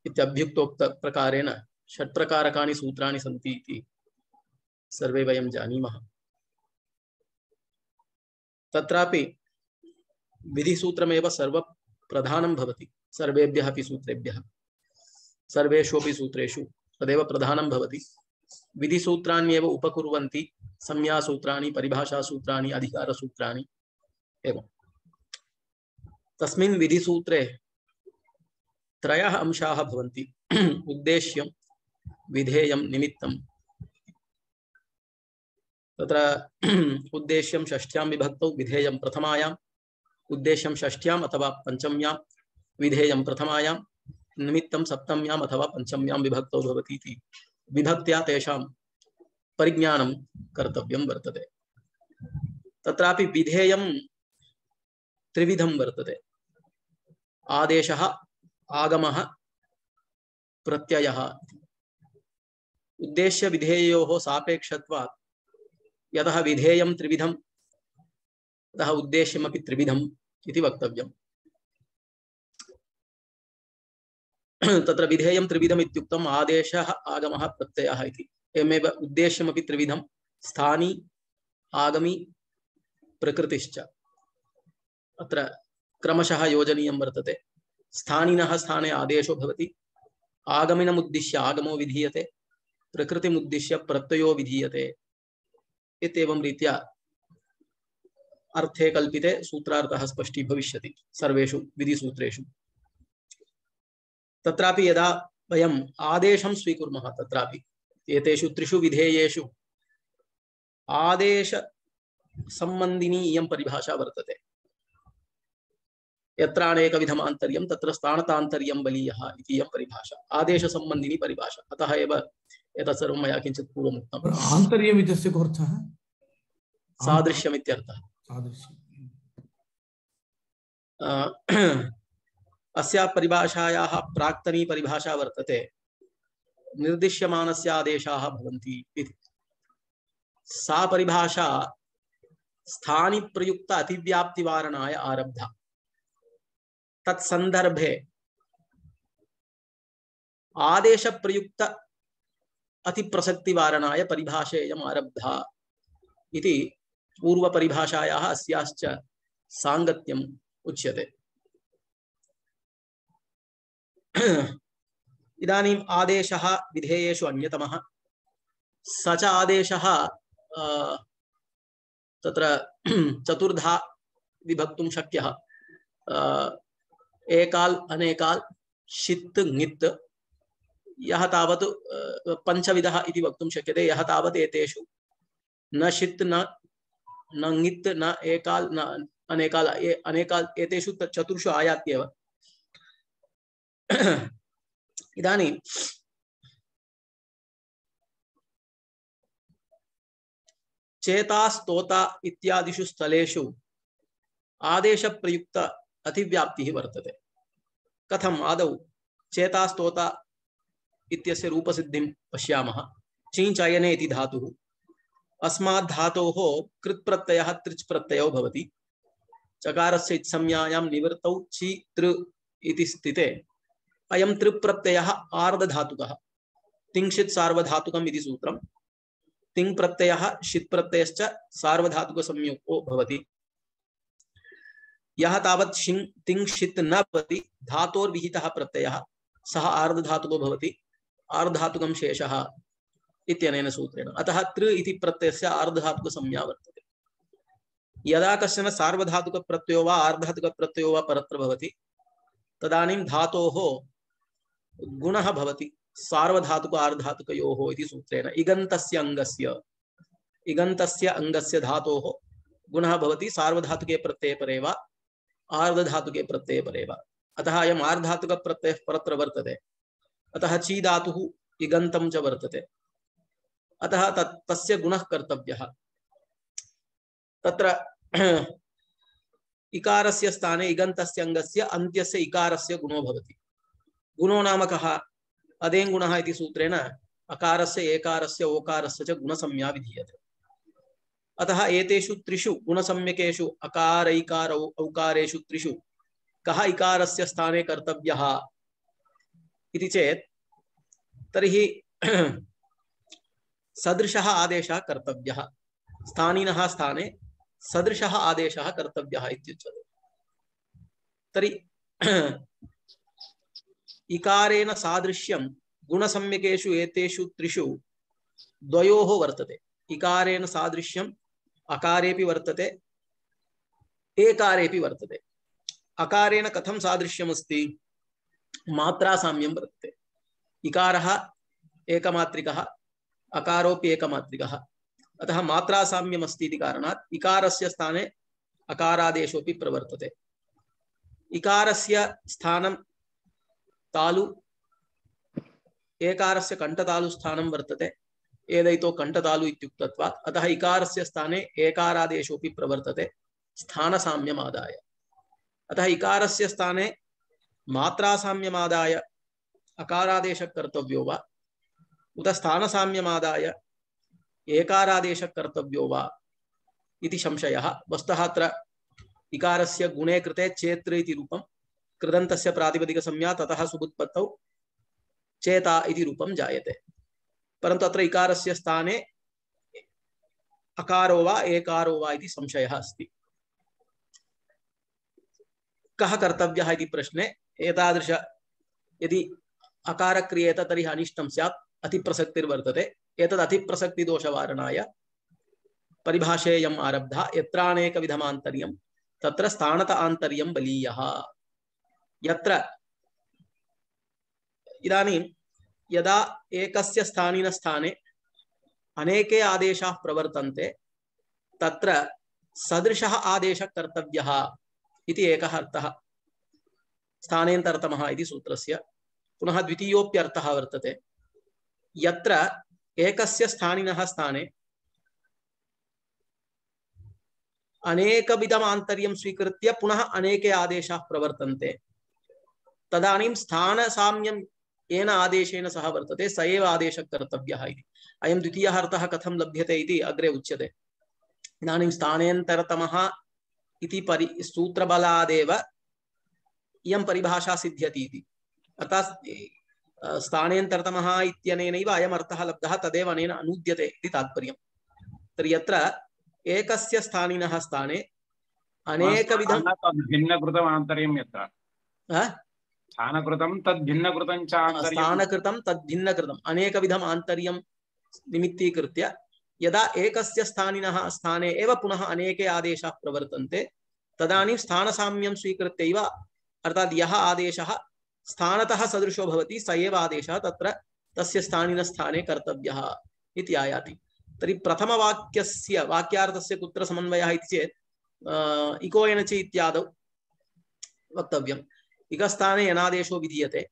इत्यभ्युक्तोक्त प्रकारेण षट्प्रकारकाणि सूत्राणि सन्ति इति सर्वे वयं जानीमः। तत्रापि विधिसूत्रमेव सर्वप्रधानं भवति सर्वेभ्यः अपि सूत्रेभ्यः सर्वेषु अपि सूत्रेषु तदेव प्रधानं भवति। विधिसूत्राण्येव उपकुर्वन्ति संज्ञासूत्राणि परिभाषासूत्राणि अधिकारसूत्राणि एवं। तस्मिन् विधिसूत्रे त्रयः अंशाः भवन्ति उद्देश्यं विधेयं निमित्तं। तत्र उद्देश्यं षष्ठ्यां विभक्तौ विधेयं प्रथमायाम् उद्देश्यं षष्ठ्याम् अथवा पंचम्यां विधेयं प्रथमायां निमित्तं सप्तम्याम् अथवा पंचम्यां विभक्तौ भवति इति विभक्त्या तेषां परिज्ञानं कर्तव्यं वर्तते। तत्रापि विधेयं त्रिविधं वर्तते आदेशः आगमः प्रत्ययः। उद्देश्य विधेयोः सापेक्षत्वात् यतः विधेयं त्रिविधम् अतः उद्देश्यमपि त्रिविधम् इति वक्तव्यम्। तत्र विधेयं त्रिविधम् इत्युक्तम् आदेशः आगमः प्रत्ययः इति। एवमेव उद्देश्यमपि त्रिविधं स्थानी आगमी प्रकृतिश्च। अत्र क्रमशः योजनीयं वर्तते। स्थानिनः स्थाने आदेशो भवति, आगमिनमुद्दिश्य आगमो विधीयते, प्रकृतिमुद्दिश्य प्रत्ययो विधीयते इत्येवं रीत्या अर्थे कल्पिते सूत्रार्थः स्पष्टी भविष्यति सर्वेषु विधिसूत्रेषु। तत्रापि यदा वयम् आदेशं स्वीकुर्मः तत्रापि एतेषु त्रिषु विधेयेषु आदेश संबन्धिनी इयं परिभाषा वर्तते। यत्र अनेकविधम् आन्तर्यं तत्र स्थानतान्तर्यं बलीयः इति इयं परिभाषा आदेश संबन्धिनी परिभाषा। अतः एव एतत् सर्वं मया किञ्चित् पूर्वम् उक्तम्। आन्तर्यम् इत्यस्य कोऽर्थः? सादृश्यम् इत्यर्थः। अस्या परिभाषायाः प्राक्तनी परिभाषा वर्तते निर्दिश्यमानस्य आदेशाः भवन्ति इति। सा परिभाषा स्थानि प्रयुक्त अतिव्याप्तिवारणाय आरब्धा। तत्संदर्भे आदेश प्रयुक्त अतिप्रसक्तिवारणाय परिभाषेयम् आरब्धा इति पूर्व परिभाषायाः अस्याश्च सांगत्यम् उच्यते। इदानीम् आदेशः विधेयेषु अन्यतमः। स च आदेशः तत्र चतुर्धा विभक्तुं शक्यः। एकाल अनेकाल शित् ङित् यः तावत् पंचविधः इति वक्तुं शक्यते। यः तावत् एतेषु न शित् न ङित् न एकाल न अनेकाल अनेकाल एतेषु चतुर्षु आयात्येव। इदानीं चेता स्तोता इत्यादिषु स्थलेषु आदेश प्रयुक्त अतिव्याप्तिः वर्तते। कथम्? आदौ चेता स्तोता इत्यस्य रूपसिद्धिं पश्यामः। चींचयने इति धातुः। अस्मात् धातोः कृत् प्रत्ययः त्रिच् प्रत्ययो भवति। चकारस्य इत्संज्ञायां निवृत्तौ ची तृ इति स्थिते अयं तृ प्रत्ययः आर्धधातुकः। तिंशित् सार्वधातुकम् इति सूत्रम्। तिंग प्रत्ययः शित् प्रत्ययश्च सार्वधातुक संयुक्तो भवति। यः तावत् तिंग शित् न भवति धातोर्विहितः प्रत्ययः सः आर्धधातुको भवति। आर्धधातुकं शेषः इत्यनेन सूत्रेण। अतः तृ इति प्रत्ययस्य आर्धधातुक संज्ञा वर्तते। यदा कश्चन सार्वधातुक प्रत्ययो वा आर्धधातुक प्रत्ययो वा परत्र भवति तदानीं धातोः गुणः भवति सार्वधातुक आर्धधातुकयोः इति सूत्रेण। इगन्तस्य अंगस्य धातोः गुणः भवति सार्वधातुके प्रत्यये परे वा आर्धधातुके प्रत्यये परे वा। अतः अयम् आर्धधातुक प्रत्ययः परत्र वर्तते। अतः ची धातुः इगन्तं च वर्तते। अतः तस्य गुणः कर्तव्यः। तत्र इकारस्य स्थाने इगन्तस्य अंगस्य अन्त्यस्य इकारस्य गुणो भवति। गुणो नाम कः? अदेङ्गुणः इति सूत्रेण अकारस्य एकारस्य ओकारस्य च गुणसंज्ञा विधीयते। अतः एतेषु त्रिषु गुणसम्यकेषु अकारैकार औकारेषु त्रिषु कः इकारस्य स्थाने कर्तव्यः इति चेत् तर्हि सदृशः आदेशः कर्तव्यः, स्थानिनः स्थाने सदृशः आदेशः कर्तव्यः इत्युच्यते। तर्हि इकारेण सादृश्यं गुणसम्यकेषु एतेषु त्रिषु द्वयोः वर्तते। इकारेण सादृश्यम् अकारेपि वर्तते, एकारेपि वर्तते। अकारेण कथं सादृश्यमस्ति? मात्रासाम्यं वर्तते। इकारः एकमात्रिकः, अकारोपि एकमात्रिकः, अतः मात्रासाम्यम् अस्ति इति कारणात् इकारस्य स्थाने अकारादेशोऽपि प्रवर्तते। इकारस्य स्थानं तालु, एकारस्य कण्ठतालु स्थानं वर्तते। एदैतो कण्ठतालु इत्युक्तत्वात् अतः इकारस्य स्थाने एकारादेशोऽपि प्रवर्तते स्थानसाम्यमादाय। अतः इकारस्य स्थाने मात्रासाम्यमादाय अकारादेशः कर्तव्यो वा उत स्थानसाम्यमादाय एकारादेशः कर्तव्यो वा इति संशयः। वस्तुतः अत्र इकारस्य गुणे कृते चेत्र इति रूपं, कृदन्तस्य प्रातिपदिकसंज्ञा ततः सुबुत्पत्तौ चेता इति रूपं जायते। परन्तु अत्र इकारस्य स्थाने अकारो वा एकारो वा इति संशयः अस्ति। कः कर्तव्यः इति प्रश्ने एतादृश यदि अकार क्रियेत तर्हि अनिष्टं स्यात्, अतिप्रसक्तिर्वर्तते। एतद् अतिप्रसक्तिदोषवारणाय परिभाषेयम् आरब्धा। यत्रानेकविधमान्तर्यं तत्र स्थानत आन्तर्यं बलीयः। यत्र इदानीं यदा एकस्य स्थानिनस्थाने अनेके आदेशाः प्रवर्तन्ते तत्र सदृशः आदेशः कर्तव्यः इति एकः अर्थः स्थानेन्तरतमः इति सूत्रस्य। पुनः द्वितीयोऽप्यर्थः वर्तते, यत्र एकस्य स्थानिनः स्थाने अनेकविधम् आन्तर्यं स्वीकृत्य पुनः अनेके आदेशाः प्रवर्तन्ते तदानीं स्थानसाम्यं येन आदेशेन सह वर्तते स एव आदेशः कर्तव्यः इति। अयं द्वितीयः अर्थः कथं लभ्यते इति अग्रे उच्यते। इदानीं स्थानेन्तरतमः इति सूत्रबलादेव इयं परिभाषा सिद्ध्यति इति। अर्थात् स्थानेन्तरतमः इत्यनेनैव अयम् अर्थः लब्धः, तदेव अनेन अनूद्यते इति तात्पर्यम्। तर्हि यत्र एकस्य स्थानिनः स्थाने अनेकविधं भिन्नकृतम् आन्तर्यं यत्र स्थानकृतं तद्भिन्नकृतं च आन्तर्यं, स्थानकृतं तद्भिन्नकृतम् अनेकविधम् आन्तर्यं निमित्तीकृत्य यदा एकस्य स्थानिनः स्थाने एव पुनः अनेके आदेशाः प्रवर्तन्ते तदानीं स्थानसाम्यं स्वीकृत्यैव, अर्थात् यः आदेशः स्थानतः सदृशो भवति स एव आदेशः तत्र तस्य स्थानिनस्थाने कर्तव्यः इति आयाति। तर्हि प्रथमवाक्यस्य वाक्यार्थस्य कुत्र समन्वयः इति चेत् इको एनचि इत्यादौ वक्तव्यम्। इकस्थाने यनादेशो विधीयते,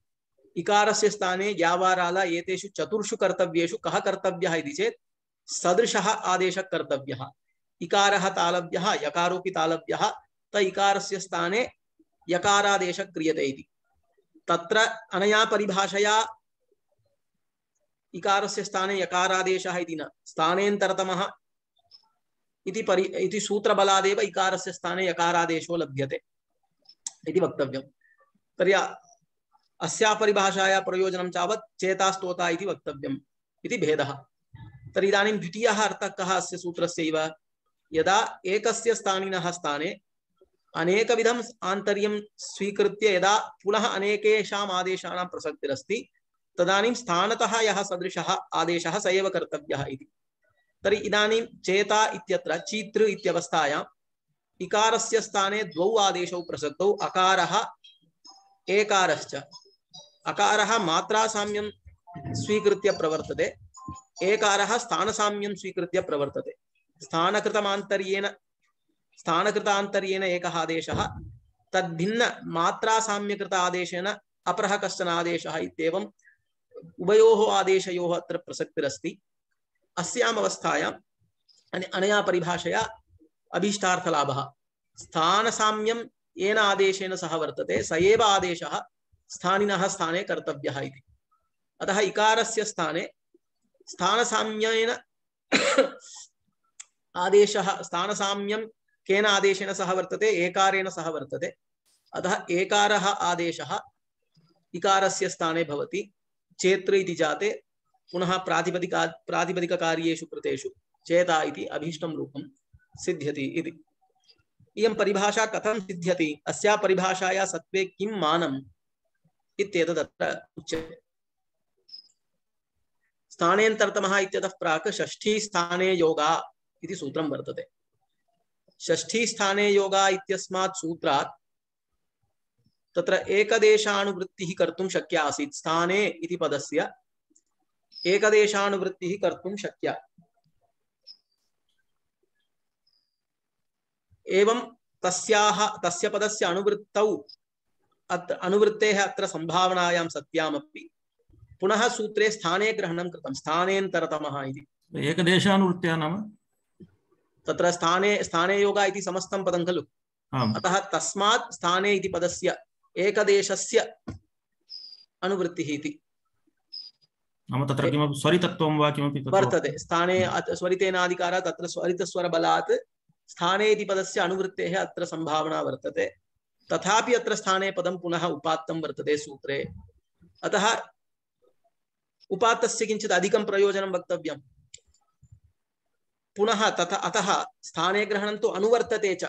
इकारस्य स्थाने यावाराल एतेषु चतुर्षु कर्तव्येषु कः कर्तव्यः इति चेत् सदृशः आदेशः कर्तव्यः। इकारः तालव्यः, यकारोपि तालव्यः, त इकारस्य स्थाने यकारादेशः क्रियते इति। तत्र अनया परिभाषया इकारस्य स्थाने यकारादेशः इति न, स्थानेन्तरतमः इति सूत्रबलादेव इकारस्य स्थाने यकारादेशो लभ्यते इति वक्तव्यम्। तर्हि अस्या परिभाषाया प्रयोजनं तावत् चेतास्तोता इति वक्तव्यम् इति भेदः। तर्हि इदानीं द्वितीयः अर्थः कः अस्य सूत्रस्यैव? यदा एकस्य स्थानिनः स्थाने अनेकविधम् आन्तर्यं स्वीकृत्य यदा पुनः अनेकेषाम् आदेशानां प्रसक्तिरस्ति तदानीं स्थानतः यः सदृशः आदेशः स एव कर्तव्यः इति। तर्हि इदानीं चेता इत्यत्र चीतृ इत्यवस्थायाम् इकारस्य स्थाने द्वौ आदेशौ प्रसक्तौ, अकारः एकारश्च। अकारः मात्रासाम्यं स्वीकृत्य प्रवर्तते, एकारः स्थानसाम्यं स्वीकृत्य प्रवर्तते। स्थानकृतान्तर्येण एकः आदेशः, तद्भिन्न मात्रासाम्यकृत आदेशेन अपरः कश्चन आदेशः इत्येवम् उभयोः आदेशयोः अत्र प्रसक्तिरस्ति। अस्याम् अवस्थायाम् अनया परिभाषया अभीष्टार्थलाभः। स्थानसाम्यं येन आदेशेन सह वर्तते स एव आदेशः स्थानिनः स्थाने कर्तव्यः इति। अतः इकारस्य स्थाने स्थानसाम्येन आदेशः स्थानसाम्यं केन आदेशेन सह वर्तते एकारेण सह वर्तते अतः एकारः आदेशः इकारस्य स्थाने भवति चेत्र इति जाते पुनः प्रातिपदिककार्येषु कृतेषु चेता इति अभीष्टं रूपं सिद्ध्यति इति इयं परिभाषा कथं सिद्ध्यति अस्या परिभाषाया सत्त्वे किं मानम् इत्येतत् अत्र उच्यते स्थानेन्तरतमः इत्यतः प्राक् षष्ठी स्थाने योगा इति सूत्रं वर्तते षष्ठी स्थाने योगा इत्यस्मात् सूत्रात् तत्र एकदेशानुवृत्तिः कर्तुं शक्या आसीत् स्थाने इति पदस्य एकदेशानुवृत्तिः कर्तुं शक्या एवं तस्य पदस्य अनुवृत्तौ अनुवृत्तेः अत्र संभावनायां सत्यामपि पुनः सूत्रे स्थाने ग्रहणं कृतं स्थानेन्तरतमः इति एकदेशानुवृत्त्या नाम तत्र स्थाने योगा इति समस्तं पदं खलु अतः तस्मात् स्थाने इति पदस्य एकदेशस्य अनुवृत्तिः इति नाम तत्र किमपि स्वरितत्वं वा किमपि वर्तते स्थाने स्वरितेनादिकारात् तत्र स्वरितस्वरबलात् स्थाने इति पदस्य अनुवृत्तेः अत्र संभावना वर्तते तथापि अत्र स्थाने पदं पुनः उपात्तं वर्तते सूत्रे अतः उपात्तस्य किञ्चित् अधिकं प्रयोजनं वक्तव्यं पुनः अतः स्थाने ग्रहणं तु अनुवर्तते च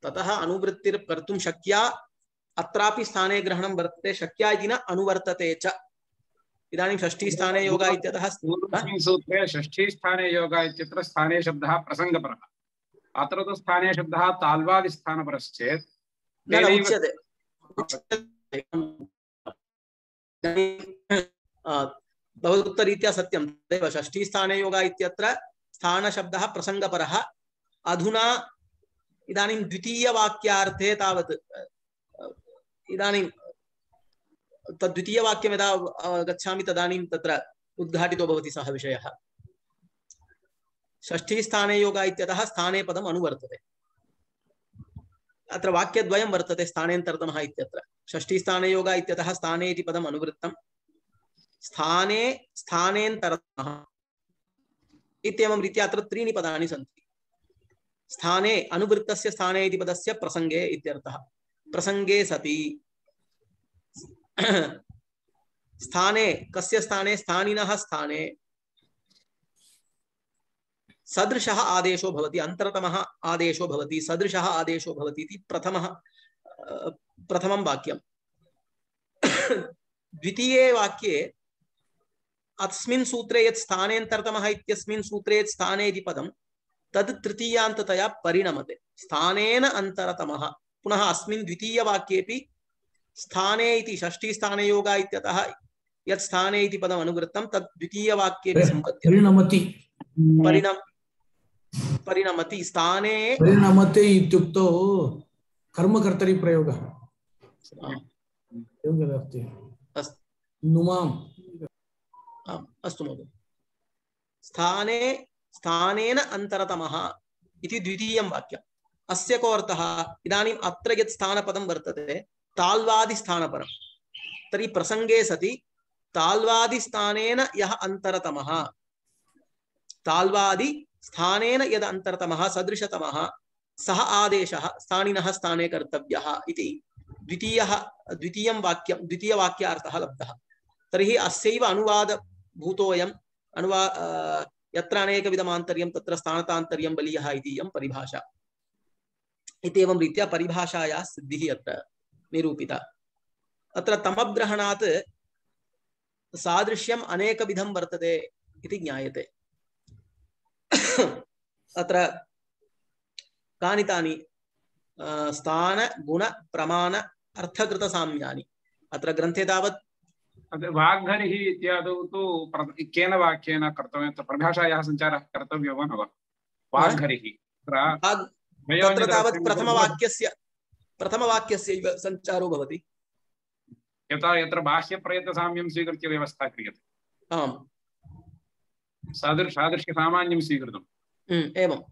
ततः अनुवृत्तिर् कर्तुं शक्या अत्रापि स्थाने ग्रहणं वर्तते शक्या इति न अनुवर्तते च इदानीं षष्ठी स्थाने योगा इत्यतः सूत्रे षष्ठी स्थाने योगा इत्यत्र स्थाने शब्दः प्रसङ्गपरः अत्र तु स्थाने शब्दः ताल्वादिस्थानपरश्चेत् उच्यते भवदुक्तरीत्या सत्यं तदेव षष्ठी स्थाने योगा इत्यत्र स्थानशब्दः प्रसङ्गपरः अधुना इदानीं द्वितीयवाक्यार्थे तावत् इदानीं तद्वितीयवाक्यं यदा गच्छामि तदानीं तत्र उद्घाटितो भवति सः विषयः षष्ठी स्थाने योगा इत्यतः स्थाने पदम् अनुवर्तते अत्र वाक्यद्वयं वर्तते स्थानेन्तरतमः इत्यत्र षष्ठी स्थाने योगा इत्यतः स्थाने इति पदम् अनुवृत्तं स्थाने स्थानेन्तरतमः इत्येवं रीत्या अत्र त्रीणि पदानि सन्ति स्थाने अनुवृत्तस्य स्थाने इति पदस्य प्रसङ्गे इत्यर्थः प्रसङ्गे सति स्थाने कस्य स्थाने स्थानिनः स्थाने सदृशः आदेशो भवति अन्तरतमः आदेशो भवति सदृशः आदेशो भवति इति प्रथमं वाक्यं द्वितीये वाक्ये अस्मिन् सूत्रे यत् स्थानेन्तरतमः इत्यस्मिन् सूत्रे यत् स्थाने इति पदं तद् तृतीयान्ततया परिणमते स्थानेन अन्तरतमः पुनः अस्मिन् द्वितीयवाक्येपि स्थाने इति षष्ठी स्थाने योगा इत्यतः यत् स्थाने इति पदम् अनुवृत्तं तद् द्वितीयवाक्येपि परिणमति परिणमति स्थाने परिणमते इत्युक्तौ कर्मकर्तरि प्रयोगः योगदस्ति नुमाम् अस्तु महोदय स्थाने स्थानेन अन्तरतमः इति द्वितीयं वाक्यम् अस्य को अर्थः इदानीम् अत्र यत् स्थानपदं वर्तते ताल्वादिस्थानपरं तर्हि प्रसङ्गे सति ताल्वादिस्थानेन यः अन्तरतमः ताल्वादि स्थानेन यद अन्तरतमः सदृशतमः सः आदेशः स्थानिनः स्थाने कर्तव्यः इति द्वितीयवाक्यार्थः लब्धः तर्हि अस्यैव अनुवादभूतोऽयं यत्र अनेकविधमान्तर्यं तत्र स्थानतान्तर्यं बलीयः इति इयं परिभाषा इत्येवं रीत्या परिभाषायाः सिद्धिः अत्र निरूपिता अत्र तमग्रहणात् सादृश्यम् अनेकविधं वर्तते इति ज्ञायते अत्र कानि तानि स्थान गुण प्रमाण अर्थकृत साम्यानि अत्र ग्रन्थे तावत् वाग्हरिः इत्यादौ तु केन वाक्येन कर्तव्यं परिभाषायाः सञ्चारः कर्तव्यो वा न वा वाग्हरिः तत्र तावत् प्रथमवाक्यस्य सञ्चारो भवति यत्र बाह्यप्रयत्नसाम्यं स्वीकृत्य व्यवस्था क्रियते आम् सादृश्यसामान्यं स्वीकृतम् एवं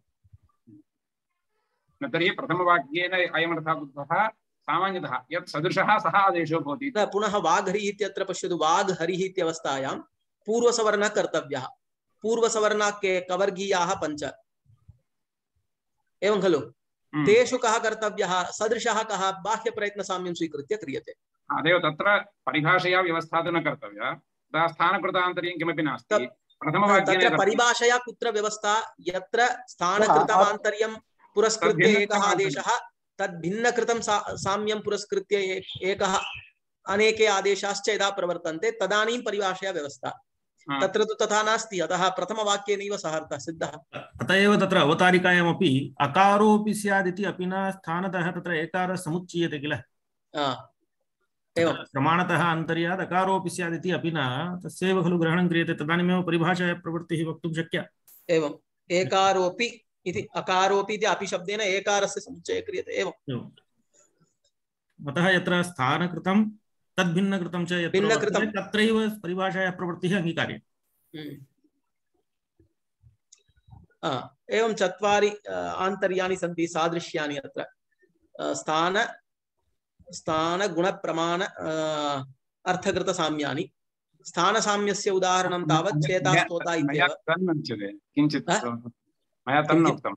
तर्हि प्रथमवाक्येन अयमर्थः बुद्धः सामान्यतः यत् सदृशः सः आदेशो भवति पुनः वाग्हरिः इत्यत्र पश्यतु वाग्हरिः इत्यवस्थायां पूर्वसवर्णः कर्तव्यः पूर्वसवर्णाः के कवर्गीयाः 5 एवं खलु तेषु कः कर्तव्यः सदृशः कः बाह्यप्रयत्नसाम्यं स्वीकृत्य क्रियते अदेव तत्र परिभाषया व्यवस्था तु न कर्तव्या तदा स्थानकृतान्तर्यं किमपि नास्ति तत्र परिभाषया कुत्र व्यवस्था यत्र स्थानकृतमान्तर्यं पुरस्कृत्य एकः आदेशः तद्भिन्नकृतं साम्यं पुरस्कृत्य एकः अनेके आदेशाश्च यदा प्रवर्तन्ते तदानीं परिभाषया व्यवस्था तत्र तु तथा नास्ति अतः प्रथमवाक्येनैव सः अर्थः सिद्धः अत एव तत्र अवतारिकायामपि अकारोऽपि स्यादिति अपि न स्थानतः तत्र एकारः समुच्चीयते किल प्रमाणतः अन्तर्यात् अकारोऽपि स्यादिति अपि न तस्यैव खलु ग्रहणं क्रियते तदानीमेव परिभाषायाः प्रवृत्तिः वक्तुं शक्या एवम् एकारोऽपि इति अकारोऽपि इति अपि शब्देन एकारस्य समुच्चयः क्रियते एवम् अतः यत्र स्थानकृतं तद्भिन्नकृतं च यत्र तत्रैव परिभाषायाः प्रवृत्तिः अंगीकार्या एवं चत्वारि आन्तर्याणि सन्ति सादृश्यानि अत्र स्थान गुण प्रमाण अर्थकृत साम्यानि स्थानसाम्यस्य उदाहरणं तावत् चेता स्तोता इत्येव किञ्चित् मया तन्नोक्तम्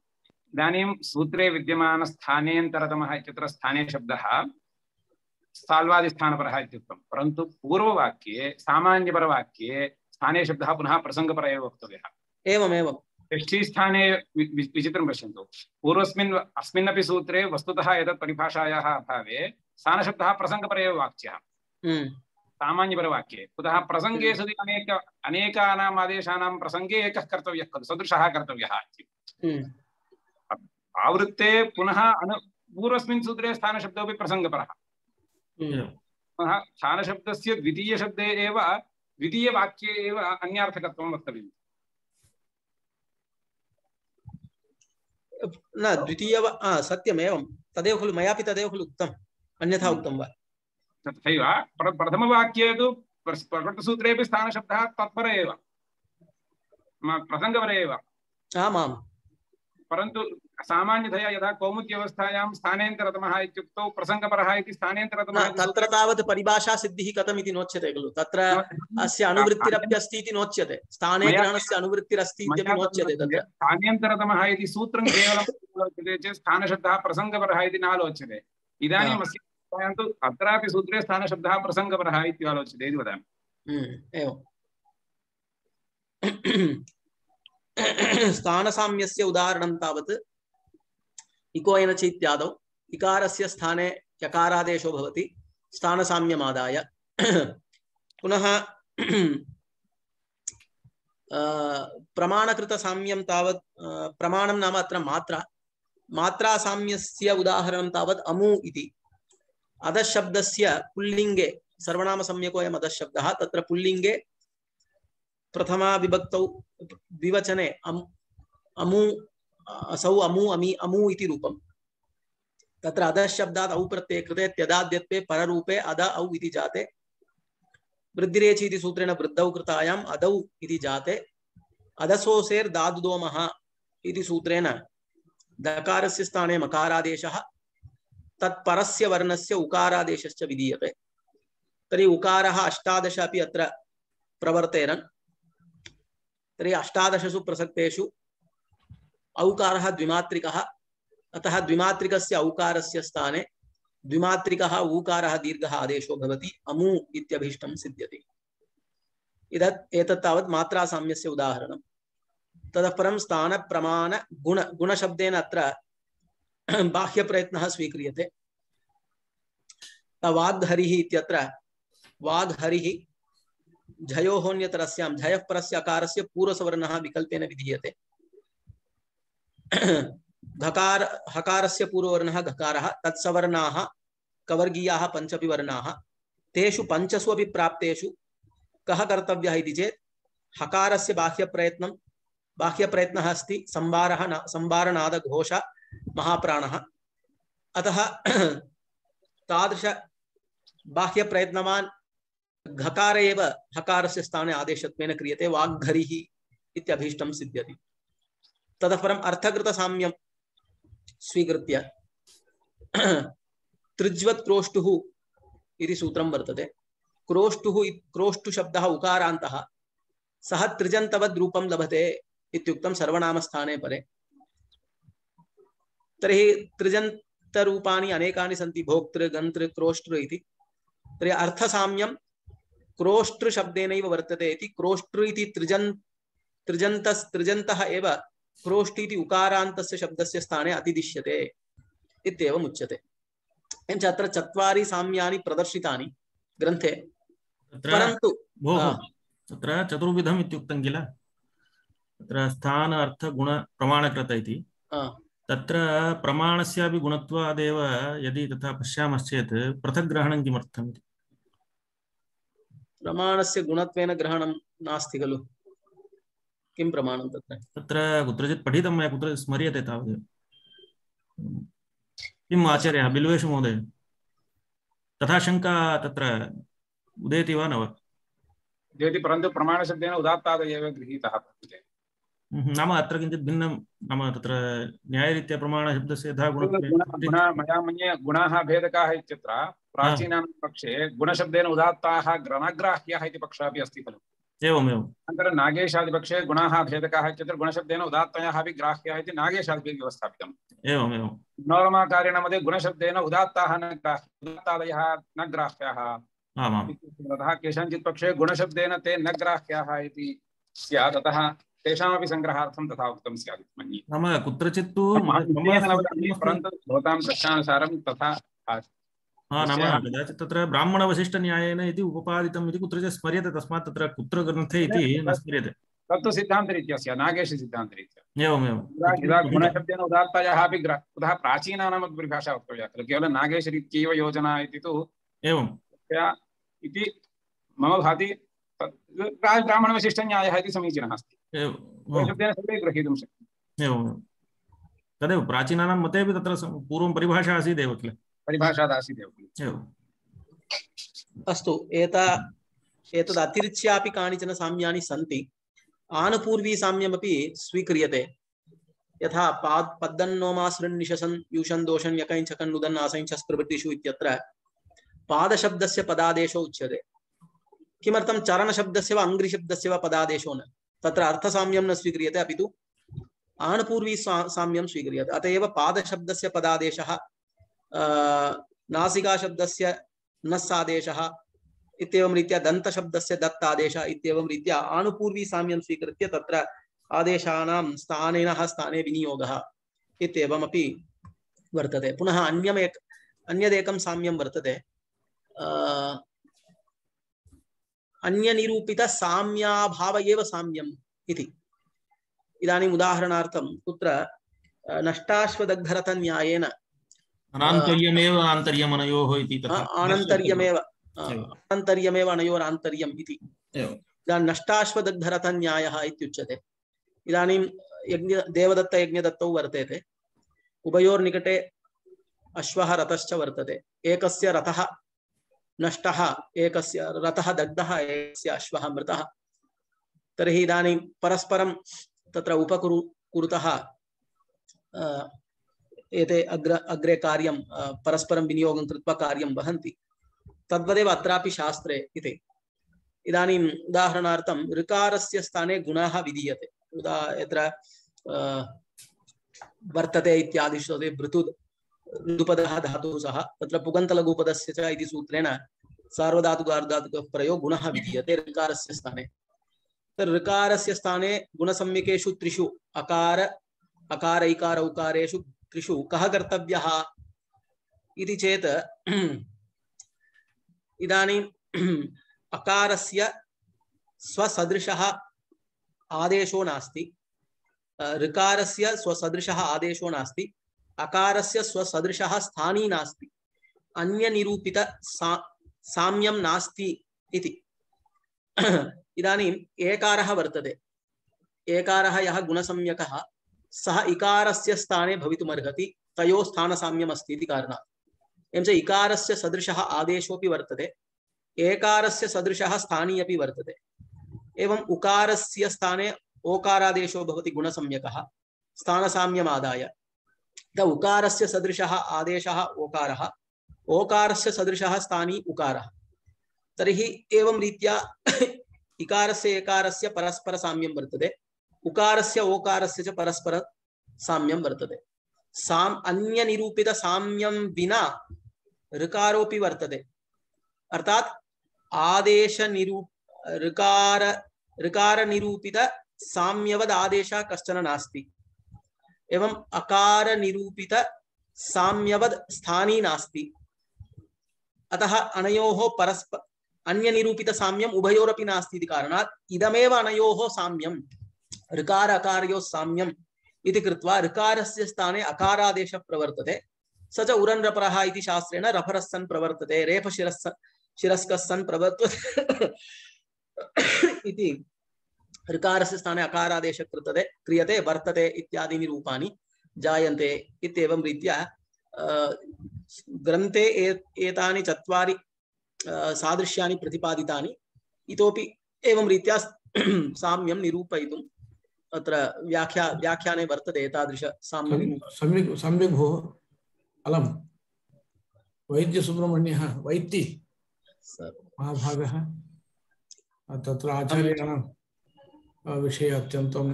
इदानीं सूत्रे विद्यमानस्थानेन्तरतमः इत्यत्र स्थाने शब्दः साल्वादिस्थानपरः इत्युक्तं परन्तु पूर्ववाक्ये सामान्यपरवाक्ये स्थाने शब्दः पुनः प्रसङ्गपर एव वक्तव्यः एवमेवं षष्ठीस्थाने विचित्रं पश्यन्तु पूर्वस्मिन् अस्मिन्नपि सूत्रे वस्तुतः एतत् परिभाषायाः अभावे स्थानशब्दः प्रसङ्गपर एव वाच्यः सामान्यपरवाक्ये कुतः प्रसङ्गे सति अनेकानाम् आदेशानां प्रसङ्गे एकः कर्तव्यः खलु सदृशः कर्तव्यः आवृत्ते पुनः पूर्वस्मिन् सूत्रे स्थानशब्दोऽपि प्रसङ्गपरः पुनः स्थानशब्दस्य द्वितीयशब्दे एव द्वितीयवाक्ये एव अन्यार्थकत्वं वक्तव्यम् न द्वितीय सत्यमेवं तदेव खलु मयापि तदेव खलु उक्तम् अन्यथा उक्तं वा तथैव प्रथमवाक्ये तु प्रकृतसूत्रेपि स्थानशब्दः तत्पर एव प्रसङ्गपर एव आमां परन्तु सामान्यतया यदा कौमुद्यवस्थायां स्थानेन्तरतमः इत्युक्तौ प्रसङ्गपरः इति स्थानेन्तरतमः तत्र तावत् परिभाषा सिद्धिः कथमिति नोच्यते खलु तत्र अस्य अनुवृत्तिरप्यस्ति इति नोच्यते स्थाने ग्रहणस्य अनुवृत्तिरस्ति इत्यपि नोच्यते तत्र स्थानेन्तरतमः इति सूत्रं केवलं आलोच्यते चेत् स्थानशब्दः प्रसङ्गपरः इति नालोच्यते इदानीम् अस्य तु अत्रापि सूत्रे स्थानशब्दः प्रसङ्गपरः इति आलोच्यते इति वदामि एवं स्थानसाम्यस्य उदाहरणं तावत् इको एनच इत्यादौ इकारस्य स्थाने यकारादेशो भवति स्थानसाम्यमादाय पुनः प्रमाणकृतसाम्यं तावत् प्रमाणं नाम अत्र मात्रासाम्यस्य उदाहरणं तावत् अमु इति अधशब्दस्य पुल्लिङ्गे सर्वनामसंज्ञकोऽयम् अधशब्दः तत्र पुल्लिङ्गे प्रथमा विभक्तौ द्विवचने अमु असौ अमु अमि अमु इति रूपं तत्र अधशब्दात् औ प्रत्यये कृते त्यदाद्यत्वे पररूपे अद औ इति जाते वृद्धिरेचि इति सूत्रेण वृद्धौ कृतायाम् अदौ इति जाते अदसोसेर् दादुदोमः इति सूत्रेण दकारस्य स्थाने मकारादेशः तत्परस्य वर्णस्य उकारादेशश्च विधीयते तर्हि उकारः 18 अपि अत्र प्रवर्तेरन् तर्हि 18 प्रसक्तेषु औकारः द्विमात्रिकः अतः द्विमात्रिकस्य औकारस्य स्थाने द्विमात्रिकः ऊकारः दीर्घः आदेशो भवति अमु इत्यभीष्टं सिद्ध्यति एतत् तावत् मात्रासाम्यस्य उदाहरणं ततः परं स्थान प्रमाण गुणशब्देन अत्र बाह्यप्रयत्नः स्वीक्रियते वाग्हरिः इत्यत्र वाग्हरिः झयोहोन्यतरस्यां झयः परस्य अकारस्य पूर्वसवर्णः विकल्पेन विधीयते घकार हकारस्य पूर्ववर्णः घकारः तत्सवर्णाः कवर्गीयाः पञ्चपि वर्णाः तेषु पञ्चसु अपि प्राप्तेषु कः कर्तव्यः इति चेत् हकारस्य बाह्यप्रयत्नः अस्ति संवारनादघोष महाप्राणः अतः तादृश बाह्यप्रयत्नवान् घकार एव हकारस्य स्थाने आदेशत्वेन क्रियते वाग्घरिः इत्यभीष्टं सिद्ध्यति ततः परम् अर्थकृतसाम्यं स्वीकृत्य त्रिज्वत् क्रोष्टुः इति सूत्रं वर्तते क्रोष्टु शब्दः उकारान्तः सः त्रिजन्तवद् रूपं लभते इत्युक्तं सर्वनामस्थाने परे तर्हि त्रिजन्तरूपाणि अनेकानि सन्ति, भोक्तृ गन्तृ क्रोष्टृ इति। तर्हि अर्थसाम्यं क्रोष्टृ शब्देनैव वर्तते इति। क्रोष्टृ इति त्रिजन्तः एव क्रोष्टि इति उकारान्तस्य शब्दस्य स्थाने अतिदिश्यते इत्येवम् उच्यते। एवञ्च अत्र चत्वारि साम्यानि प्रदर्शितानि ग्रन्थे, परन्तु तत्र चतुर्विधम् इत्युक्तं किल, तत्र स्थान अर्थ गुण प्रमाणकृत इति। तत्र प्रमाणस्यापि गुणत्वादेव यदि तथा पश्यामश्चेत् पृथक् ग्रहणं किमर्थम् इति। प्रमाणस्य गुणत्वेन ग्रहणं नास्ति खलु, किं प्रमाणं तत्र? तत्र कुत्रचित् पठितं मया, कुत्र स्मर्यते तावदेव। किम् आचार्यः बिल्वेषु महोदय, तथा शङ्का तत्र उदेति वा न वा? उदेति, परन्तु प्रमाणशब्देन उदात्तादयः एव गृहीतः वर्तते। नाम अत्र किञ्चित् भिन्नं, नाम तत्र न्यायरीत्या प्रमाणशब्दस्य यथा मया मन्ये गुणाः भेदकाः इत्यत्र प्राचीनां पक्षे गुणशब्देन उदात्ताः ग्रहग्राह्याः इति पक्षः अपि अस्ति खलु। एवमेवम्। अनन्तरं नागेशादिपक्षे गुणाः भेदकाः इत्यत्र गुणशब्देन उदात्तयः अपि ग्राह्याः इति नागेशादिभिः व्यवस्थापितम्। एवमेवं। मनोरमाकारेण मध्ये गुणशब्देन उदात्ताः न उदात्तादयः न ग्राह्याः। अतः केषाञ्चित् पक्षे गुणशब्देन ते न ग्राह्याः इति स्यात्, अतः तेषामपि सङ्ग्रहार्थं तथा उक्तं स्यात् मन्ये। नाम कुत्रचित् तु परन्तु भवतां प्रश्नानुसारं तथा नाम कदाचित् तत्र ब्राह्मणवशिष्ठन्यायेन इति उपपादितम् इति कुत्रचित् स्मर्यते, तस्मात् तत्र कुत्र ग्रन्थे इति न स्मर्यते। तत्तु सिद्धान्तरीत्या स्यात्, नागेशसिद्धान्तरीत्या। एवमेवं। यदा गुणशब्देन उदात्तयः अपि कुतः प्राचीनानामपि परिभाषा वक्तव्या खलु, केवलं नागेशरीत्यैव योजना इति तु एवम् इति मम भाति। ब्राह्मणवशिष्ठन्यायः इति समीचीनः अस्ति, गुणशब्देन सर्वे ग्रहीतुं शक्यते। एवमेवं, तदेव प्राचीनानां मतेपि तत्र पूर्वं परिभाषा आसीदेव किल, परिभाषादासीदेव। अस्तु, एतद् अतिरिच्यापि कानिचन साम्यानि सन्ति। आनुपूर्वी साम्यमपि स्वीक्रियते, यथा पद्दन्नोमासृन्निशसन् यूषन् दोषन् यकञ्चकन् नुदन् आसञ्चस् प्रभृतिषु इत्यत्र पादशब्दस्य पदादेशो उच्यते। किमर्थं चरणशब्दस्य वा अङ्घ्रिशब्दस्य वा पदादेशो न? तत्र अर्थसाम्यं न स्वीक्रियते, अपि तु आनुपूर्वी साम्यं स्वीक्रियते। अत एव पादशब्दस्य पदादेशः, नासिकाशब्दस्य नस्सादेशः इत्येवं रीत्या दन्तशब्दस्य दत्तादेशः इत्येवं रीत्या आनुपूर्वी साम्यं स्वीकृत्य तत्र आदेशानां स्थाने विनियोगः इत्येवमपि वर्तते। पुनः अन्यदेकं साम्यं वर्तते, अन्यनिरूपित साम्याभाव एव साम्यम् इति। इदानीम् उदाहरणार्थं कुत्र नष्टाश्वदग्धरथन्यायेन अनान्तर्यमेव आन्तर्यमनयोः इति, तथा आन्तर्यमेव अनयोरान्तर्यम् इति। इदानीं नष्टाश्वदग्धरथन्यायः इत्युच्यते। इदानीं देवदत्त यज्ञदत्तौ वर्तेते, उभयोर्निकटे अश्वः रथश्च वर्तते। एकस्य रथः नष्टः, एकस्य रथः दग्धः, एकस्य अश्वः मृतः। तर्हि इदानीं परस्परं तत्र उपकुरुतः एते अग्रे कार्यं परस्परं विनियोगं कृत्वा कार्यं वहन्ति। तद्वदेव अत्रापि शास्त्रे इति। इदानीम् उदाहरणार्थं ऋकारस्य स्थाने गुणः विधीयते। यत्र वर्तते इत्यादिषु ऋतुपदः धातुः सः, तत्र पुगन्तलघुपदस्य च इति सूत्रेण सार्वधातुकार्धातुकः प्रयो गुणः विधीयते ऋकारस्य स्थाने। ऋकारस्य स्थाने गुणसम्यकेषु त्रिषु अकार इकार उकारेषु त्रिषु कः कर्तव्यः इति चेत् इदानीं अकारस्य स्वसदृशः आदेशो नास्ति, ऋकारस्य स्वसदृशः आदेशो नास्ति, अकारस्य स्वसदृशः स्थानी नास्ति, अन्यनिरूपित साम्यं नास्ति इति। इदानीम् एकारः वर्तते, एकारः यः गुणसम्यकः सः इकारस्य स्थाने भवितुमर्हति, तयोः स्थानसाम्यम् अस्ति इति कारणात्। एवं च इकारस्य सदृशः आदेशोऽपि वर्तते, एकारस्य सदृशः स्थानी अपि वर्तते। एवम् उकारस्य स्थाने ओकारादेशो भवति गुणसम्यकः स्थानसाम्यमादाय। उकारस्य सदृशः आदेशः ओकारः, ओकारस्य सदृशः स्थानी उकारः। तर्हि एवं रीत्या इकारस्य एकारस्य परस्पर साम्यं वर्तते, उकारस्य ओकारस्य च परस्पर साम्यं वर्तते। अन्यनिरूपित साम्यं विना ऋकारोपि वर्तते। अर्थात आदेश ऋकार निरूपित साम्यवद आदेशः कश्चन नास्ति, एवं अकार निरूपित साम्यवद स्थानी नास्ति। अतः अनयोः परस्पर अन्य निरूपित साम्यम उभयोरपि नास्ति इति कारणात् इदमेव अनयोः साम्यम ऋकार अकारयोः साम्यम इति कृत्वा ऋकारस्य स्थाने अकारादेशः प्रवर्तते। स च उरन्रपरः इति शास्त्रेण रफरः सन् प्रवर्तते, रेफशिरस्कः सन् प्रवर्तते इति ऋकारस्य स्थाने अकारादेशः क्रियते वर्तते इत्यादीनि रूपाणि जायन्ते इत्येवं रीत्या ग्रन्थे एतानि चत्वारि सादृश्यानि प्रतिपादितानि। इतोपि एवं रीत्या साम्यं निरूपयितुम् अत्र व्याख्याने वर्तते एतादृश साम्यं। सम्यक् भोः अलम वैद्यसुब्रह्मण्यः वैद्यि महाभागः तत्र आचार्याणां विषये अत्यन्तं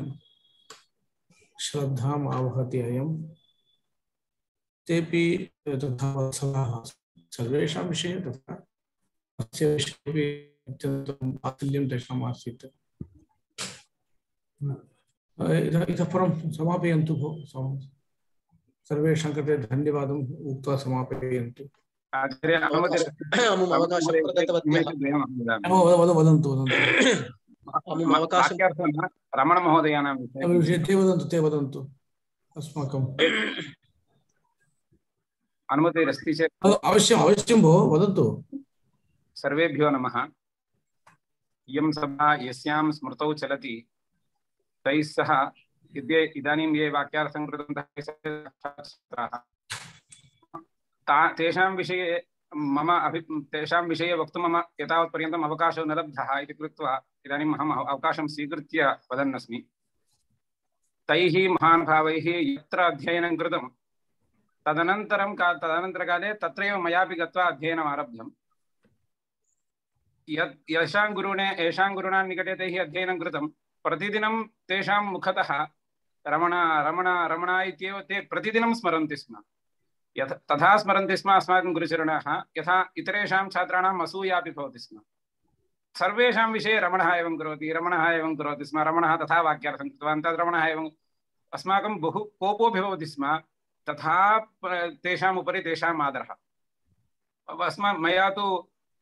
श्रद्धाम् आवहति अयं। तेपि तथा वत्सलाः सर्वेषां विषये तथा अस्य विषये अत्यन्तं वात्सल्यं तेषाम् आसीत्। इतः परं समापयन्तु भो, सर्वेषां कृते धन्यवादम् उक्त्वा समापयन्तु। वदन्तु रमण महोदयानां विषये ते वदन्तु अस्माकम् अनुमतिरस्ति चेत् अवश्यं भो वदन्तु। सर्वेभ्यो नमः। इयं सभा यस्यां स्मृतौ चलति तैः सह इदानीं ये वाक्यार्थं कृतवन्तः तेषां विषये तेषां विषये वक्तुं मम एतावत्पर्यन्तम् अवकाशो न लब्धः इति कृत्वा इदानीम् अहम् अवकाशं स्वीकृत्य वदन्नस्मि। तैः महानुभावैः यत्र अध्ययनं कृतं तदनन्तरकाले तत्रैव मयापि गत्वा अध्ययनम् आरब्धम्। येषां गुरुणा निकटे तैः अध्ययनं कृतं प्रतिदिनं तेषां मुखतः रमण रमण रमण इत्येव ते प्रतिदिनं स्मरन्ति स्म। तथा स्मरन्ति स्म अस्माकं गुरुचरणाः, यथा इतरेषां छात्राणाम् असूयापि भवति स्म। सर्वेषां विषये रमणः एवं करोति, रमणः एवं करोति स्म, रमणः तथा वाक्यार्थं कृतवान्, तद् रमणः एवं। अस्माकं बहु कोपोऽपि भवति स्म, तथा तेषाम् उपरि तेषाम् आदरः। मया तु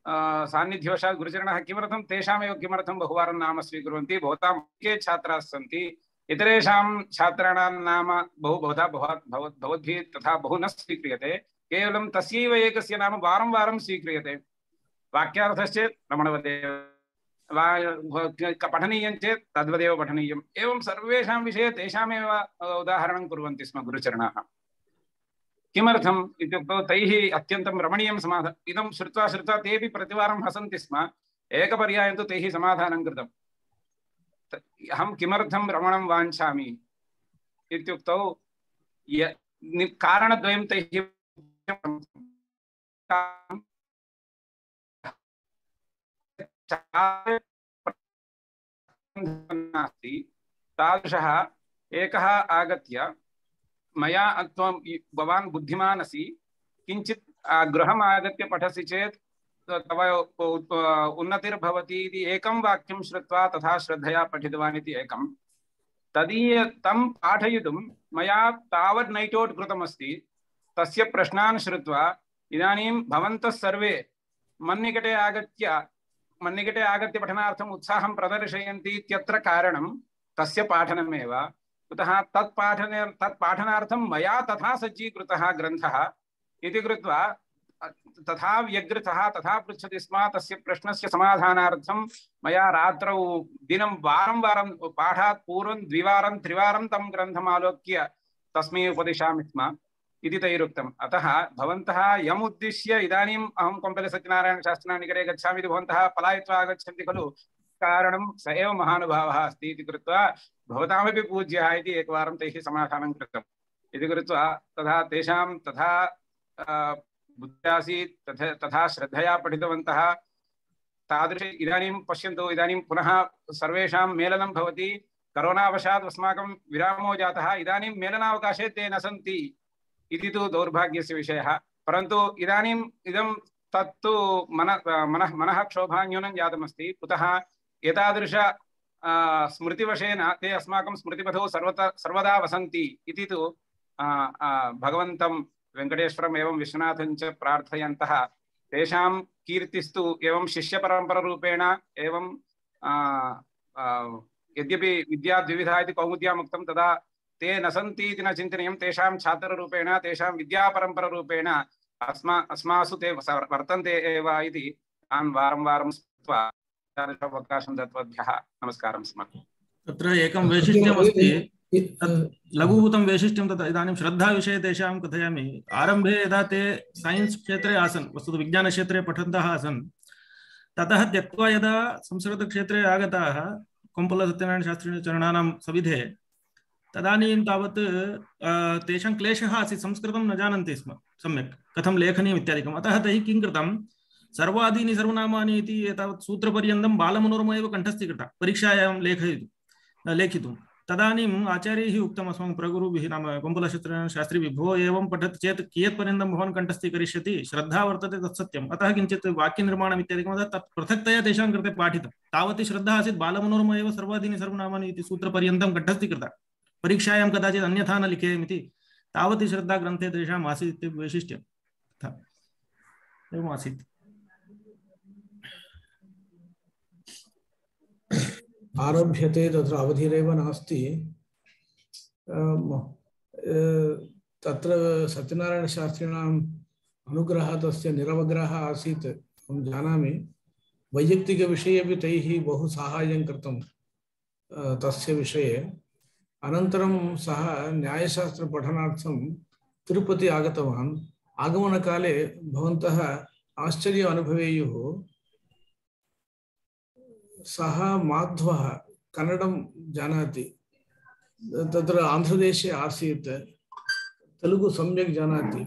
सान्निध्यवशात् गुरुचरणः किमर्थं तेषामेव किमर्थं बहुवारं नाम स्वीकुर्वन्ति, भवतां के छात्राः सन्ति, इतरेषां छात्राणां नाम भवद्भिः तथा बहु न स्वीक्रियते, केवलं तस्यैव एकस्य नाम वारं वारं स्वीक्रियते। वाक्यार्थश्चेत् रमणवदेव, पठनीयं चेत् तद्वदेव पठनीयम्। एवं सर्वेषां विषये तेषामेव उदाहरणं कुर्वन्ति स्म गुरुचरणाः। किमर्थम् इत्युक्तौ तैः अत्यन्तं रमणीयं समाधानम् इदं श्रुत्वा तेपि प्रतिवारं हसन्ति स्म। एकपर्यायं तु तैः समाधानं कृतम्। अहं किमर्थं रमणं वाञ्छामि इत्युक्तौ कारणद्वयं तैः नास्ति। तादृशः एकः आगत्य मया भवान् बुद्धिमान् असि, किञ्चित् गृहम् आगत्य पठसि चेत् तव उन्नतिर्भवति इति एकं वाक्यं श्रुत्वा तथा श्रद्धया पठितवान् इति एकं। तं पाठयितुं मया तावत् नैट् औट् कृतमस्ति। तस्य प्रश्नान् श्रुत्वा इदानीं भवन्तः सर्वे मन्निकटे आगत्य पठनार्थम् उत्साहं प्रदर्शयन्ति इत्यत्र कारणं तस्य पाठनमेव। कुतः तत्पाठनार्थं मया तथा सज्जीकृतः ग्रन्थः इति कृत्वा तथा व्यग्रतः तथा पृच्छति स्म। तस्य प्रश्नस्य समाधानार्थं मया रात्रौ दिनं वारं वारं पाठात् पूर्वं द्विवारं त्रिवारं तं ग्रन्थम् आलोक्य तस्मै उपदिशामि स्म इति तैरुक्तम्। अतः भवन्तः यम् उद्दिश्य इदानीम् अहं कोम्पल्ले सत्यनारायणशास्त्रिणा निकटे गच्छामि इति भवन्तः पलायित्वा आगच्छन्ति खलु, कारणं स एव महानुभावः अस्ति इति कृत्वा भवतामपि पूज्यः इति एकवारं तैः समाधानं कृतम् इति कृत्वा तथा तेषां तथा बुद्ध्यासीत् तथा श्रद्धया पठितवन्तः। तादृश इदानीं पश्यन्तु, इदानीं पुनः सर्वेषां मेलनं भवति। करोनावशात् अस्माकं विरामो जातः। इदानीं मेलनावकाशे ते न सन्ति इति तु दौर्भाग्यस्य विषयः। परन्तु इदानीम् इदं तत्तु मनः क्षोभः न्यूनं जातमस्ति। कुतः एतादृश स्मृतिवशेन ते अस्माकं स्मृतिपथौ सर्वदा वसन्ति इति तु भगवन्तं वेङ्कटेश्वरम् एवं विश्वनाथं च प्रार्थयन्तः तेषां कीर्तिस्तु एवं शिष्यपरम्परारूपेण एवं यद्यपि विद्याद्विविधा इति कौमुद्याम् उक्तं तदा ते न सन्ति इति न चिन्तनीयं। तेषां छात्ररूपेण तेषां विद्यापरम्परारूपेण अस्मासु ते वर्तन्ते एव इति तान् वारं वारं स्मृत्वा अवकाशं दत्तवद्भ्यः नमस्कारं समर्पयामि। तत्र एकं वैशिष्ट्यमस्ति, लघुभूतं वैशिष्ट्यं तत् इदानीं श्रद्धाविषये तेषां कथयामि। आरम्भे यदा ते सैन्स् क्षेत्रे आसन्, वस्तुतः विज्ञानक्षेत्रे पठन्तः आसन्, ततः त्यक्त्वा यदा संस्कृतक्षेत्रे आगताः कोम्पल्लसत्यनारायणशास्त्रिचरणानां सविधे, तदानीं तावत् तेषां क्लेशः आसीत्, संस्कृतं न जानन्ति स्म सम्यक् कथं लेखनीयम् इत्यादिकम्। अतः तैः किं कृतं, सर्वादीनि सर्वनामानि इति एतावत् सूत्रपर्यन्तं बालमनोरमा एव कण्ठस्थीकृता परीक्षायां लेखितुं। तदानीम् आचार्यैः उक्तम् अस्माकं प्रगुरुभिः, नाम कोम्पल्लसत्यनारायणशास्त्रिभिः, भो एवं पठति चेत् कियत्पर्यन्तं भवान् कण्ठस्थीकरिष्यति, श्रद्धा वर्तते तत्सत्यम्, अतः किञ्चित् वाक्यनिर्माणम् इत्यादिकं तत् पृथक्तया तेषां कृते पाठितं। तावती श्रद्धा आसीत्, बालमनोरमा एव सर्वादीनि सर्वनामानि इति सूत्रपर्यन्तं कण्ठस्थीकृता, परीक्षायां कदाचित् अन्यथा न लिखेयम् इति तावती श्रद्धा ग्रन्थे तेषाम् आसीत् इति वैशिष्ट्यम् एवम् आसीत्। आरभ्यते तत्र अवधिरेव नास्ति। तत्र सत्यनारायणशास्त्रिणाम् अनुग्रहः तस्य निरवग्रहः आसीत्, अहं जानामि। वैयक्तिकविषये अपि तैः बहु साहाय्यं कृतं तस्य विषये। अनन्तरं सः न्यायशास्त्रपठनार्थं तिरुपति आगतवान्। आगमनकाले भवन्तः आश्चर्यम् अनुभवेयुः, सः माध्वः कन्नडं जानाति, तत्र आन्ध्रदेशे आसीत्, तेलुगु सम्यक् जानाति।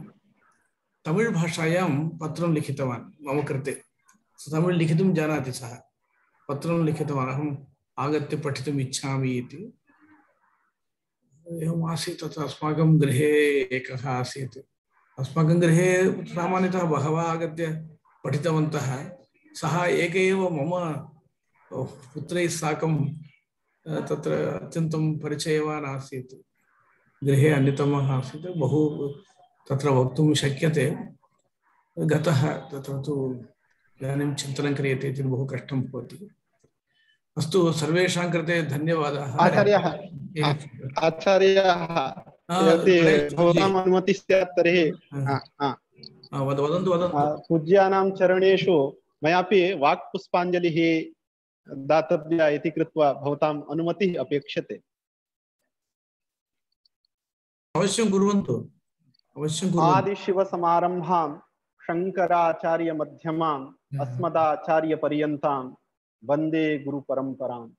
तमिळ् भाषायां पत्रं लिखितवान् मम कृते, तमिळ् लिखितुं जानाति सः, पत्रं लिखितवान् अहम् आगत्य पठितुम् इच्छामि इति। एवम् आसीत्। तत्र अस्माकं गृहे एकः आसीत्, अस्माकं गृहे सामान्यतः बहवः आगत्य पठितवन्तः। सः एक एव मम पुत्रैः साकं तत्र अत्यन्तं परिचयवान् आसीत्, गृहे अन्यतमः आसीत्। बहु तत्र वक्तुं शक्यते। गतः तत्र तु इदानीं चिन्तनं क्रियते चेत् बहु कष्टं भवति। अस्तु, सर्वेषां कृते धन्यवादाः। आचार्याः यदि भवताम् अनुमतिः स्यात् तर्हि वदन्तु। पूज्यानां चरणेषु मयापि वाक्पुष्पाञ्जलिः दातव्या इति कृत्वा भवताम् अनुमतिः अपेक्षते। अवश्यं कुर्वन्तु, अवश्यं कुर्वन्तु। आदिशिवसमारम्भां शङ्कराचार्यमध्यमाम् अस्मदाचार्यपर्यन्तां वन्दे गुरुपरम्पराम्।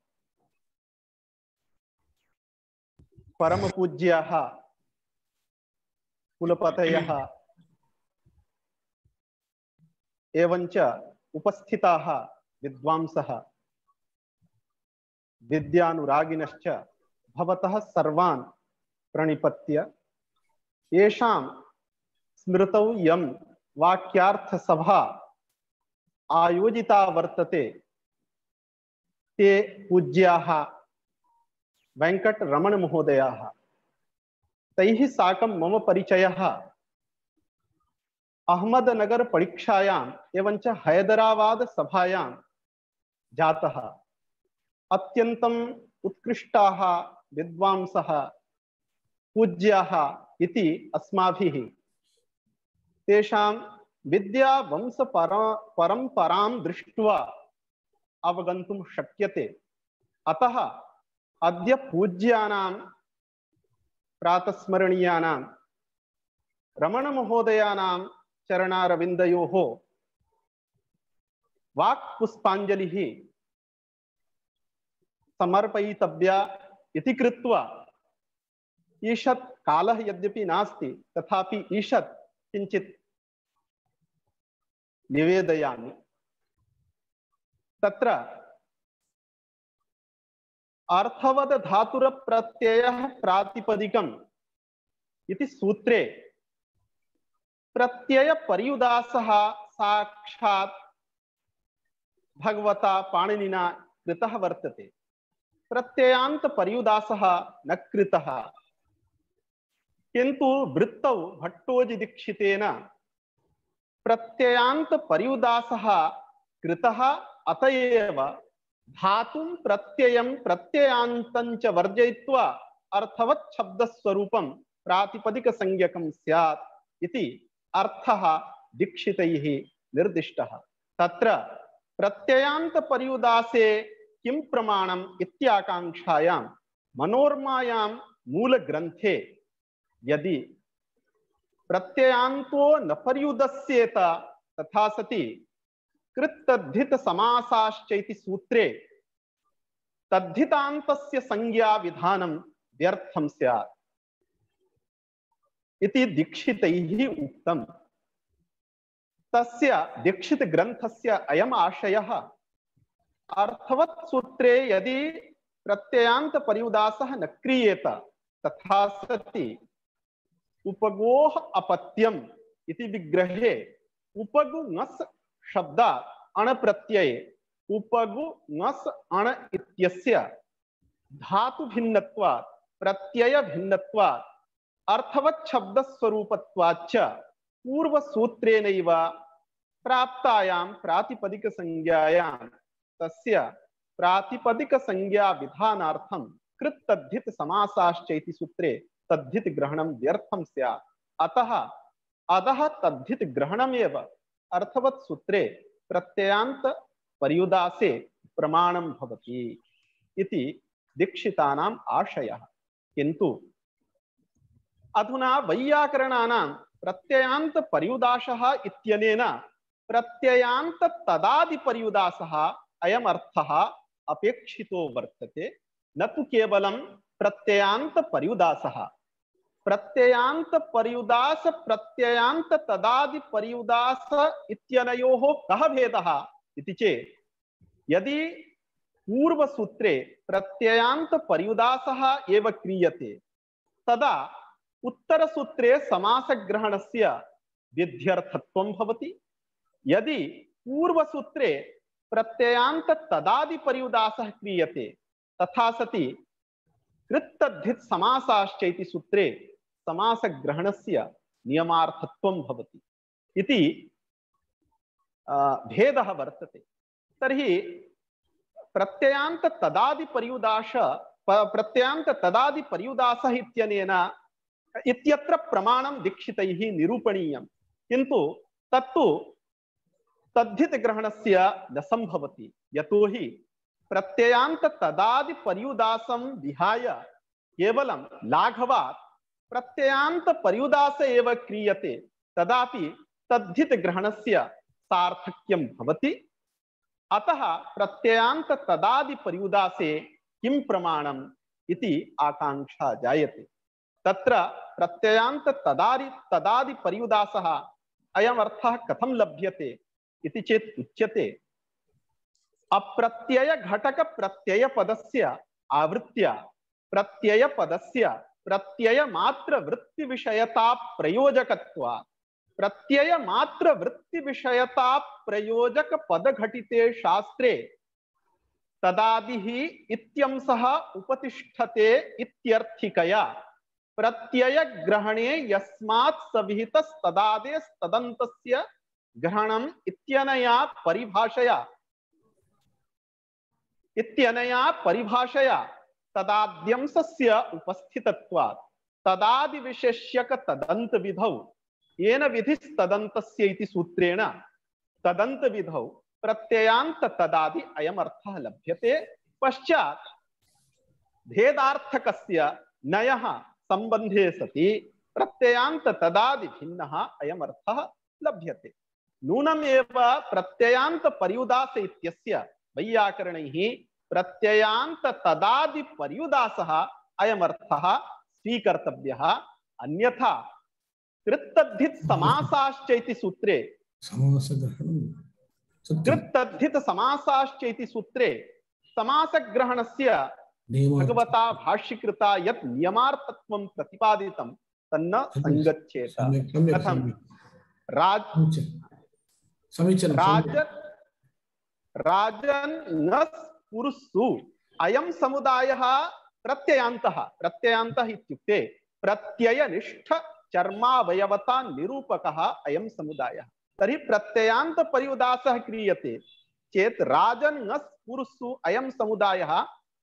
परमपूज्याः कुलपतयः एवञ्च उपस्थिताः विद्वांसः विद्यानुरागिनश्च भवतः सर्वान् प्रणिपत्य येषां स्मृतौ यं वाक्यार्थसभा आयोजिता वर्तते ते पूज्याः वेङ्कटरमणमहोदयाः। तैः साकं मम परिचयः अहमदनगर परीक्षायाम् एवञ्च हैदराबाद सभायां जातः। अत्यन्तम् उत्कृष्टाः विद्वांसः पूज्याः इति अस्माभिः तेषां विद्यावंशपरम्परां दृष्ट्वा अवगन्तुं शक्यते। अतः अद्य पूज्यानां प्रातस्मरणीयानां रमणमहोदयानां चरणारविन्दयोः वाक्पुष्पाञ्जलिः समर्पयितव्या इति कृत्वा ईषत् कालः यद्यपि नास्ति तथापि ईषत् किञ्चित् निवेदयामि। तत्र अर्थवद धातुरप्रत्ययः प्रातिपदिकम् इति सूत्रे प्रत्यय पर्युदासः साक्षात् भगवता पाणिनिना कृतः वर्तते। प्रत्ययान्त पर्युदासः न कृतः, किन्तु वृत्तौ भट्टोजि दीक्षितेन प्रत्ययान्त पर्युदासः कृतः। अतएव धातुं प्रत्ययं प्रत्ययान्तं च वर्जयित्वा अर्थवत् शब्दस्वरूपं प्रातिपदिक संज्ञकं स्यात् इति अर्थः दीक्षितैः निर्दिष्टः। तत्र प्रत्ययान्त पर्युदासे किं प्रमाणम् इत्याकांक्षायां मनोरमायां मूलग्रन्थे यदि प्रत्ययान्तो न पर्युदस्येत तथा सति कृत्तद्धित समासाश्चैति सूत्रे तद्धितान्तस्य संज्ञा विधानं व्यर्थं स्यात् इति दीक्षितैः उक्तम्। तस्य दीक्षित ग्रन्थस्य अयम् आशयः अर्थवत् सूत्रे यदि प्रत्ययान्त पर्युदासः न क्रियेत तथा सति उपगोः अपत्यम् इति विग्रहे उपगु ङस् शब्दात् अण प्रत्यये उपगु ङस् अण इत्यस्य धातु भिन्नत्वात् प्रत्यय भिन्नत्वात् अर्थवत् शब्द स्वरूपत्वाच्च पूर्व सूत्रेणैव प्राप्तायां प्रातिपदिक संज्ञायां तस्य प्रातिपदिक संज्ञा विधानार्थं कृत तद्धित समासाश्चैति सूत्रे तद्धित ग्रहणं व्यर्थं स्यात्। अतः अतः तद्धित ग्रहणमेव अर्थवत् सूत्रे प्रत्ययान्त पर्युदासे प्रमाणं भवति इति दीक्षितानाम् आशयः। किन्तु अधुना वैयाकरणानां प्रत्ययान्त पर्युदासः इत्यनेन प्रत्ययान्त तदादि पर्युदासः अयम् अर्थः अपेक्षितो वर्तते, न तु केवलं प्रत्ययान्त पर्युदासः। प्रत्ययान्त पर्युदास प्रत्ययान्त तदादि पर्युदास इत्यनयोः कः भेदः इति चेत् यदि पूर्व सूत्रे प्रत्ययान्त पर्युदासः एव क्रियते तदा उत्तर सूत्रे समास ग्रहणस्य विध्यर्थत्वं भवति। यदि पूर्व सूत्रे प्रत्ययान्त तदादि पर्युदासः क्रियते तथा सति कृत्तद्धित समासाश्चैति सूत्रे समास ग्रहणस्य नियमार्थत्वं भवति इति भेदः वर्तते। तर्हि प्रत्ययान्त तदादि पर्युदासः इत्यनेन इत्यत्र प्रमाणं दीक्षितैः निरूपणीयं, किन्तु तत्तु तद्धित ग्रहणस्य न संभवति। यतोहि प्रत्ययान्त तदादि पर्युदासं विहाय केवलं लाघवात् प्रत्ययान्त पर्युदास एव क्रियते तदापि तद्धित ग्रहणस्य सार्थक्यं भवति। अतः प्रत्ययान्त तदादि पर्युदासे किं प्रमाणम् इति आकांक्षा जायते। तत्र प्रत्ययान्त तदादि पर्युदासः अयम् अर्थः कथं लभ्यते इति चेत् उच्यते अप्रत्यय घटक प्रत्यय पदस्य आवृत्त्या प्रत्यय पदस्य प्रत्यय मात्र वृत्ति विषयता प्रयोजकत्वात् प्रत्यय मात्र वृत्ति विषयता प्रयोजक पद घटिते शास्त्रे तदादिः इत्यंसः उपतिष्ठते इत्यर्थिकया प्रत्यय ग्रहणे यस्मात् सविहितस्तदादेस्तदन्तस्य ग्रहणम् इत्यनया परिभाषया तदाद्यंसस्य उपस्थितत्वात् तदादि विशेष्यक तदन्त विधौ येन विधिस्तदन्तस्य इति सूत्रेण तदन्त विधौ प्रत्ययान्त तदादि अयम् अर्थः लभ्यते। पश्चात् भेदार्थकस्य नयः संबन्धे सति प्रत्ययान्त तदादि भिन्नः अयम् अर्थः लभ्यते। नूनमेव प्रत्ययान्त पर्युदास इत्यस्य वैयाकरणैः प्रत्ययान्त तदादि पर्युदासः अयम् अर्थः स्वीकर्तव्यः। अन्यथा कृत्तद्धित समासाश्चैति सूत्रे कृत्तद्धित समासाश्चैति सूत्रे समासग्रहणस्य भगवता भाष्यकृता यत् नियमार्थत्वं प्रतिपादितं तन्न संगच्छेत। कथं राजन्नस्पुरुषु अयं समुदायः प्रत्ययान्तः प्रत्ययान्तः इत्युक्ते प्रत्ययनिष्ठ चर्मावयवता निरूपकः अयं समुदायः। तर्हि प्रत्ययान्त पर्युदासः क्रियते चेत् राजन्नस्पुरुषु अयं समुदायः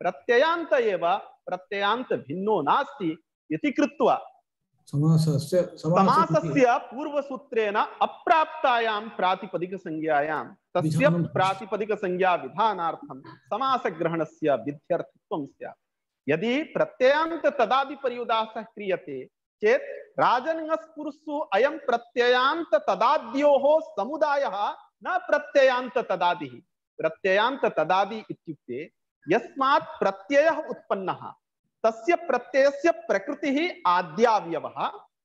प्रत्ययान्त एव प्रत्ययान्त भिन्नो नास्ति इति कृत्वा समासस्य पूर्वसूत्रेण अप्राप्तायां प्रातिपदिक संज्ञायां तस्य प्रातिपदिक संज्ञा विधानार्थं समासग्रहणस्य विध्यर्थत्वं स्यात्। यदि प्रत्ययान्त तदादि पर्युदासः क्रियते चेत् राजन्नस्पुरुषु अयं प्रत्ययान्त तदाद्योः समुदायः न प्रत्ययान्त तदादिः। प्रत्ययान्त तदादि इत्युक्ते यस्मात् प्रत्ययः उत्पन्नः तस्य प्रत्ययस्य प्रकृतिः आद्यावयवः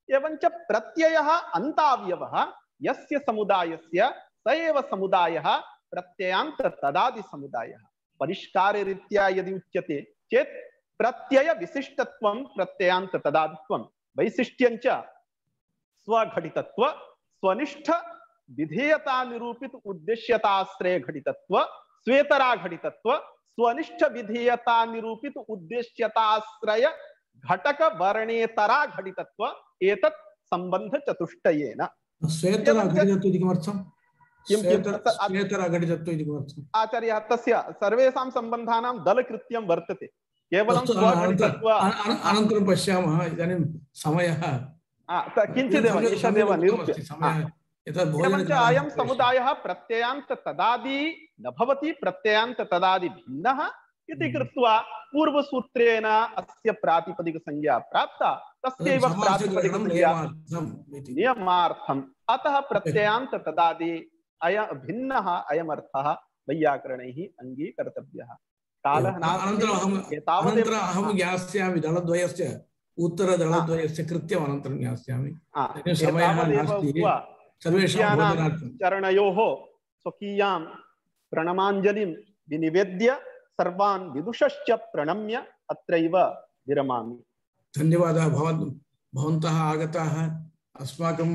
एवञ्च प्रत्ययः अन्तावयवः यस्य समुदायस्य स एव समुदायः प्रत्ययान्त तदादि समुदायः। परिष्काररीत्या यदि उच्यते चेत् प्रत्यय विशिष्टत्वं प्रत्ययान्त तदादित्वं वैशिष्ट्यञ्च स्वघटितत्व स्वनिष्ठ विधेयता निरूपित उद्देश्यताश्रय घटितत्व स्वेतरा घटितत्व स्वनिष्ठ विधेयता निरूपित उद्देश्यताश्रय घटक वर्णेतरा घटितत्व एतत् संबंध चतुष्टयेन। स्वेतरा घटितत्व इति किमर्थं? स्वेतरा घटितत्व इति किमर्थं? आचार्य तस्य सर्वेषां सम्बन्धानां दलकृत्यं वर्तते। केवलं स्वघटितत्व अनन्तरं पश्यामः। इदानीं समयः किञ्चिदेव ईषदेव निरूप्य एवञ्च अयं समुदायः प्रत्ययान्त तदादि न भवति प्रत्ययान्त तदादि भिन्नः इति कृत्वा पूर्वसूत्रेण अस्य प्रातिपदिक संज्ञा प्राप्ता तस्यैव प्रातिपदिक संज्ञा नियमार्थम् अतः प्रत्ययान्त तदादि भिन्नः अयमर्थः वैयाकरणैः अङ्गीकर्तव्यः। कालः अनन्तरं अहं ज्ञास्यामि दलद्वयस्य उत्तरदलद्वयस्य कृत्यम् अनन्तरं ज्ञास्यामि। समयः नास्ति। चरणयोः स्वकीयां प्रणमाञ्जलिं विनिवेद्य सर्वान् विदुषश्च प्रणम्य अत्रैव विरमामि। धन्यवादः। भवन्तः आगताः। अस्माकं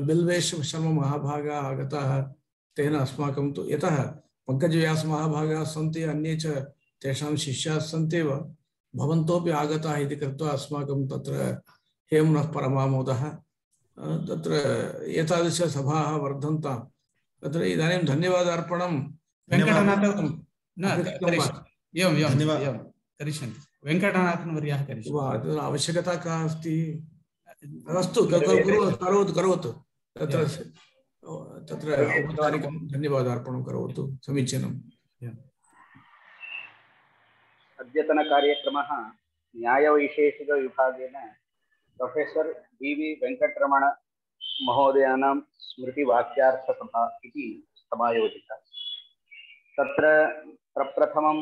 बिल्वेश शर्मा महाभागाः आगताः। तेन अस्माकं तु यतः पङ्कजव्यास महाभागाः सन्ति अन्ये च तेषां शिष्याः सन्त्येव भवन्तोपि आगताः इति कृत्वा अस्माकं तत्र हेम्नः परमामोदः। तत्र एतादृशसभाः वर्धन्तां। तत्र इदानीं धन्यवादार्पणं वेङ्कटनाथन् वर्यः करिष्यन्ति। आवश्यकता का अस्ति? अस्तु करोतु। तत्र औपचारिकं धन्यवादार्पणं करोतु। समीचीनम्। अद्यतनकार्यक्रमः न्यायवैशेषिकविभागेन प्रोफेसर डी.वी. वेङ्कटरमण महोदयानां स्मृतिवाक्यार्थसभा इति समायोजिता। तत्र प्रप्रथमम्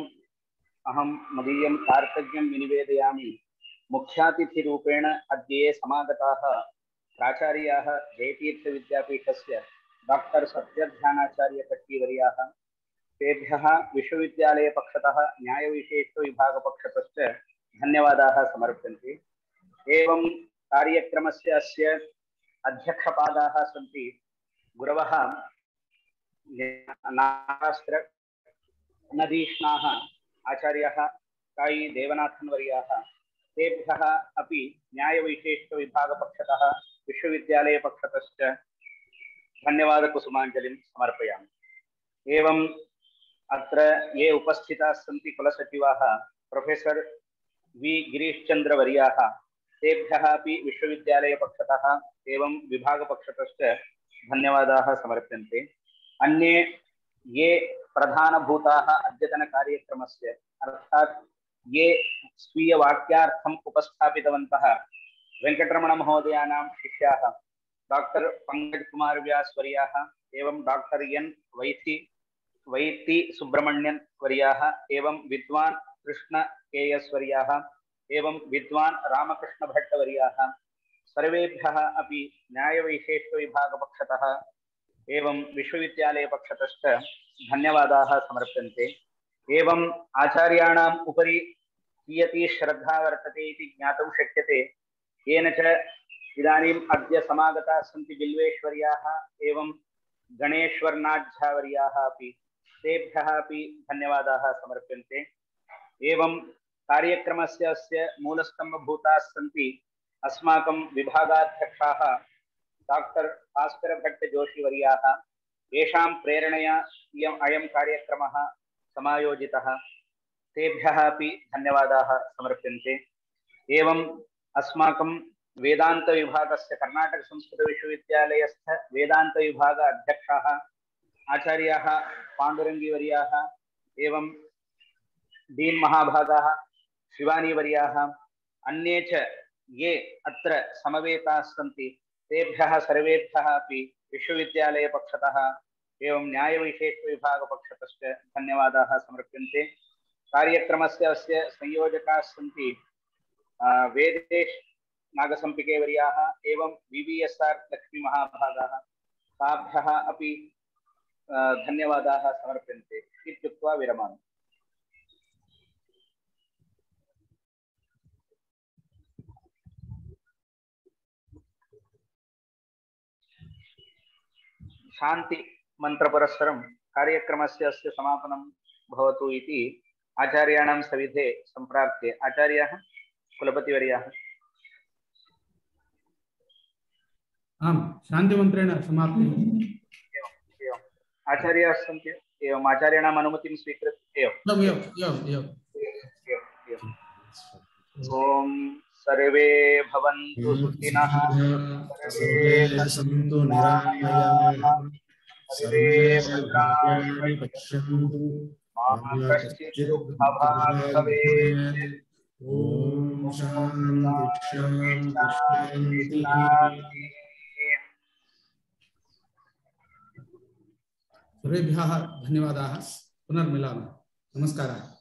अहं मदीयं कार्तज्ञं विनिवेदयामि। मुख्यातिथिरूपेण अद्य ये समागताः प्राचार्याः जयतीर्थविद्यापीठस्य डॉक्टर सत्यध्यानाचार्यकट्टिवर्याः तेभ्यः विश्वविद्यालयपक्षतः न्यायविशेषविभागपक्षतश्च धन्यवादाः समर्प्यन्ते। एवं कार्यक्रमस्य अस्य अध्यक्षपादाः सन्ति गुरवः नागास्त्रनदीष्णाः आचार्याः कायी देवनाथन् वर्याः। तेभ्यः अपि न्यायवैशेषिकविभागपक्षतः विश्वविद्यालयपक्षतश्च धन्यवादकुसुमाञ्जलिं समर्पयामि। एवं अत्र ये उपस्थिताः सन्ति कुलसचिवाः प्रोफेसर वी गिरीशचंद्र वर्याः तेभ्यः अपि विश्वविद्यालयपक्षतः एवं विभागपक्षतश्च धन्यवादाः समर्प्यन्ते। अन्ये ये प्रधानभूताः अद्यतनकार्यक्रमस्य अर्थात् ये स्वीयवाक्यार्थम् उपस्थापितवन्तः वेङ्कटरमण महोदयानां शिष्याः डॉक्टर पंकज कुमार व्यास वर्याः एवं डॉक्टर एन वैति सुब्रमण्यन वर्याः एवं विद्वान कृष्ण के.एस. वर्याः एवं विद्वान रामकृष्ण भट्ट वर्याः सर्वेभ्यः अपि न्यायवैशेषिकविभागपक्षतः एवं विश्वविद्यालयपक्षतश्च धन्यवादाः समर्प्यन्ते। एवं आचार्याणाम् उपरि कियती श्रद्धा वर्तते इति ज्ञातुं शक्यते। येन च इदानीम् अद्य समागताः सन्ति बिल्वेश्वर्याः एवं गणेश्वर्नाथ्यावर्याः अपि तेभ्यः अपि धन्यवादाः समर्प्यन्ते। एवं कार्यक्रमस्य अस्य मूलस्तम्भभूताः सन्ति अस्माकं विभागाध्यक्षाः डॉक्टर भास्कर भट्ट जोशी वर्याः, येषां प्रेरणया अयं कार्यक्रमः समायोजितः। तेभ्यः अपि धन्यवादाः समर्प्यन्ते। एवं अस्माकं वेदांत विभागस्य कर्नाटक संस्कृत विश्वविद्यालयस्थ वेदांत विभाग अध्यक्षाः आचार्याः पाण्डुरङ्गी वर्याः एवं डीन् महाभागाः शिवानी वर्याः अन्ये च ये अत्र समवेताः सन्ति तेभ्यः सर्वेभ्यः अपि विश्वविद्यालयपक्षतः एवं न्यायविशेषविभागपक्षतश्च धन्यवादाः समर्प्यन्ते। कार्यक्रमस्य अस्य संयोजकाः सन्ति वेदेश नागसंपिके वर्याः एवं VVSR लक्ष्मी महाभागाः, ताभ्यः अपि धन्यवादाः समर्प्यन्ते इत्युक्त्वा विरमामि। शान्ति मंत्रपुरस्सरं कार्यक्रमस्य अस्य समापनं भवतु इति आचार्याणां सविधे सम्प्राप्ते आचार्याः कुलपतिवर्याः। आम्, शान्तिमन्त्रेण समाप्ति। एवम् आचार्याः सन्ति, एवम् आचार्याणाम् अनुमतिं स्वीकृत्य ॐ सर्वे भवन्तु सुखिनः, सर्वे सन्तु निरामयाः, सर्वे भद्राणि पश्यन्तु, मा कश्चित् दुःखभाग् भवेत्। ॐ शान्ति शान्ति शान्ति। सर्वेभ्यः धन्यवादाः। पुनर्मिलामः। नमस्कारः।